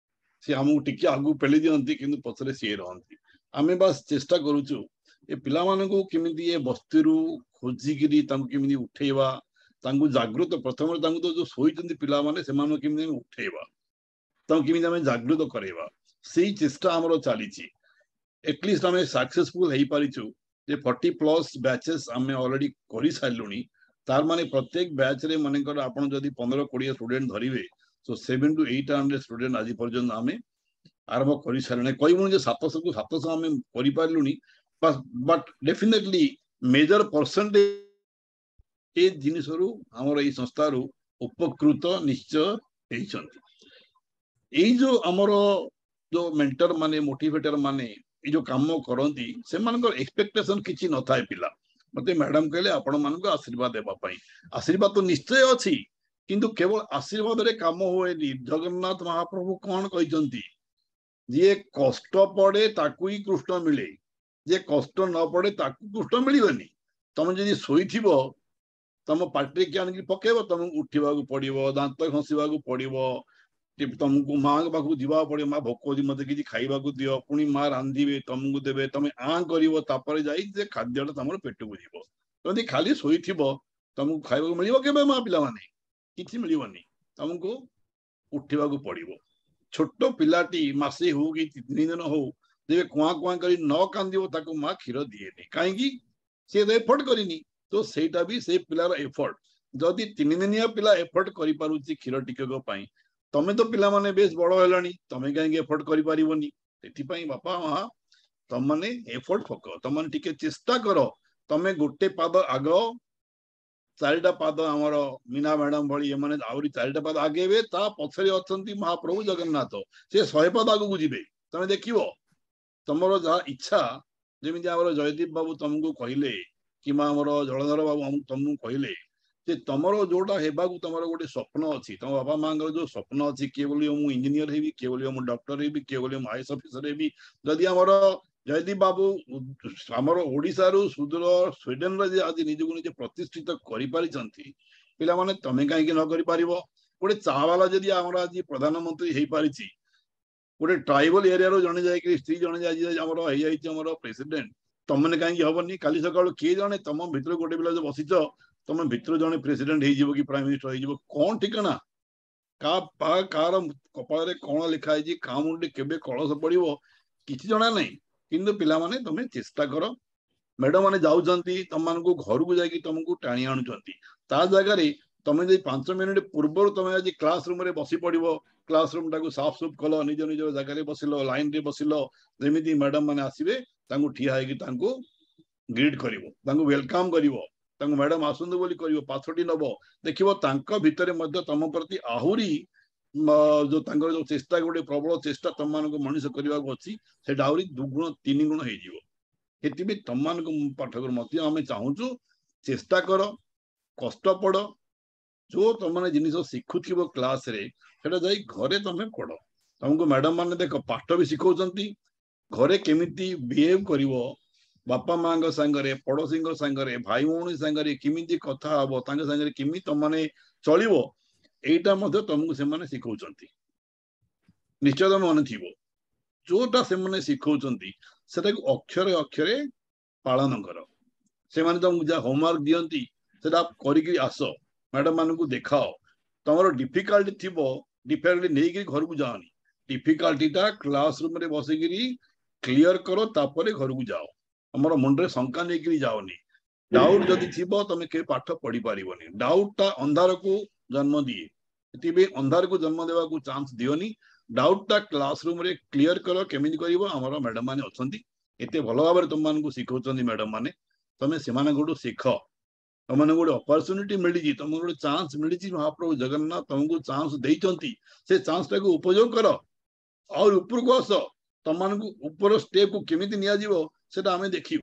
ସିଏ ଆମକୁ ଟିକେ ଆଗକୁ ପେଲି ଦିଅନ୍ତି, କିନ୍ତୁ ପଛରେ ସିଏ ରହନ୍ତି। ଆମେ ବାସ୍ ଚେଷ୍ଟା କରୁଛୁ ଏ ପିଲାମାନଙ୍କୁ କେମିତି ଏ ବସ୍ତିରୁ ଖୋଜିକିରି ତାଙ୍କୁ କେମିତି ଉଠେଇବା, ତାଙ୍କୁ ଜାଗୃତ, ପ୍ରଥମରେ ତାଙ୍କୁ ତ ଯୋଉ ଶୋଇଛନ୍ତି ପିଲାମାନେ ସେମାନଙ୍କୁ କେମିତି ଆମେ ଉଠେଇବା, ତାଙ୍କୁ କେମିତି ଆମେ ଜାଗୃତ କରେଇବା, ସେଇ ଚେଷ୍ଟା ଆମର ଚାଲିଛି। ଏଟଲିଷ୍ଟ ଆମେ ସକ୍ସେସଫୁଲ ହେଇପାରିଛୁ ଯେ 40+ ବ୍ୟାଚେସ୍ ଆମେ ଅଲରେଡି କରିସାରିଲୁଣି। ତାର ମାନେ ପ୍ରତ୍ୟେକ ବ୍ୟାଚରେ ମନେକର ଆପଣ ଯଦି 15-20 ଷ୍ଟୁଡେଣ୍ଟ ଧରିବେ, ତ 700 to 800 student ଆଜି ପର୍ଯ୍ୟନ୍ତ ଆମେ ଆରମ୍ଭ କରିସାରିଲୁଣି। କହିବୁନି ଯେ 700କୁ 700 ଆମେ କରିପାରିଲୁଣି, ବଟ୍ ଡେଫିନେଟଲି ମେଜର ପରସେଣ୍ଟେଜ ଏ ଜିନିଷରୁ ଆମର ଏଇ ସଂସ୍ଥାରୁ ଉପକୃତ ନିଶ୍ଚୟ ହେଇଛନ୍ତି। ଏଇ ଯୋଉ ଆମର ଯୋଉ ମେଣ୍ଟର ମାନେ, ମୋଟିଭେଟର ମାନେ ଏଇ ଯୋଉ କାମ କରନ୍ତି, ସେମାନଙ୍କର ଏକ୍ସପେକ୍ଟେସନ କିଛି ନଥାଏ। ପିଲା ମତେ ମ୍ୟାଡାମ କହିଲେ ଆପଣ ମାନଙ୍କୁ ଆଶୀର୍ବାଦ ଦେବା ପାଇଁ, ଆଶୀର୍ବାଦ ତ ନିଶ୍ଚୟ ଅଛି, କିନ୍ତୁ କେବଳ ଆଶୀର୍ବାଦରେ କାମ ହୁଏନି। ଜଗନ୍ନାଥ ମହାପ୍ରଭୁ କଣ କହିଛନ୍ତି? ଯିଏ କଷ୍ଟ ପଡେ ତାକୁ ହିଁ କୃଷ୍ଣ ମିଳେ, ଯିଏ କଷ୍ଟ ନ ପଡେ ତାକୁ କୃଷ୍ଣ ମିଳିବନି। ତମେ ଯଦି ଶୋଇଥିବ, ତମ ପାଟିରେ କିଏ ଆଣିକି ପକେଇବ, ତମକୁ ଉଠିବାକୁ ପଡିବ, ଦାନ୍ତ ଘଷିବାକୁ ପଡିବ, ତମକୁ ମାଙ୍କ ପାଖକୁ ଯିବାକୁ ପଡିବ, ମା ଭୋକ ହଉଛି ମତେ କିଛି ଖାଇବାକୁ ଦିଅ, ପୁଣି ମା ରାନ୍ଧିବେ ତମକୁ ଦେବେ, ତମେ ଆଁ କରିବ, ତାପରେ ଯାଇ ସେ ଖାଦ୍ୟଟା ତମର ପେଟକୁ ଯିବ। ଯଦି ଖାଲି ଶୋଇଥିବ ତମକୁ ଖାଇବାକୁ ମିଳିବ କେବେ ମା ପିଲାମାନେ? କିଛି ମିଳିବନି, ତମକୁ ଉଠିବାକୁ ପଡିବ। ଛୋଟ ପିଲାଟି ମାସେ ହଉ କି 3 ଦିନ ହଉ, ଯେବେ କୁଆଁ କୁଆଁ କରି ନ କାନ୍ଦିବ ତାକୁ ମା କ୍ଷୀର ଦିଏନି। କାହିଁକି? ସିଏ ତ ଏଫର୍ଟ କରିନି। ତ ସେଇଟା ବି ସେ ପିଲାର ଏଫର୍ଟ। ଯଦି 3 ଦିନିଆ ପିଲା ଏଫର୍ଟ କରିପାରୁଛି କ୍ଷୀର ଟିକକ ପାଇଁ, ତମେ ତ ପିଲାମାନେ ବେଶ ବଡ ହେଲାଣି, ତମେ କାହିଁକି ଏଫର୍ଟ କରିପାରିବନି? ସେଥିପାଇଁ ବାପା ମା ତମମାନେ ଏଫର୍ଟ ପକାଅ, ତମମାନେ ଟିକେ ଚେଷ୍ଟା କର। ତମେ ଗୋଟେ ପାଦ ଆଗ, 4ଟା ପାଦ ଆମର ମୀନା ମ୍ୟାଡାମ ଭଳି ଏମାନେ ଆହୁରି 4ଟା ପାଦ ଆଗେଇବେ, ତା ପଛରେ ଅଛନ୍ତି ମହାପ୍ରଭୁ ଜଗନ୍ନାଥ, ସେ 100 ପାଦ ଆଗକୁ ଯିବେ। ତମେ ଦେଖିବ ତମର ଯାହା ଇଚ୍ଛା, ଯେମିତି ଆମର ଜୟଦୀପ ବାବୁ ତମକୁ କହିଲେ କିମ୍ବା ଆମର ଜଳଧର ବାବୁ ତମକୁ କହିଲେ ଯେ ତମର ଯୋଉଟା ହେବାକୁ ତମର ଗୋଟେ ସ୍ୱପ୍ନ ଅଛି, ତମ ବାପା ମାଙ୍କର ଯୋଉ ସ୍ୱପ୍ନ ଅଛି, କିଏ ବୋଲିବ ମୁଁ ଇଞ୍ଜିନିୟର ହେବି, କିଏ ବୋଲିବ ମୁଁ ଡକ୍ଟର ହେବି, କିଏ ବୋଲିବ ମୁଁ is officer ହେବି। ଯଦି ଆମର ଜୟଦୀପ ବାବୁ ଆମର ଓଡିଶାରୁ ସୁଦୂର ସ୍ୱିଡେନରେ ଯେ ଆଜି ନିଜକୁ ନିଜେ ପ୍ରତିଷ୍ଠିତ କରିପାରିଛନ୍ତି, ପିଲାମାନେ ତମେ କାହିଁକି ନ କରିପାରିବ? ଗୋଟେ ଚା ବାଲା ଯଦି ଆମର ଆଜି ପ୍ରଧାନମନ୍ତ୍ରୀ ହେଇପାରିଛି, ଗୋଟେ ଟ୍ରାଇବାଲ ଏରିଆରୁ ଜଣେ ଯାଇକି ସ୍ତ୍ରୀ ଜଣେ ଆଜି ଆମର ହେଇଯାଇଛି ଆମର ପ୍ରେସିଡେଣ୍ଟ, ତମମାନେ କାହିଁକି ହବନି? କାଲି ସକାଳୁ କିଏ ଜଣେ ତମ ଭିତରୁ ଗୋଟେ ପିଲା ଯୋଉ ବସିଛ, ତମ ଭିତରୁ ଜଣେ ପ୍ରେସିଡେଣ୍ଟ ହେଇଯିବ କି ପ୍ରାଇମ ମିନିଷ୍ଟର ହେଇଯିବ, କଣ ଠିକଣା? କାହାର କପାଳରେ କଣ ଲେଖା ହେଇଛି, କାହା ମୁଣ୍ଡରେ କେବେ କଳସ ପଡିବ କିଛି ଜଣା ନାହିଁ। କିନ୍ତୁ ପିଲାମାନେ ତମେ ଚେଷ୍ଟା କର। ମ୍ୟାଡମ ମାନେ ଯାଉଛନ୍ତି ତମମାନଙ୍କୁ ଘରକୁ ଯାଇକି ତମକୁ ଟାଣି ଆଣୁଛନ୍ତି, ତା ଜାଗାରେ ତମେ ଯଦି 5 ମିନିଟ ପୂର୍ବରୁ ତମେ ଆଜି କ୍ଲାସ ରୁମରେ ବସି ପଡିବ, କ୍ଲାସ ରୁମ ଟାକୁ ସାଫ ସୁଫ କଲ, ନିଜ ନିଜ ଜାଗାରେ ବସିଲ, ଲାଇନ ରେ ବସିଲ, ଯେମିତି ମ୍ୟାଡମ ମାନେ ଆସିବେ ତାଙ୍କୁ ଠିଆ ହେଇକି ତାଙ୍କୁ ଗ୍ରିଟ୍ କରିବ, ତାଙ୍କୁ welcome କରିବ, ତାଙ୍କୁ ମ୍ୟାଡମ ଆସନ୍ତୁ ବୋଲି କରିବ, ପାଛୋଟି ନବ, ଦେଖିବ ତାଙ୍କ ଭିତରେ ମଧ୍ୟ ତମ ପ୍ରତି ଆହୁରି ଯୋଉ ତାଙ୍କର ଯୋଉ ଚେଷ୍ଟା, ଗୋଟେ ପ୍ରବଳ ଚେଷ୍ଟା ତମମାନଙ୍କୁ ମଣିଷ କରିବାକୁ ଅଛି, ସେଇଟା ଆହୁରି 2 ଗୁଣ 3 ଗୁଣ ହେଇଯିବ। ସେଥିପାଇଁ ତମମାନଙ୍କୁ ପାଠକରୁ ମଧ୍ୟ ଆମେ ଚାହୁଁଛୁ ଚେଷ୍ଟା କର, କଷ୍ଟ ପଡ, ଯୋଉ ତମମାନେ ଜିନିଷ ଶିଖୁଥିବ କ୍ଲାସରେ ସେଟା ଯାଇ ଘରେ ତମେ ପଢ। ତମକୁ ମ୍ୟାଡମ ମାନେ ଦେଖ ପାଠ ବି ଶିଖଉଛନ୍ତି, ଘରେ କେମିତି ବିହେଭ କରିବ, ବାପା ମାଙ୍କ ସାଙ୍ଗରେ, ପଡୋଶୀଙ୍କ ସାଙ୍ଗରେ, ଭାଇ ଭଉଣୀ ସାଙ୍ଗରେ କେମିତି କଥା ହବ, ତାଙ୍କ ସାଙ୍ଗରେ କେମିତି ତମମାନେ ଚଳିବ, ଏଇଟା ମଧ୍ୟ ତମକୁ ସେମାନେ ଶିଖଉଛନ୍ତି। ନିଶ୍ଚୟ ତମେ ମନେ ଥିବ ଯୋଉଟା ସେମାନେ ଶିଖଉଛନ୍ତି ସେଟାକୁ ଅକ୍ଷରେ ଅକ୍ଷରେ ପାଳନ କର। ସେମାନେ ତମକୁ ଯାହା ହୋମୱାର୍କ ଦିଅନ୍ତି ସେଟା କରିକି ଆସ, ମ୍ୟାଡମ ମାନଙ୍କୁ ଦେଖାଅ। ତମର ଡିଫିକଲ୍ଟି ଥିବ, ଡିଫିକଲ୍ଟି ନେଇକିରି ଘରକୁ ଯାଅନି, ଡିଫିକଲ୍ଟିଟା କ୍ଲାସ ରୁମରେ ବସିକିରି କ୍ଲିୟର କର, ତାପରେ ଘରକୁ ଯାଅ। ତମର ମୁଣ୍ଡରେ ଶଙ୍କା ନେଇକିରି ଯାଅନି। ଡାଉଟ ଯଦି ଥିବ ତମେ କେବେ ପାଠ ପଢି ପାରିବନି। ଡାଉଟ ଟା ଅନ୍ଧାରକୁ ଜନ୍ମ ଦିଏ, ସେଥିପାଇଁ ଅନ୍ଧାରକୁ ଜନ୍ମ ଦେବାକୁ ଚାନ୍ସ ଦିଅନି। ଡାଉଟ ଟା କ୍ଲାସ ରୁମ ରେ କ୍ଲିୟର କର। କେମିତି କରିବ? ଆମର ମ୍ୟାଡମ ମାନେ ଅଛନ୍ତି, ଏତେ ଭଲ ଭାବରେ ତମମାନଙ୍କୁ ଶିଖଉଛନ୍ତି ମ୍ୟାଡମ ମାନେ, ତମେ ସେମାନଙ୍କଠୁ ଶିଖ। ତମମାନଙ୍କୁ ଗୋଟେ ଅପରଚୁନିଟି ମିଳିଛି, ତମକୁ ଗୋଟେ ଚାନ୍ସ ମିଳିଛି, ମହାପ୍ରଭୁ ଜଗନ୍ନାଥ ତମକୁ ଚାନ୍ସ ଦେଇଛନ୍ତି, ସେ ଚାନ୍ସଟାକୁ ଉପଯୋଗ କର, ଆହୁରି ଉପରକୁ ଆସ। ତମମାନଙ୍କୁ ଉପର ଷ୍ଟେପକୁ କେମିତି ନିଆଯିବ ସେଟା ଆମେ ଦେଖିବୁ,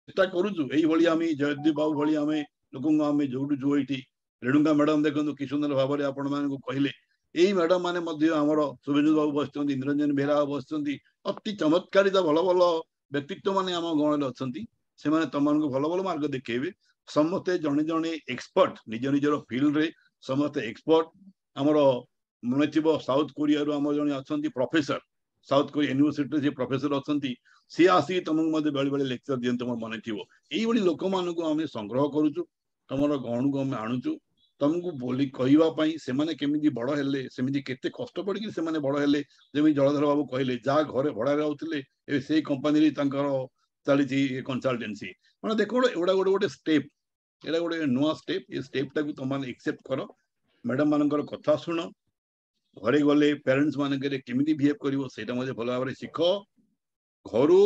ଚେଷ୍ଟା କରୁଛୁ। ଏଇଭଳି ଆମେ ଜୟଦୀପ ବାବୁ ଭଳି ଆମେ ଲୋକଙ୍କୁ ଆମେ ଯୋଡୁଛୁ। ଏଇଠି ରେଣୁକା ମ୍ୟାଡମ ଦେଖନ୍ତୁ କି ସୁନ୍ଦର ଭାବରେ ଆପଣମାନଙ୍କୁ କହିଲେ। ଏଇ ମ୍ୟାଡମ ମାନେ ମଧ୍ୟ ଆମର ଶୁଭେନ୍ଦୁ ବାବୁ ବସିଛନ୍ତି, ନିରଞ୍ଜନ ବେହେରା ବାବୁ ବସିଛନ୍ତି, ଅତି ଚମତ୍କାରିତା ଭଲ ଭଲ ବ୍ୟକ୍ତିତ୍ୱ ମାନେ ଆମ ଗଣରେ ଅଛନ୍ତି। ସେମାନେ ତମମାନଙ୍କୁ ଭଲ ଭଲ ମାର୍ଗ ଦେଖେଇବେ। ସମସ୍ତେ ଜଣେ ଜଣେ ଏକ୍ସପର୍ଟ, ନିଜ ନିଜର ଫିଲ୍ଡରେ ସମସ୍ତେ ଏକ୍ସପର୍ଟ। ଆମର ମନେ ଥିବ ସାଉଥ କୋରିଆରୁ ଆମର ଜଣେ ଅଛନ୍ତି ପ୍ରଫେସର, ସାଉଥ କୋରିଆ ୟୁନିଭର୍ସିଟିରେ ସେ ପ୍ରଫେସର ଅଛନ୍ତି, ସିଏ ଆସିକି ତମକୁ ମଧ୍ୟ ବେଳେ ବେଳେ ଲେକ୍ଚର ଦିଅନ୍ତି, ତମର ମନେ ଥିବ। ଏଇଭଳି ଲୋକମାନଙ୍କୁ ଆମେ ସଂଗ୍ରହ କରୁଛୁ, ତମର ଗଣକୁ ଆମେ ଆଣୁଛୁ, ତମକୁ ବୋଲି କହିବା ପାଇଁ ସେମାନେ କେମିତି ବଡ ହେଲେ, ସେମିତି କେତେ କଷ୍ଟ ପଡିକି ସେମାନେ ବଡ ହେଲେ। ଯେମିତି ଜଳଧର ବାବୁ କହିଲେ, ଯାହା ଘରେ ଭଡାରେ ରହୁଥିଲେ ଏବେ ସେଇ କମ୍ପାନୀରେ ତାଙ୍କର ଚାଲିଛି କନସଲଟେନ୍ସି। ମାନେ ଦେଖ ଏଗୁଡ଼ା ଗୋଟେ ଗୋଟେ ଷ୍ଟେପ, ଏଇଟା ଗୋଟେ ନୂଆ ଷ୍ଟେପ। ଏ ଷ୍ଟେପଟାକୁ ତମମାନେ ଏକ୍ସେପ୍ଟ କର, ମ୍ୟାଡମ ମାନଙ୍କର କଥା ଶୁଣ, ଘରେ ଗଲେ ପ୍ୟାରେଣ୍ଟସ ମାନଙ୍କରେ କେମିତି ବିହେଭ କରିବ ସେଇଟା ମଧ୍ୟ ଭଲ ଭାବରେ ଶିଖ। ଘରୁ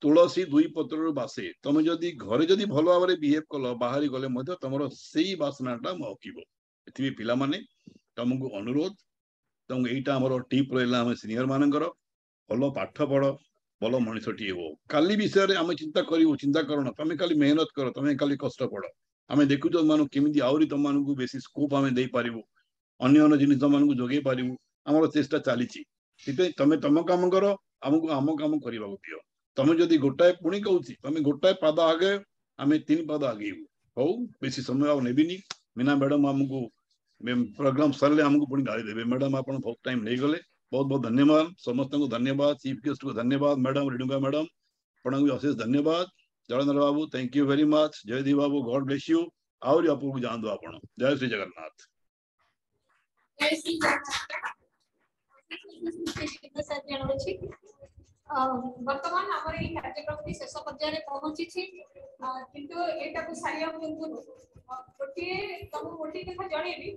ତୁଳସୀ ଦୁଇ ପତ୍ରରୁ ବାସେ, ତମେ ଯଦି ଘରେ ଯଦି ଭଲ ଭାବରେ ବିହେଭ କଲ, ବାହାରି ଗଲେ ମଧ୍ୟ ତମର ସେଇ ବାସନାଟା ମହକିବ। ଏଥିପାଇଁ ପିଲାମାନେ ତମକୁ ଅନୁରୋଧ, ତମକୁ ଏଇଟା ଆମର ଟିପ୍ ରହିଲା ଆମ ସିନିୟର ମାନଙ୍କର, ଭଲ ପାଠ ପଢ, ଭଲ ମଣିଷଟିଏ ହୁଅ। କାଲି ବିଷୟରେ ଆମେ ଚିନ୍ତା କରିବୁ, ଚିନ୍ତା କରନା, ତମେ ଖାଲି ମେହନତ କର, ତମେ ଖାଲି କଷ୍ଟ ପଡ। ଆମେ ଦେଖୁଛୁ ତମମାନଙ୍କୁ କେମିତି ଆହୁରି ତମମାନଙ୍କୁ ବେଶୀ ସ୍କୋପ ଆମେ ଦେଇପାରିବୁ, ଅନ୍ୟ ଅନ୍ୟ ଜିନିଷ ତମମାନଙ୍କୁ ଯୋଗେଇ ପାରିବୁ, ଆମର ଚେଷ୍ଟା ଚାଲିଛି। ସେଥିପାଇଁ ତମେ ତମ କାମ କର, ଆମକୁ ଆମ କାମ କରିବାକୁ ଦିଅ। ତମେ ଯଦି ଗୋଟାଏ, ପୁଣି କହୁଛି, ତମେ ଗୋଟାଏ ପାଦ ଆଗେ, ଆମେ ତିନି ପାଦ ଆଗେଇବୁ। ହଉ, ବେଶୀ ସମୟ ଆଉ ନେବିନି। ମୀନା ମ୍ୟାଡମ ଆମକୁ ପ୍ରୋଗ୍ରାମ ସରିଲେ ଆମକୁ ପୁଣି ଗାଳି ଦେବେ, ମ୍ୟାଡମ ଆପଣ ବହୁତ ଟାଇମ ନେଇଗଲେ। ବହୁତ ବହୁତ ଧନ୍ୟବାଦ ସମସ୍ତଙ୍କୁ, ଧନ୍ୟବାଦ ଚିଫ ଗେଷ୍ଟକୁ, ଧନ୍ୟବାଦ ମ୍ୟାଡମ ରେଣୁକା ମ୍ୟାଡମ, ଆପଣଙ୍କୁ ବି ଅଶେଷ ଧନ୍ୟବାଦ। ଜଳେନ୍ଦ୍ର ବାବୁ thank you very much. Jaydeep babu God bless you. ଆହୁରି ଉପରକୁ ଯାଆନ୍ତୁ ଆପଣ। ଜୟ ଶ୍ରୀ ଜଗନ୍ନାଥ। ଜୟ ଶ୍ରୀ ଜଗନ୍ନାଥ। ଜଣାଉଛି ବର୍ତ୍ତମାନ ଆମର ଏଇ କାର୍ଯ୍ୟକ୍ରମଟି ଶେଷ ପର୍ଯ୍ୟାୟରେ ପହଞ୍ଚିଛି, କିନ୍ତୁ ଏଇଟାକୁ ସାରିବା ପୂର୍ବରୁ ଗୋଟିଏ ତମକୁ ଗୋଟିଏ କଥା ଜଣେଇବି।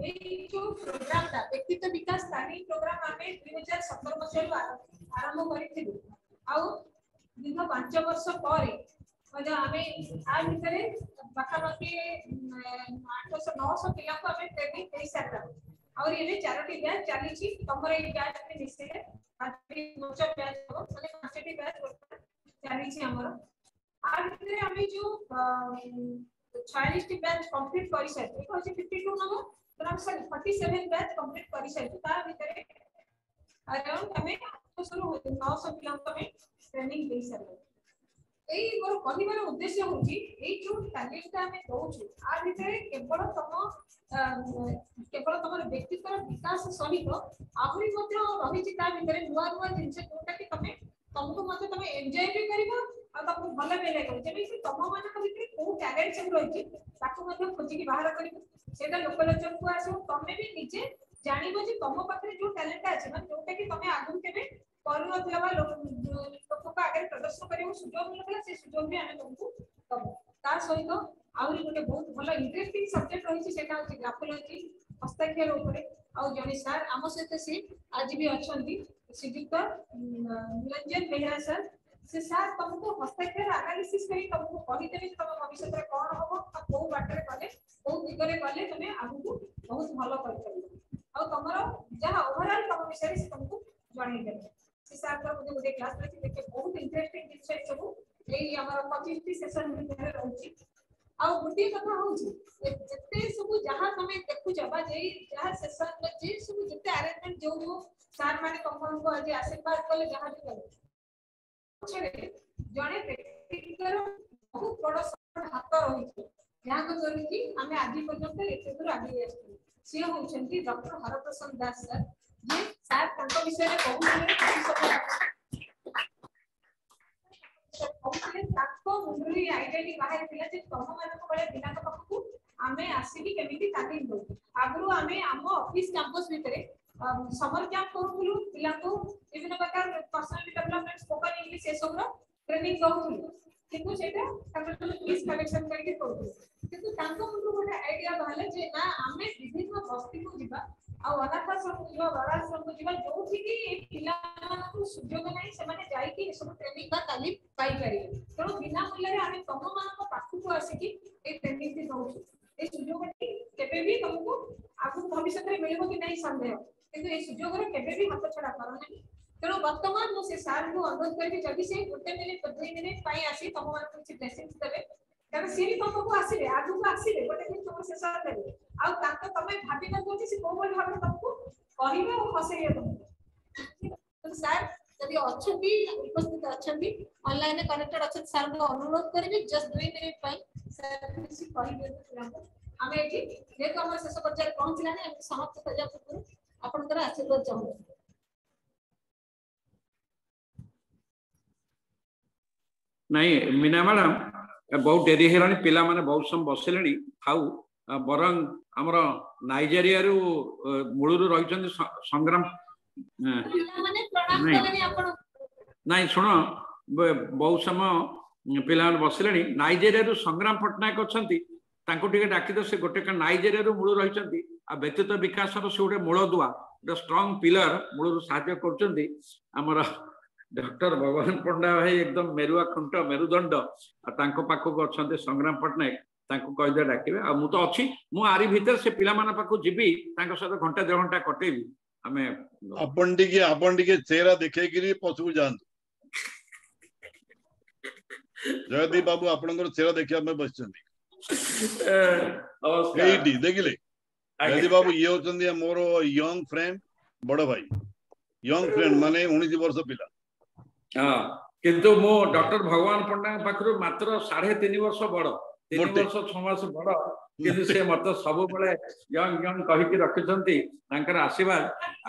ଏଇ ଯୋଉ ପ୍ରୋଗ୍ରାମଟା ବ୍ୟକ୍ତିତ୍ୱ ବିକାଶ ତାଲିମ ପ୍ରୋଗ୍ରାମ ଆମେ 2017 ମସିହାରୁ ଆରମ୍ଭ କରିଥିଲୁ, ଆଉ ଦୀର୍ଘ 5 ବର୍ଷ ପରେ ମଧ୍ୟ ଆମେ ଆ ଭିତରେ ପାଖାପାଖି 800 900 ପିଲାଙ୍କୁ ଆମେ ଟ୍ରେନିଂ ଦେଇ ସାରିଲାଣି। ଆହୁରି ଏବେ 4ଟି ବ୍ୟାଚ୍ ଚାଲିଛି, ତମର ଏଇ ବ୍ୟାଚ୍ ମିଶିଲେ 5ଟି ବ୍ୟାଚ୍ ହବ, ମାନେ 5ଟି ବ୍ୟାଚ୍ ଚାଲିଛି ଆମର। ଆ ଭିତରେ ଆମେ ଯୋଉ 46ଟି ବ୍ୟାଚ୍ କମ୍ପ୍ଲିଟ କରିସାରିଛୁ, ଏଇଟା ହଉଛି 52 ନମ୍ବର, ସରି 47 ବ୍ୟାଚ୍ କମ୍ପ୍ଲିଟ କରିସାରିଛୁ। ତା ଭିତରେ ଆରାଉଣ୍ଡ ଆମେ 800ରୁ 900 ପିଲାଙ୍କୁ ଆମେ ଟ୍ରେନିଂ ଦେଇ ସାରିଲୁ। ଏଇ ମୋର କହିବାର ଉଦ୍ଦେଶ୍ୟ ହଉଛି, ଏଇ ଯୋଉ ତାଲିମଟା ଆମେ ଦଉଛୁ ଆ ଭିତରେ କେବଳ ତମ କେବଳ ତମର ବ୍ୟକ୍ତିତ୍ୱର ବିକାଶ ସହିତ ଆହୁରି ମଧ୍ୟ ରହିଛି ତା ଭିତରେ ନୂଆ ନୂଆ ଜିନିଷ, ଯୋଉଟା କି ତମେ ତମକୁ ମଧ୍ୟ ତମେ ଏନ୍ଜୟ ବି କରିବ ଆଉ ତମକୁ ଭଲ ବି ଲାଗିବ। ଯେମିତି ତମ ମାନଙ୍କ ଭିତରେ କୋଉ ଟ୍ୟାଲେଣ୍ଟ ସବୁ ରହିଛି ତାକୁ ମଧ୍ୟ ଖୋଜିକି ବାହାର କରିବ, ସେଇଟା ଲୋକଲୋଚନକୁ ଆସିବ। ତମେ ବି ନିଜେ ଜାଣିବ ଯେ ତମ ପାଖରେ ଯୋଉ ଟ୍ୟାଲେଣ୍ଟଟା ଅଛି, ମାନେ ଯୋଉଟା କି ତମେ ଆଗରୁ କେବେ କରୁନଥିଲ ବା ଲୋକଙ୍କ ଆଗରେ ପ୍ରଦର୍ଶନ କରିବାକୁ ସୁଯୋଗ ମିଳୁନଥିଲା, ସେ ସୁଯୋଗ ବି ଆମେ ତମକୁ ଦବୁ। ତା ସହିତ ଆହୁରି ଗୋଟେ ବହୁତ ଭଲ ଇଣ୍ଟରେଷ୍ଟିଂ ସବଜେକ୍ଟ ରହିଛି, ସେଟା ହଉଛି ଗ୍ରାଫୋଲୋଜି, ହସ୍ତାକ୍ଷର ଉପରେ। ଆଉ ଜଣେ ସାର୍ ଆମ ସହିତ ସେ ଆଜି ବି ଅଛନ୍ତି, ଶ୍ରୀଯୁକ୍ତ ନିରଞ୍ଜନ ବେହେରା ସାର୍। ସେ ସାର୍ ତମକୁ ହସ୍ତାକ୍ଷର ଆନାଲିସିସ୍ କରି ତମକୁ କହିଦେବେ ଯେ ତମ ଭବିଷ୍ୟତରେ କଣ ହବ, ଆଉ କୋଉ ବାଟରେ ଗଲେ, କୋଉ ଦିଗରେ ଗଲେ ତମେ ଆଗକୁ ବହୁତ ଭଲ କରିପାରିବ, ଆଉ ତମର ଯାହା ଓଭରଅଲ ତମ ବିଷୟରେ ସେ ତମକୁ ଜଣେଇଦେବେ। ସେ ସାର୍ଙ୍କର ମଧ୍ୟ ଗୋଟେ କ୍ଲାସ ରହିଛି, ଦେଖିବେ ବହୁତ ଇଣ୍ଟରେଷ୍ଟିଂ ଜିନିଷ ଏସବୁ ଏଇ ଆମର 25ଟି ସେସନ ଭିତରେ ରହୁଛି। ଆଉ ଗୋଟିଏ କଥା ହଉଛି, ଯେତେ ସବୁ ଯାହା ତମେ ଦେଖୁଛ ବା ଯେଇ ଯାହା ସେସନ ଯେ ସବୁ ଯେତେ ଆରେଞ୍ଜମେଣ୍ଟ ଯୋଉ ଯୋଉ ସାର୍ ମାନେ ତମମାନଙ୍କୁ ଆଜି ଆଶୀର୍ବାଦ କଲେ, ଯାହା ବି କଲେ, ପଛରେ ଜଣେ ବ୍ୟକ୍ତିଙ୍କର ବହୁତ ବଡ ହାତ ରହିଛି, ଯାହାଙ୍କ ଦ୍ୱାରା କି ଆମେ ଆଜି ପର୍ଯ୍ୟନ୍ତ ଏତେ ଦୂର ଆଗେଇ ଆସିଛୁ। ସିଏ ହଉଛନ୍ତି ଡକ୍ଟର ହରପ୍ରସନ୍ନ ଦାସ ସାର୍। ଯିଏ ସାର୍ ତାଙ୍କ ବିଷୟରେ କହୁଥିଲେ, କହୁଥିଲେ ତାଙ୍କ ମୁଣ୍ଡରୁ ଏଇ ଆଇଡିଆଟି ବାହାରିଥିଲା ଯେ ତମ ମାନଙ୍କ ଭଳିଆ ପିଲାଙ୍କ ପାଖକୁ ଆମେ ଆସିକି କେମିତି ତାଲିମ ଦଉ। ଆଗରୁ ଆମେ ଆମ ଅଫିସ କ୍ୟାମ୍ପସ ଭିତରେ ସମର କ୍ୟାମ୍ପ କରୁଥିଲୁ, ପିଲାଙ୍କୁ ବିଭିନ୍ନ ପ୍ରକାର ପର୍ସନାଲିଟି ଡେଭଲପମେଣ୍ଟ, ସ୍ପୋକନ ଇଂଲିଶ ଏସବୁର ଟ୍ରେନିଂ ଦଉଥିଲୁ, କିନ୍ତୁ ସେଇଟା ତାଙ୍କର ଫିସ୍ କଲେକ୍ସନ କରିକି କରୁଥିଲୁ। କିନ୍ତୁ ତାଙ୍କ ମୁଣ୍ଡରୁ ଗୋଟେ ଆଇଡିଆ ବାହାରିଲା ଯେ ନା, ଆମେ ବିଭିନ୍ନ ବସ୍ତିକୁ ଯିବା, ଆଉ ଅନାଥାଶ୍ରମକୁ ଯିବା, ବାଳାଶ୍ରମକୁ ଯିବା, ଯୋଉଠିକି ଏଇ ପିଲାମାନଙ୍କୁ ସୁଯୋଗ ନାହିଁ, ସେମାନେ ଯାଇକି ଏସବୁ ଟ୍ରେନିଂ ବା ତାଲିମ ପାଇପାରିବେ। ତେଣୁ ବିନା ମୂଲ୍ୟରେ ଆମେ ତମମାନଙ୍କ ପାଖକୁ ଆସିକି ଏଇ ଟ୍ରେନିଂଟି ଦଉଛୁ। ଏଇ ସୁଯୋଗଟି କେବେ ବି ତମକୁ ଆଗକୁ ଭବିଷ୍ୟତରେ ମିଳିବ କି ନାହିଁ ସନ୍ଦେହ, କିନ୍ତୁ ଏଇ ସୁଯୋଗର କେବେ ବି ହାତ ଛଡା କର ନାହିଁ। ତେଣୁ ବର୍ତ୍ତମାନ ମୁଁ ସେ ସାର୍ଙ୍କୁ ଅନୁରୋଧ କରିବି, ଯଦି ସେ 1 ମିନିଟ୍ 2 ମିନିଟ୍ ପାଇଁ ଆସି ତମମାନଙ୍କୁ କିଛି ବ୍ଲେସିଂସ୍ ଦେବେ, କାରଣ ସିଏ ବି ତମ ପାଖକୁ ଆସିବେ, ଆଗକୁ ଆସିବେ, ଗୋଟେ ଦିନ ତମ ଶେଷ ଦେବେ। ଆଉ ତାଙ୍କ ତମେ ଭାବି ନଥିବ ଯେ ସେ କୋଉ ଭଳି ଭାବରେ ତମକୁ କହିବେ ଆଉ ହସେଇବେ ତମକୁ। ସାର୍ ଯଦି ଅଛନ୍ତି, ଉପସ୍ଥିତ ଅଛନ୍ତି, ଅନଲାଇନରେ କନେକ୍ଟେଡ ଅଛନ୍ତି, ସାର୍ଙ୍କୁ ଅନୁରୋଧ କରିବି ଜଷ୍ଟ 2 ମିନିଟ୍ ପାଇଁ ସାର୍ କିଛି କହିଦିଅନ୍ତୁ ପିଲାଙ୍କୁ। ଆମେ ଏଠି ଯେହେତୁ ଆମର ଶେଷ ପର୍ଯ୍ୟାୟରେ ପହଞ୍ଚିଲାଣି, ଆମେ ସମାପ୍ତ କରିବା ପୂର୍ବରୁ ଆପଣଙ୍କର ଆଶୀର୍ବାଦ ଚାହୁଁଛୁ। ନାଇଁ ମୀନା ମ୍ୟାଡାମ, ବହୁତ ଡେରି ହେଇଗଲାଣି, ପିଲାମାନେ ବହୁତ ସମୟ ବସିଲେଣି, ଥାଉ। ବରଂ ଆମର ନାଇଜେରିଆରୁ ମୂଳରୁ ରହିଛନ୍ତି ସଂଗ୍ରାମ। ନାଇଁ ଶୁଣ, ବହୁତ ସମୟ ପିଲାମାନେ ବସିଲେଣି। ନାଇଜେରିଆରୁ ସଂଗ୍ରାମ ପଟ୍ଟନାୟକ ଅଛନ୍ତି, ତାଙ୍କୁ ଟିକେ ଡାକିଦିଅ। ସେ ଗୋଟେ ନାଇଜେରିଆରୁ ମୂଳରୁ ରହିଛନ୍ତି ଆଉ ବ୍ୟକ୍ତିତ୍ୱ ବିକାଶର ସେ ଗୋଟେ ମୂଳଦୁଆ, ଗୋଟେ ଷ୍ଟ୍ରଙ୍ଗ ପିଲର, ମୂଳରୁ ସାହାଯ୍ୟ କରୁଛନ୍ତି। ଆମର ଡକ୍ଟର ଭଗବାନ ପଣ୍ଡା ଭାଇ ଏକଦମ ମେରୁଆ ଖୁଣ୍ଟ, ମେରୁଦଣ୍ଡ, ଆଉ ତାଙ୍କ ପାଖକୁ ଅଛନ୍ତି ସଂଗ୍ରାମ ପଟ୍ଟନାୟକ, ତାଙ୍କୁ କହିଦିଅ ଡାକିବେ। ଆଉ ମୁଁ ତ ଅଛି, ମୁଁ ଆରି ଭିତରେ ସେ ପିଲାମାନଙ୍କ ପାଖକୁ ଯିବି, ତାଙ୍କ ସହିତ ଘଣ୍ଟା ଦେଢ ଘଣ୍ଟା କଟେଇବି। ଆମେ ଆପଣ ଟିକେ ଚେହେରା ଦେଖେଇକିରି ପଛକୁ ଯାଆନ୍ତୁ। ଜୟଦୀପ ବାବୁ ଆପଣଙ୍କର ଚେହେରା ଦେଖିବା ପାଇଁ ବସିଛନ୍ତି ଏଇଠି, ଦେଖିଲେ ଜୟଦୀପ ବାବୁ, ଇଏ ହଉଛନ୍ତି ମୋର ୟଙ୍ଗ ଫ୍ରେଣ୍ଡ, ବଡ ଭାଇ। ୟଙ୍ଗ ଫ୍ରେଣ୍ଡ ମାନେ 19 ବର୍ଷ ପିଲା। ହଁ, କିନ୍ତୁ ମୁଁ ଡକ୍ଟର ଭଗବାନ ପଣ୍ଡାଙ୍କ ପାଖରୁ ମାତ୍ର 3.5 ବର୍ଷ ବଡ, 3 ବର୍ଷ 6 ମାସ ବଡ, କିନ୍ତୁ ସେ ମତେ ସବୁବେଳେ ୟଙ୍ଗ ୟଙ୍ଗ କହିକି ରଖିଛନ୍ତି। ତାଙ୍କର ଆଶୀର୍ବାଦ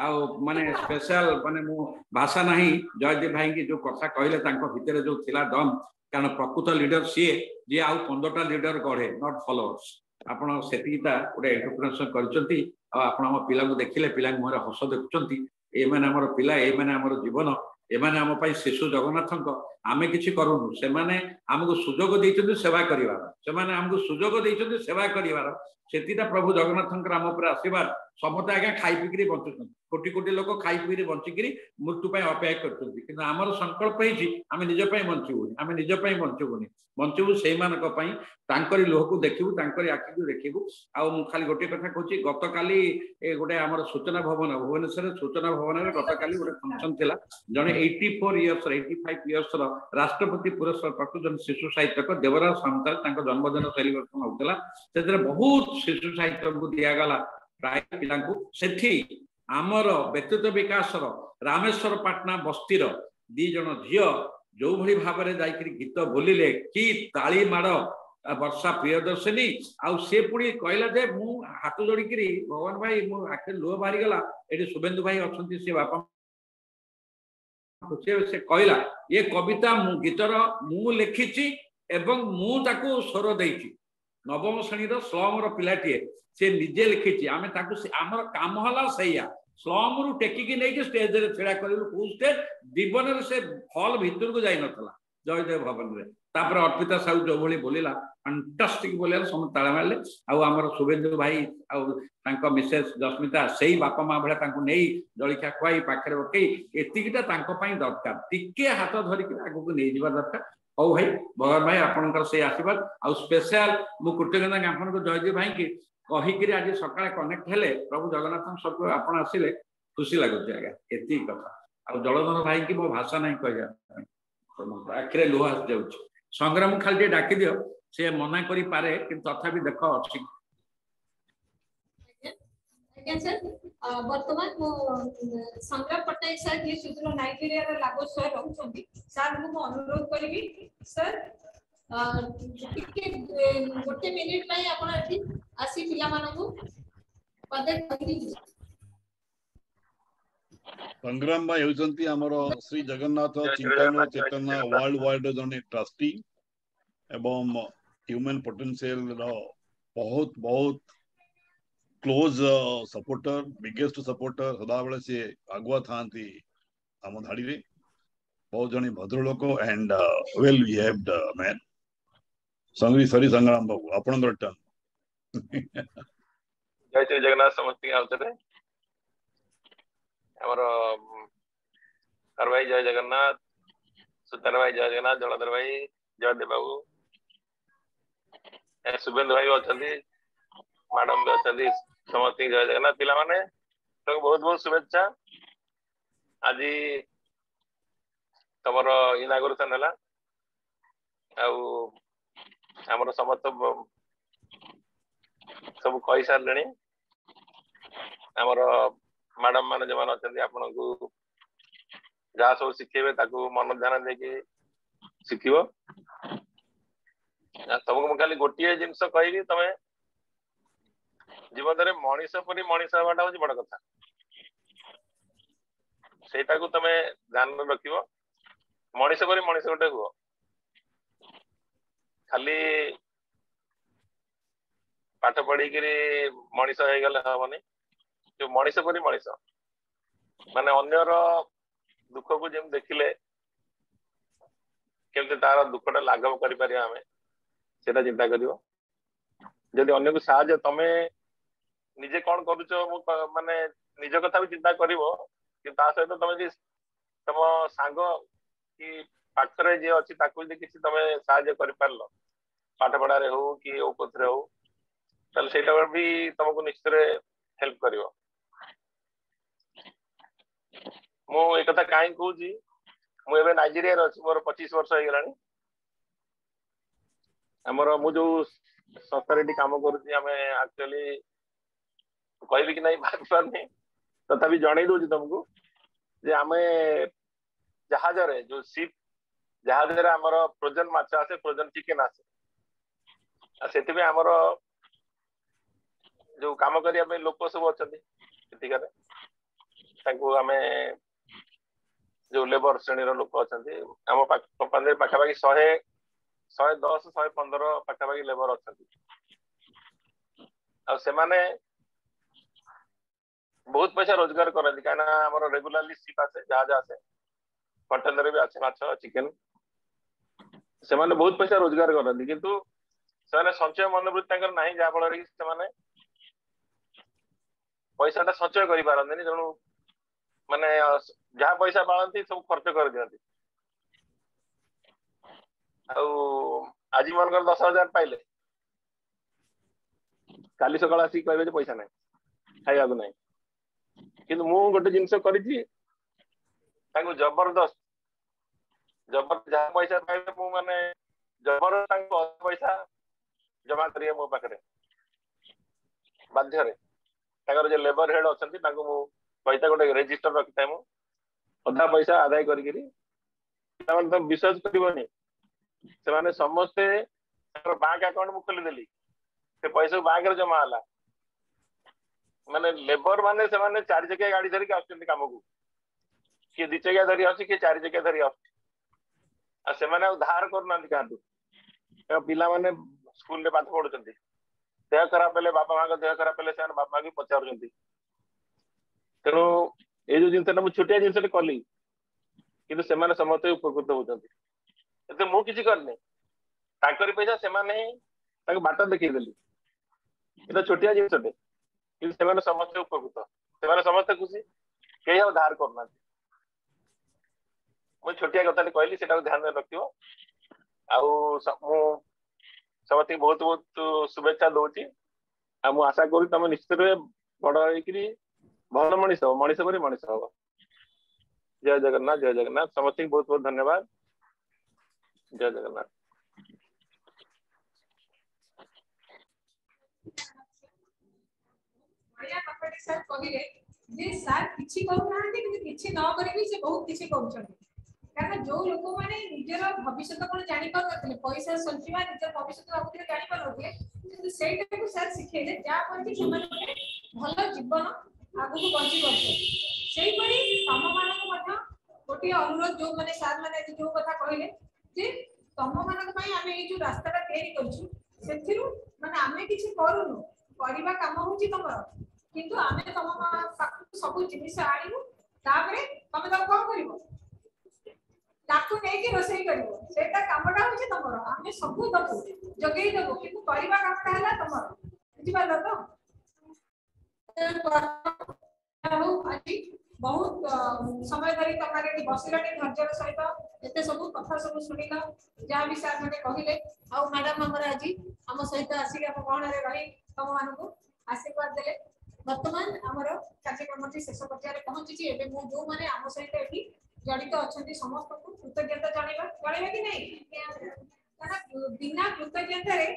ଆଉ ମାନେ ସ୍ପେଶାଲ, ମାନେ ମୁଁ ଭାଷା ନାହିଁ। ଜୟଦୀପ ଭାଇଙ୍କି ଯୋଉ କଥା କହିଲେ, ତାଙ୍କ ଭିତରେ ଯୋଉ ଥିଲା ଦମ୍, କାରଣ ପ୍ରକୃତ ଲିଡର ସିଏ ଯିଏ ଆଉ 15ଟା ଲିଡର ଗଢେ, not followers. ଆପଣ ସେତିକିଟା ଗୋଟେ ଏଣ୍ଟରପ୍ରିନରସିପ କରିଛନ୍ତି। ଆଉ ଆପଣ ଆମ ପିଲାଙ୍କୁ ଦେଖିଲେ, ପିଲାଙ୍କ ମୁହଁରେ ହସ ଦେଖୁଛନ୍ତି। ଏମାନେ ଆମର ପିଲା, ଏମାନେ ଆମର ଜୀବନ, ଏମାନେ ଆମ ପାଇଁ ଶିଶୁ ଜଗନ୍ନାଥଙ୍କ। ଆମେ କିଛି କରୁନୁ, ସେମାନେ ଆମକୁ ସୁଯୋଗ ଦେଇଛନ୍ତି ସେବା କରିବାର। ସେମାନେ ଆମକୁ ସୁଯୋଗ ଦେଇଛନ୍ତି ସେବା କରିବାର। ସେତିଟା ପ୍ରଭୁ ଜଗନ୍ନାଥଙ୍କର ଆମ ଉପରେ ଆଶୀର୍ବାଦ। ସମସ୍ତେ ଆଜ୍ଞା ଖାଇ ପିଇକିରି ବଞ୍ଚୁଛନ୍ତି, କୋଟି କୋଟି ଲୋକ ଖାଇ ପିଇକିରି ବଞ୍ଚିକିରି ମୃତ୍ୟୁ ପାଇଁ ଅପେକ୍ଷା କରୁଛନ୍ତି। କିନ୍ତୁ ଆମର ସଂକଳ୍ପ ହେଇଛି, ଆମେ ନିଜ ପାଇଁ ବଞ୍ଚିବୁନି, ଆମେ ନିଜ ପାଇଁ ବଞ୍ଚିବୁନି, ବଞ୍ଚିବୁ ସେଇମାନଙ୍କ ପାଇଁ। ତାଙ୍କରି ଲୁହକୁ ଦେଖିବୁ, ତାଙ୍କରି ଆଖିକୁ ଦେଖିବୁ। ଆଉ ମୁଁ ଖାଲି ଗୋଟିଏ କଥା କହୁଛି, ଗତକାଲି ଗୋଟେ ଆମର ସୂଚନା ଭବନ, ଭୁବନେଶ୍ୱରରେ ସୂଚନା ଭବନରେ ଗତକାଲି ଗୋଟେ ଫଙ୍କସନ ଥିଲା। ଜଣେ 84 ଇୟର୍ସ, 85 ଇୟର୍ସର ରାଷ୍ଟ୍ରପତି ପୁରସ୍କାର ପ୍ରାପ୍ତ ଜଣେ ଶିଶୁ ସାହିତ୍ୟକ ଦେବରାଜ ସାମନ୍ତରାୟ, ତାଙ୍କ ଜନ୍ମଦିନ ସେଲିବ୍ରେସନ ହଉଥିଲା। ସେଥିରେ ବହୁତ ଶିଶୁ ସାହିତ୍ୟଙ୍କୁ ଦିଆଗଲା ପ୍ରାୟ ପିଲାଙ୍କୁ। ସେଠି ଆମର ବ୍ୟକ୍ତିତ୍ୱ ବିକାଶର ରାମେଶ୍ୱର ପାଟନା ବସ୍ତିର ଦି ଜଣ ଝିଅ ଯୋଉଭଳି ଭାବରେ ଯାଇକିରି ଗୀତ ବୋଲିଲେ, କି ତାଳି ମାଡ଼! ବର୍ଷା ପ୍ରିୟଦର୍ଶିନୀ, ଆଉ ସେ ପୁଣି କହିଲା ଯେ ମୁଁ ହାତ ଯୋଡ଼ିକିରି, ଭଗବାନ ଭାଇ, ମୋ ଆଖିରେ ଲୁହ ବାହାରିଗଲା। ଏଠି ଶୁଭେନ୍ଦୁ ଭାଇ ଅଛନ୍ତି, ସେ ବାପା, ସେ କହିଲା, ଏ କବିତା ମୁଁ ଗୀତର ମୁଁ ଲେଖିଛି ଏବଂ ମୁଁ ତାକୁ ସ୍ୱର ଦେଇଛି। ନବମ ଶ୍ରେଣୀର ସ୍ଲମର ପିଲାଟିଏ, ସେ ନିଜେ ଲେଖିଛି। ଆମେ ତାକୁ, ଆମର କାମ ହେଲା ସେଇଆ, ସ୍ଲମରୁ ଟେକିକି ନେଇକି ଷ୍ଟେଜରେ ଛିଡା କରିଲୁ। କୋଉ ଷ୍ଟେଜ? ଜୀବନରେ ସେ ହଲ୍ ଭିତରକୁ ଯାଇନଥିଲା, ଜୟଦେବ ଭବନରେ। ତାପରେ ଅର୍ପିତା ସାହୁ ଯୋଉଭଳି ବୋଲିଲା, ଫାଣ୍ଟାଷ୍ଟିକ ବୋଲିଲା, ସମସ୍ତେ ତାଳି ମାରିଲେ। ଆଉ ଆମର ଶୁଭେନ୍ଦୁ ଭାଇ ଆଉ ତାଙ୍କ ମିସେସ୍ ଜସ୍ମିତା, ସେଇ ବାପା ମା ଭଳିଆ ତାଙ୍କୁ ନେଇ ଜଳଖିଆ ଖୁଆଇ ପାଖରେ ପକେଇ, ଏତିକିଟା ତାଙ୍କ ପାଇଁ ଦରକାର, ଟିକେ ହାତ ଧରିକି ଆଗକୁ ନେଇଯିବା ଦରକାର। ହଉ ଭାଇ, ଭଗବାନ ଭାଇ, ଆପଣଙ୍କର ସେଇ ଆଶୀର୍ବାଦ। ଆଉ ସ୍ପେଶାଲ ମୁଁ କୃତଜ୍ଞତା ଜ୍ଞାପନ ଜୟଦୀପ ଭାଇକି କହିକିରି ଆଜି ସକାଳେ କନେକ୍ଟ ହେଲେ, ପ୍ରଭୁ ଜଗନ୍ନାଥଙ୍କ ସବୁ ଆପଣ ଆସିଲେ, ଖୁସି ଲାଗୁଛି ଆଜ୍ଞା। ଏତିକି କଥା। ଆଉ ଜଳଧର ଭାଇକି ମୋ ଭାଷା ନାହିଁ କହିବା ପାଇଁ, ଆଖିରେ ଲୁହ ଆସିଯାଉଛି। ସଂଗ୍ରାମ ଖାଲି ଟିକେ ଡାକିଦିଅ, ସେ ମନା କରିପାରେ କିନ୍ତୁ ତଥାପି ଦେଖ ଅଛି। ଆଜ୍ଞା ସାର୍, ବର୍ତ୍ତମାନ ମୁଁ ସଂଗ୍ରାମ ପଟ୍ଟନାୟକ ସାର୍, ଯିଏ ସୁଦୂର ନାଇଜେରିଆର ଲାଗୋସରେ ରହୁଛନ୍ତି, ସାର୍ଙ୍କୁ ମୁଁ ଅନୁରୋଧ କରିବି, ସାର୍ ଟିକେ ଗୋଟେ ମିନିଟ୍ ପାଇଁ ଆପଣ ଏଠି ଆସି ପିଲାମାନଙ୍କୁ ପଦେ କହିକି ଯିବେ। ସଂଗ୍ରାମ ଭାଇ ହେଉଛନ୍ତି ଆମର ଶ୍ରୀ ଜଗନ୍ନାଥ ଚିନ୍ତନ ଚେତନା ୱାର୍ଲଡ ୱାଇଡ ଜଣେ ଟ୍ରଷ୍ଟି ଏବଂ ହ୍ୟୁମାନ ପୋଟେନ୍ସିଆଲ ର ବହୁତ ବହୁତ କ୍ଲୋଜ ସପୋର୍ଟର, ବିଗେଷ୍ଟ ସପୋର୍ଟର। ସଦାବେଳେ ସିଏ ଆଗୁଆ ଥାଆନ୍ତି ଆମ ଧାଡ଼ିରେ। ବହୁତ ଜଣେ ଭଦ୍ରଲୋକ ଆଣ୍ଡ ୱେଲ୍ ବିହେଭଡ ମ୍ୟାନ୍। ସଙ୍ଗୀ ସରି, ସଂଗ୍ରାମ ବାବୁ, ଆପଣଙ୍କର ଟର୍ନ। ଜୟ ଶ୍ରୀ ଜଗନ୍ନାଥ ସମସ୍ତଙ୍କୁ ଆଉ ଥରେ। ଆମର ହର ଭାଇ ଜୟ ଜଗନ୍ନାଥ, ସୁତାର ଭାଇ ଜୟ ଜଗନ୍ନାଥ, ଜଳଧର ଭାଇ, ଜୟଦେବ ବାବୁ, ଶୁଭେନ୍ଦୁ ଭାଇ ବି ଅଛନ୍ତି, ମ୍ୟାଡମ ବି ଅଛନ୍ତି, ସମସ୍ତଙ୍କୁ ଜୟ ଜଗନ୍ନାଥ। ପିଲାମାନେ ତମକୁ ବହୁତ ବହୁତ ଶୁଭେଚ୍ଛା। ଆଜି ତମର ଇନାଗୁରେସନ ହେଲା ଆଉ ଆମର ସମସ୍ତ ସବୁ କହିସାରିଲେଣି। ଆମର ମ୍ୟାଡମ ମାନେ ଯୋଉମାନେ ଅଛନ୍ତି ଆପଣଙ୍କୁ ଯାହା ସବୁ ଶିଖେଇବେ ତାକୁ ମନ ଧ୍ୟାନ ଦେଇକି ଶିଖିବ। ତମକୁ ମୁଁ ଖାଲି ଗୋଟିଏ ଜିନିଷ କହିବି, ତମେ ଜୀବନରେ ମଣିଷ ପରି ମଣିଷ ହେବାଟା ହଉଛି ବଡ କଥା। ସେଇଟାକୁ ତମେ ଧ୍ୟାନରେ ରଖିବ, ମଣିଷ ପରି ମଣିଷ ଗୋଟେ ହୁଅ। ଖାଲି ପାଠ ପଢିକିରି ମଣିଷ ହେଇଗଲେ ହବନି। ଯୋଉ ମଣିଷ ପରି ମଣିଷ ମାନେ ଅନ୍ୟର ଦୁଃଖକୁ ଯେମିତି ଦେଖିଲେ କେମିତି ତାର ଦୁଃଖଟା ଲାଘବ କରିପାରିବା ଆମେ, ସେଇଟା ଚିନ୍ତା କରିବ। ଯଦି ଅନ୍ୟକୁ ସାହାଯ୍ୟ, ତମେ ନିଜେ କଣ କରୁଛ ମୁଁ ମାନେ ନିଜ କଥା ବି ଚିନ୍ତା କରିବ, କିନ୍ତୁ ତା ସହିତ ତମେ ଯଦି ତମ ସାଙ୍ଗ କି ପାଖରେ ଯିଏ ଅଛି ତାକୁ ଯଦି କିଛି ତମେ ସାହାଯ୍ୟ କରିପାରିଲ, ପାଠ ପଢାରେ ହଉ କି କୋଉଥିରେ ହଉ, ତାହେଲେ ସେଇଟା ବି ତମକୁ ନିଶ୍ଚିତରେ ହେଲ୍ପ କରିବ। ମୁଁ ଏ କଥା କାହିଁକି କହୁଛି, ମୁଁ ଏବେ ନାଇଜେରିଆରେ ଅଛି, ମୋର 25 ବର୍ଷ ହେଇଗଲାଣି। ଆମର ମୁଁ ଯୋଉ ସଂସ୍ଥାରେ ଏଠି କାମ କରୁଛି, ଆମେ ଆକ୍ଚୁଆଲି କହିବି କି ନାଇଁ ଭାବିପାରୁନି, ତଥାପି ଜଣେଇ ଦଉଛି ତମକୁ ଯେ ଆମେ ଜାହାଜରେ ଯୋଉ ସିପ୍ ଜାହାଜରେ ଆମର ଫ୍ରୋଜନ ମାଛ ଆସେ, ଫ୍ରୋଜନ ଚିକେନ ଆସେ। ଆଉ ସେଥିପାଇଁ ଆମର ଯୋଉ କାମ କରିବା ପାଇଁ ଲୋକ ସବୁ ଅଛନ୍ତି ସେଠିକାରେ, ତାଙ୍କୁ ଆମେ ଯୋଉ ଲେବର ଶ୍ରେଣୀର ଲୋକ ଅଛନ୍ତି ଆମ କମ୍ପାନୀରେ ପାଖାପାଖି 100, 110, 115 ପାଖାପାଖି ଲେବର ଅଛନ୍ତି। ଆଉ ସେମାନେ ବହୁତ ପଇସା ରୋଜଗାର କରନ୍ତି, କାହିଁକିନା ଆମର ରେଗୁଲାରଲି ସିପ୍ ଆସେ, ଜାହାଜ ଆସେ, କଣ୍ଟେନର ବି ଆସେ ମାଛ ଚିକେନ। ସେମାନେ ବହୁତ ପଇସା ରୋଜଗାର କରନ୍ତି, କିନ୍ତୁ ସେମାନେ ସଞ୍ଚୟ ମନୋବୃତ୍ତି ତାଙ୍କର ନାହିଁ, ଯାହା ଫଳରେ କି ସେମାନେ ପଇସାଟା ସଞ୍ଚୟ କରିପାରନ୍ତିନି। ତେଣୁ ମାନେ ଯାହା ପଇସା ପାଳନ୍ତି ସବୁ ଖର୍ଚ୍ଚ କରିଦିଅନ୍ତି। ଆଉ ଆଜି ମନେକର 10,000 ପାଇଲେ, କାଲି ସକାଳ ଆସିକି କହିବେ ଯେ ପଇସା ନାହିଁ, ଖାଇବାକୁ ନାହିଁ। କିନ୍ତୁ ମୁଁ ଗୋଟେ ଜିନିଷ କରିଛି, ତାଙ୍କୁ ଜବରଦସ୍ତ ଜବର ଯାହା ପଇସା ପାଇବେ ମୁଁ ମାନେ ଜବର ତାଙ୍କୁ ପଇସା ଜମା କରିବେ ମୋ ପାଖରେ ବାଧ୍ୟରେ। ତାଙ୍କର ଯୋଉ ଲେବର ହେଡ ଅଛନ୍ତି ତାଙ୍କୁ ମୁଁ ପଇସା ଗୋଟେ ରେଜିଷ୍ଟର ରଖିଥାଏ, ମୁଁ ଅଧା ପଇସା ଆଦାୟ କରିକିରି। ସେମାନେ ତ ବିଶ୍ୱାସ କରିବନି, ସେମାନେ ସମସ୍ତେ ତାଙ୍କର ବ୍ୟାଙ୍କ ଆକାଉଣ୍ଟ ମୁଁ ଖୋଲିଦେଲି, ସେ ପଇସା ବ୍ୟାଙ୍କରେ ଜମା ହେଲା। ମାନେ ଲେବର ମାନେ ସେମାନେ 4 ଚକିଆ ଗାଡି ଧରିକି ଆସୁଛନ୍ତି କାମକୁ, କିଏ 2 ଚକିଆ ଧରି ଆସୁଛି, କିଏ 4 ଚକିଆ ଧରି ଆସୁଛି। ଆଉ ସେମାନେ ଆଉ ଧାର କରୁନାହାନ୍ତି କାହାଠୁ। ପିଲାମାନେ ସ୍କୁଲରେ ପାଠ ପଢୁଛନ୍ତି, ଦେହ ଖରାପ ହେଲେ ବାପା ମାଙ୍କ ଦେହ ଖରାପ ହେଲେ ସେମାନେ ବାପା ମାଙ୍କୁ ପଚାରୁଛନ୍ତି। ତେଣୁ ଏଇ ଯୋଉ ଜିନିଷଟା ମୁଁ ଛୋଟିଆ ଜିନିଷଟେ କଲି, କିନ୍ତୁ ସେମାନେ ସମସ୍ତେ ଉପକୃତ ହଉଛନ୍ତି। ଏତେ ମୁଁ କିଛି କରିନି, ତାଙ୍କରି ପଇସା ସେମାନେ ହିଁ ତାଙ୍କୁ ବାଟ ଦେଖେଇଦେଲି। ଏଇଟା ଛୋଟିଆ ଜିନିଷଟେ, କିନ୍ତୁ ସେମାନେ ସମସ୍ତେ ଉପକୃତ, ସେମାନେ ସମସ୍ତେ ଖୁସି, କେହି ଆଉ ଧାର କରୁନାହାନ୍ତି। ମୁଁ ଛୋଟିଆ କଥାଟେ କହିଲି, ସେଟାକୁ ଧ୍ୟାନରେ ରଖିବ। ଆଉ ମୁଁ ସମସ୍ତଙ୍କୁ ବହୁତ ବହୁତ ଶୁଭେଚ୍ଛା ଦଉଛି। ଆଉ ମୁଁ ଆଶା କରୁଛି ତମେ ନିଶ୍ଚିତ ରୂପେ ବଡ ହେଇକିରି ଭଲ ମଣିଷ ହବ, ମଣିଷ ପରି ମଣିଷ ହବ। ଜୟ ଜଗନ୍ନାଥ, ଜୟ ଜଗନ୍ନାଥ। ସମସ୍ତଙ୍କୁ ବହୁତ ବହୁତ ଧନ୍ୟବାଦ। ଜୟ ଜଗନ୍ନାଥ। ବଢିଆ କଥାଟି ସାର୍ କହିଲେ ଯେ ସାର୍ କିଛି କରୁନାହାନ୍ତି, କିନ୍ତୁ କିଛି ନ କରିବି ସେ ବହୁତ କିଛି କରୁଛନ୍ତି। କାରଣ ଯୋଉ ଲୋକମାନେ ନିଜର ଭବିଷ୍ୟତ କଣ ଜାଣିପାରୁନଥିଲେ, ପଇସା ସଞ୍ଚିବା ନିଜର ଭବିଷ୍ୟତ ଭାବୁଥିଲେ ଜାଣିପାରୁନଥିଲେ, କିନ୍ତୁ ସେଇଟାକୁ ସାର୍ ଶିଖେଇଲେ, ଯାହା ଫଳରେ କି ସେମାନେ ଗୋଟେ ଭଲ ଜୀବନ ଆଗକୁ ବଞ୍ଚି ପାରୁଛନ୍ତି। ସେଇପରି ତମ ମାନଙ୍କୁ ମଧ୍ୟ ଗୋଟିଏ ଅନୁରୋଧ, ଯୋଉମାନେ ସାର୍ ମାନେ ଆଜି ଯୋଉ କଥା କହିଲେ ଯେ ତମ ମାନଙ୍କ ପାଇଁ ଆମେ ଏଇ ଯୋଉ ରାସ୍ତାଟା ତିଆରି କରିଛୁ, ସେଥିରୁ ମାନେ ଆମେ କିଛି କରୁନୁ, କରିବା କାମ ହଉଛି ତମର, କିନ୍ତୁ ଆମେ ତମ ପାଖକୁ ସବୁ ଜିନିଷ ଆଣିବୁ, ତାପରେ ତମେ ତାକୁ କଣ କରିବ, ତାକୁ ନେଇକି ରୋଷେଇ କରିବ। ସେଇଟା କାମଟା ହଉଛି ତମର, ଆମେ ସବୁ ଦବୁ, ଯୋଗେଇ ଦବୁ, କିନ୍ତୁ କରିବା କାମଟା ହେଲା ତମର। ବୁଝିପାରିଲ ତ? ହଉ, ଆଜି ବହୁତ समय धरी तमने एठी बसिलनि धैर्यर सहित एते सब कथा सब सुनिल जहाँ भी सर माने कहिले आउ मैडम हमर आज हम सहित आसी हम गहण रे रही तम मानकु आशीर्वाद देले। वर्तमान हमर कार्यक्रम टी शेष पर्याय रे पहुंची। एबे मु जो माने हम सहित एठी जड़ित अछंती समस्त को कृतज्ञता जणाइबा जणाइबा कि नहीं? कारण बिना कृतज्ञता रे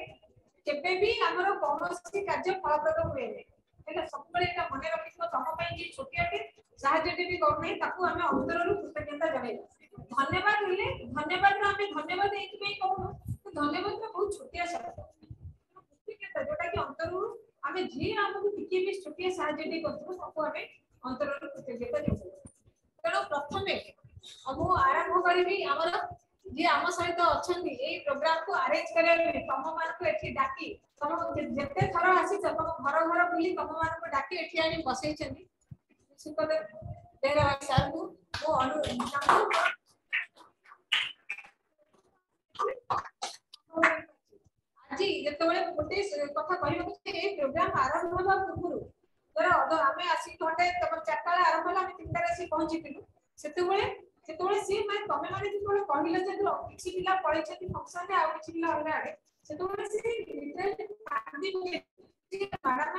केबे भी हमर कोनोसी कार्य फलप्रद हुएने। एटा सबबेले एटा मने रखिथिବ तम पई जे छोटियाटे साहाଯ୍यटे भी करनै ताकू आमे अंतरରୁ कृतज्ञता जणाइबा। धन्यवाद होले धन्यवाद ର आमे धन्यवाद एथि पई कहु धन्यवाद टा बहुत छोटिया शब्द। कृतज्ञता जोटा कि अंतरରୁ आमे जे हमकु टिके भी छोटिया साहाଯ୍यटे करथिबो ताकू आमे अंतरରୁ कृतज्ञता जणाइबा। तेणु प्रथमे मु आरंभ करिवि हमर जे आम सहित अछंती एई प्रोग्राम को अरेंज करे तम मानकु एठी डाकी तम जेते थर आसी तम घर घर बुली तम मानकु डाकी एठी आनि बसैछंती सुखदेव बेहरा सर को मु अनु आज जेतेबेले गोटे कथा कहिबाकु ए प्रोग्राम आरंभ हेबा पूर्वरु धर आमे आसी घंटे तमर 4टा आरंभ होला आमे 3टा आसी पहुंचिथिलु। सेतेबेले सेतेबेले सी माने तमे माने जेतेबेले कहिलो जे किछि पिला पळैछंती फंक्शन रे आ किछि पिला अलगा आडे सेतेबेले सी लिटरली कांदी पकेले मैडम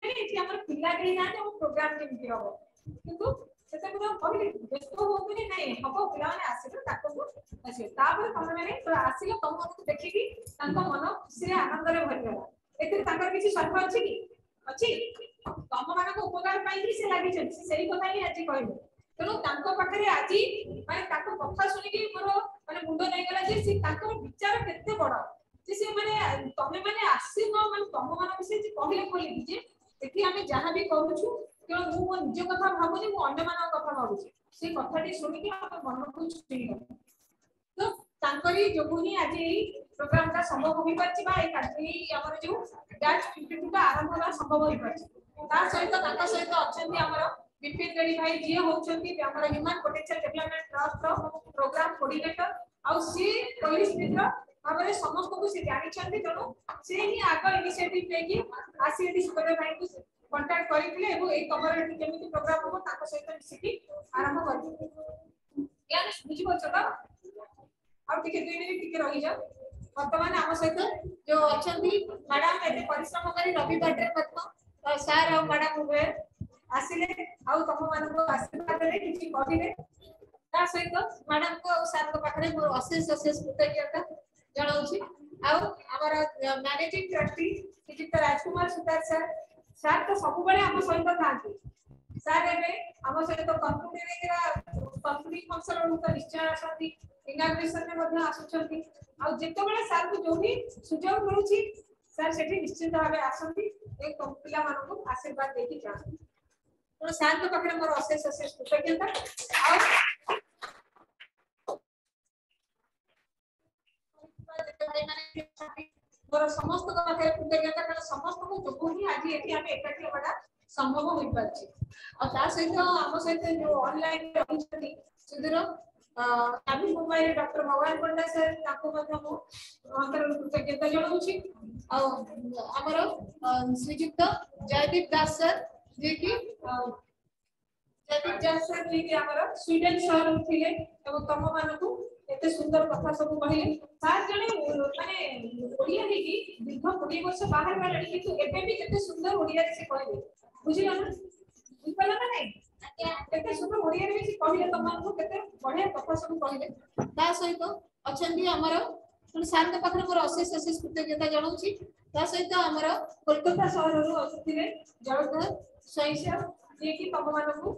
एठी हमर पिला केही नाहांती हम प्रोग्राम केमिति हबो। किंतु सेतेबेले कहिले व्यस्त होतुनी नै हबो पिला माने आसिलो ताको आसिलो तापर तमे माने आसिलो तम मनको देखिकी तांको मन खुशी रे आनंद रे भरि गला। एथिरे तांकर किछि स्वार्थ अछि की अछि? तम मानको उपकार पाई से लागिछंती सेही कथा ही आज कहिले। तेणु तांको पाखरे आज माने तांको कथा सुनिकी मोर माने मुंड नै गला जे से तांको विचार केते बड़ जे से माने तमे माने आसिनो माने तम मान विषय जे कहिले कहिले जे एठी आमे जहा भी करूछु केवल मु मो निज कथा भाबुनी मु अन्य मानक कथा भाबुছি से कथाटी सुनिकी हम मन को छुई गला। तो तांकरी जोगु ही आज एई प्रोग्राम टा संभव होई परछि बा ए कार्य हमर जो बैच 52 टा आरंभ होबा संभव होई परछि। ता सहित तांको सहित अछंती हमर बिपिन रेड्डी भाई जे होउछंती हमर ह्यूमन पोटेंशियल डेवलपमेंट ट्रस्ट रो प्रोग्राम कोऑर्डिनेटर आउ सी पुलिस मित्र भाबरे समस्त को से जानि छंती। तेणु से ही आग इनिशिएटिव लेकी आसी एठी सुखदेव भाई को कांटेक्ट करितले एबो एई तमर एठी केमिति प्रोग्राम होबो ताको सहित मिसिकी आरंभ करबो। ज्ञान बुझि परछ त? आ टिके 2 मिनिट टिके रहि जा। वर्तमान आम सहित जो अछंती मैडम एते परिश्रम करी रविवार रे मत सर आ मैडम उभय आसिले आउ तम मानको आशीर्वाद देले किछि कहिले ता सहित मैडम को सर को पाखरे मोर अशेष अशेष कृतज्ञता जणाउछि। आउ हमर मैनेजिंग ट्रस्टी श्रीयुक्त राजकुमार सुतार सर सर तो सब बेले हम सहित थांती। सर एबे हम सहित कंक्लूडिंग फंक्शन रे निश्चय आसंती इनॉग्रेशन रे मध्ये आसुछंती आउ जेते बेले सर को जो भी सुजोग मिलुछि सर सेठी निश्चित भावे आसंती ए पिला मानको आशीर्वाद देकी जांती। तेणु सारଙ୍କ पाखरे मोर अशेष अशेष कृतज्ञता। आउ मोर समस्त पाखरे कृतज्ञता कारण समस्तଙ୍କୁ ଯୋଗୁ ହିଁ ଆଜି ଏଠି ଆମେ ଏକାଠି ହେବାଟା ସମ୍ଭବ ହୋଇପାରିଛି। ଆଉ ତା ସହିତ ଆମ ସହିତ ଯୋଉ ଅନଲାଇନ ରହିଛନ୍ତି ସୁଦୂର ନାଭି ମୁମ୍ବାଇରେ ଡକ୍ଟର ଭଗବାନ ପଣ୍ଡା ସାର୍ ତାଙ୍କୁ ମଧ୍ୟ ମୁଁ ଅନ୍ତରରୁ କୃତଜ୍ଞତା ଜଣାଉଛି। ଆଉ ଆମର ଶ୍ରୀଯୁକ୍ତ ଜୟଦୀପ ଦାସ ସାର୍ ଯିଏକି ଜୟଦୀପ ଦାସ ସାର୍ ଯିଏକି ଆମର ସ୍ୱିଡେନ ସହରରୁ ଥିଲେ ଏବଂ ତମ ମାନଙ୍କୁ ଏତେ ସୁନ୍ଦର କଥା ସବୁ କହିଲେ। ସାର୍ ଜଣେ ମାନେ ଓଡ଼ିଆ ହେଇକି ଦୀର୍ଘ 20 ବର୍ଷ ବାହାରେ ଗଲେଣି କିନ୍ତୁ ଏବେ ବି କେତେ ସୁନ୍ଦର ଓଡ଼ିଆରେ ସେ କହିଲେ। ବୁଝିଲ ନା? ବୁଝିପାରିଲ ନା ନାଇଁ? କେତେ ସୁନ୍ଦର ଓଡ଼ିଆରେ ବି ସେ କହିଲେ ତମମାନଙ୍କୁ କେତେ ବଢିଆ କଥା ସବୁ କହିଲେ। ତା ସହିତ ଅଛନ୍ତି ଆମର ତେଣୁ ସାର୍ଙ୍କ ପାଖରେ ମୋର ଅଶେଷ ଅଶେଷ କୃତଜ୍ଞତା ଜଣାଉଛି। ତା ସହିତ ଆମର କୋଲକାତା ସହରରୁ ଆସିଥିଲେ ଜଳଧର ସ୍ୱାଇଁ ସାର୍ ଯିଏକି ତମମାନଙ୍କୁ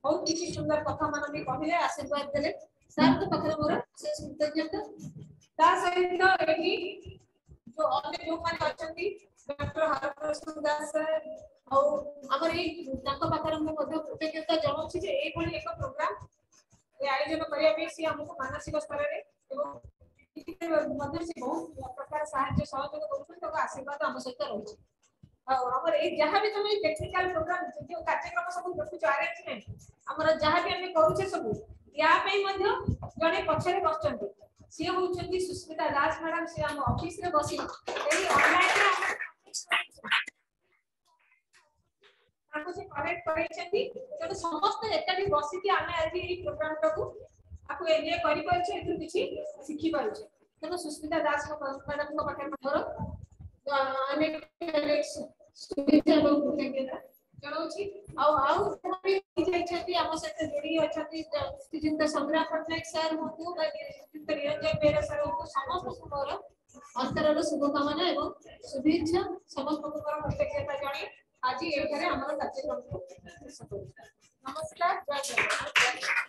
ବହୁତ କିଛି ସୁନ୍ଦର କଥା ମାନ ବି କହିଲେ ଆଶୀର୍ବାଦ ଦେଲେ। ସାର୍ଙ୍କ ପାଖରେ ମୋର ଅଶେଷ କୃତଜ୍ଞତା। ତା ସହିତ ଏଠି ଯୋଉ ଅନ୍ୟ ଯୋଉମାନେ ଅଛନ୍ତି ଡକ୍ଟର ହରପ୍ରସାଦ ଦାସ ସାର୍ ଆଉ ଆମର ଏଇ ତାଙ୍କ ପାଖରେ ମୁଁ ମଧ୍ୟ କୃତଜ୍ଞତା ଜଣାଉଛି ଯେ ଏଇଭଳି ଏକ ପ୍ରୋଗ୍ରାମ ଆୟୋଜନ କରିବା ପାଇଁ ସିଏ ଆମକୁ ମାନସିକ ସ୍ତରରେ ଏବଂ ମଧ୍ୟ ସେ ବହୁତ ପ୍ରକାର ସାହାଯ୍ୟ ସହଯୋଗ କରୁଛନ୍ତି। ତାଙ୍କ ଆଶୀର୍ବାଦ ଆମ ସହିତ ରହୁଛି। ଆଉ ଆମର ଏଇ ଯାହା ବି ତମେ ଟେକ୍ନିକାଲ ପ୍ରୋଗ୍ରାମ ଯୋଉ କାର୍ଯ୍ୟକ୍ରମ ସବୁ ଦେଖୁଛ ଆରେଞ୍ଜମେଣ୍ଟ ଆମର ଯାହା ବି ଆମେ କରୁଛେ ସବୁ ୟା ପାଇଁ ମଧ୍ୟ ଜଣେ ପଛରେ ବସିଛନ୍ତି ସିଏ ହଉଛନ୍ତି ସୁସ୍ମିତା ଦାସ ମ୍ୟାଡାମ। ସିଏ ଆମ ଅଫିସରେ ବସି ଏଇ ଅନଲାଇନରେ ତାଙ୍କୁ ତାଙ୍କୁ ସେ କରେକ୍ଟ କରେଇଛନ୍ତି। ତେଣୁ ସମସ୍ତେ ଏକାଠି ବସିକି ଆମେ ଆଜି ଏଇ ପ୍ରୋଗ୍ରାମଟାକୁ ଆକୁ ଏନ୍ଜୟ କରିପାରୁଛେ, ଏଥିରୁ କିଛି ଶିଖିପାରୁଛେ। ତେଣୁ ସୁସ୍ମିତା ଦାସ ମ୍ୟାଡାମଙ୍କ ପାଖରେ ମୋର ଅନେକ ଅନେକ ଶୁଭେଚ୍ଛା ଏବଂ କୃତଜ୍ଞତା ଜଣାଉଛି। ଆଉ ଆଉ ଯାହା ବି ଯାଇଛନ୍ତି ଆମ ସହିତ ଯୋଡି ଅଛନ୍ତି, ଶ୍ରୀଯୁକ୍ତ ସଂଗ୍ରାମ ପଟ୍ଟନାୟକ ସାର୍ ହୁଅନ୍ତୁ ବା ଶ୍ରୀଯୁକ୍ତ ନିରଞ୍ଜନ ବେହେରା ସାର୍ ହୁଅନ୍ତୁ, ସମସ୍ତଙ୍କୁ ମୋର ଅନ୍ତରର ଶୁଭକାମନା ଏବଂ ଶୁଭେଚ୍ଛା, ସମସ୍ତଙ୍କୁ ମୋର କୃତଜ୍ଞତା ଜଣାଇ ଆଜି ଏଠାରେ ଆମର କାର୍ଯ୍ୟକ୍ରମକୁ ଶେଷ କରୁଛୁ। ନମସ୍କାର, ଜୟ ଜଗନ୍ନାଥ।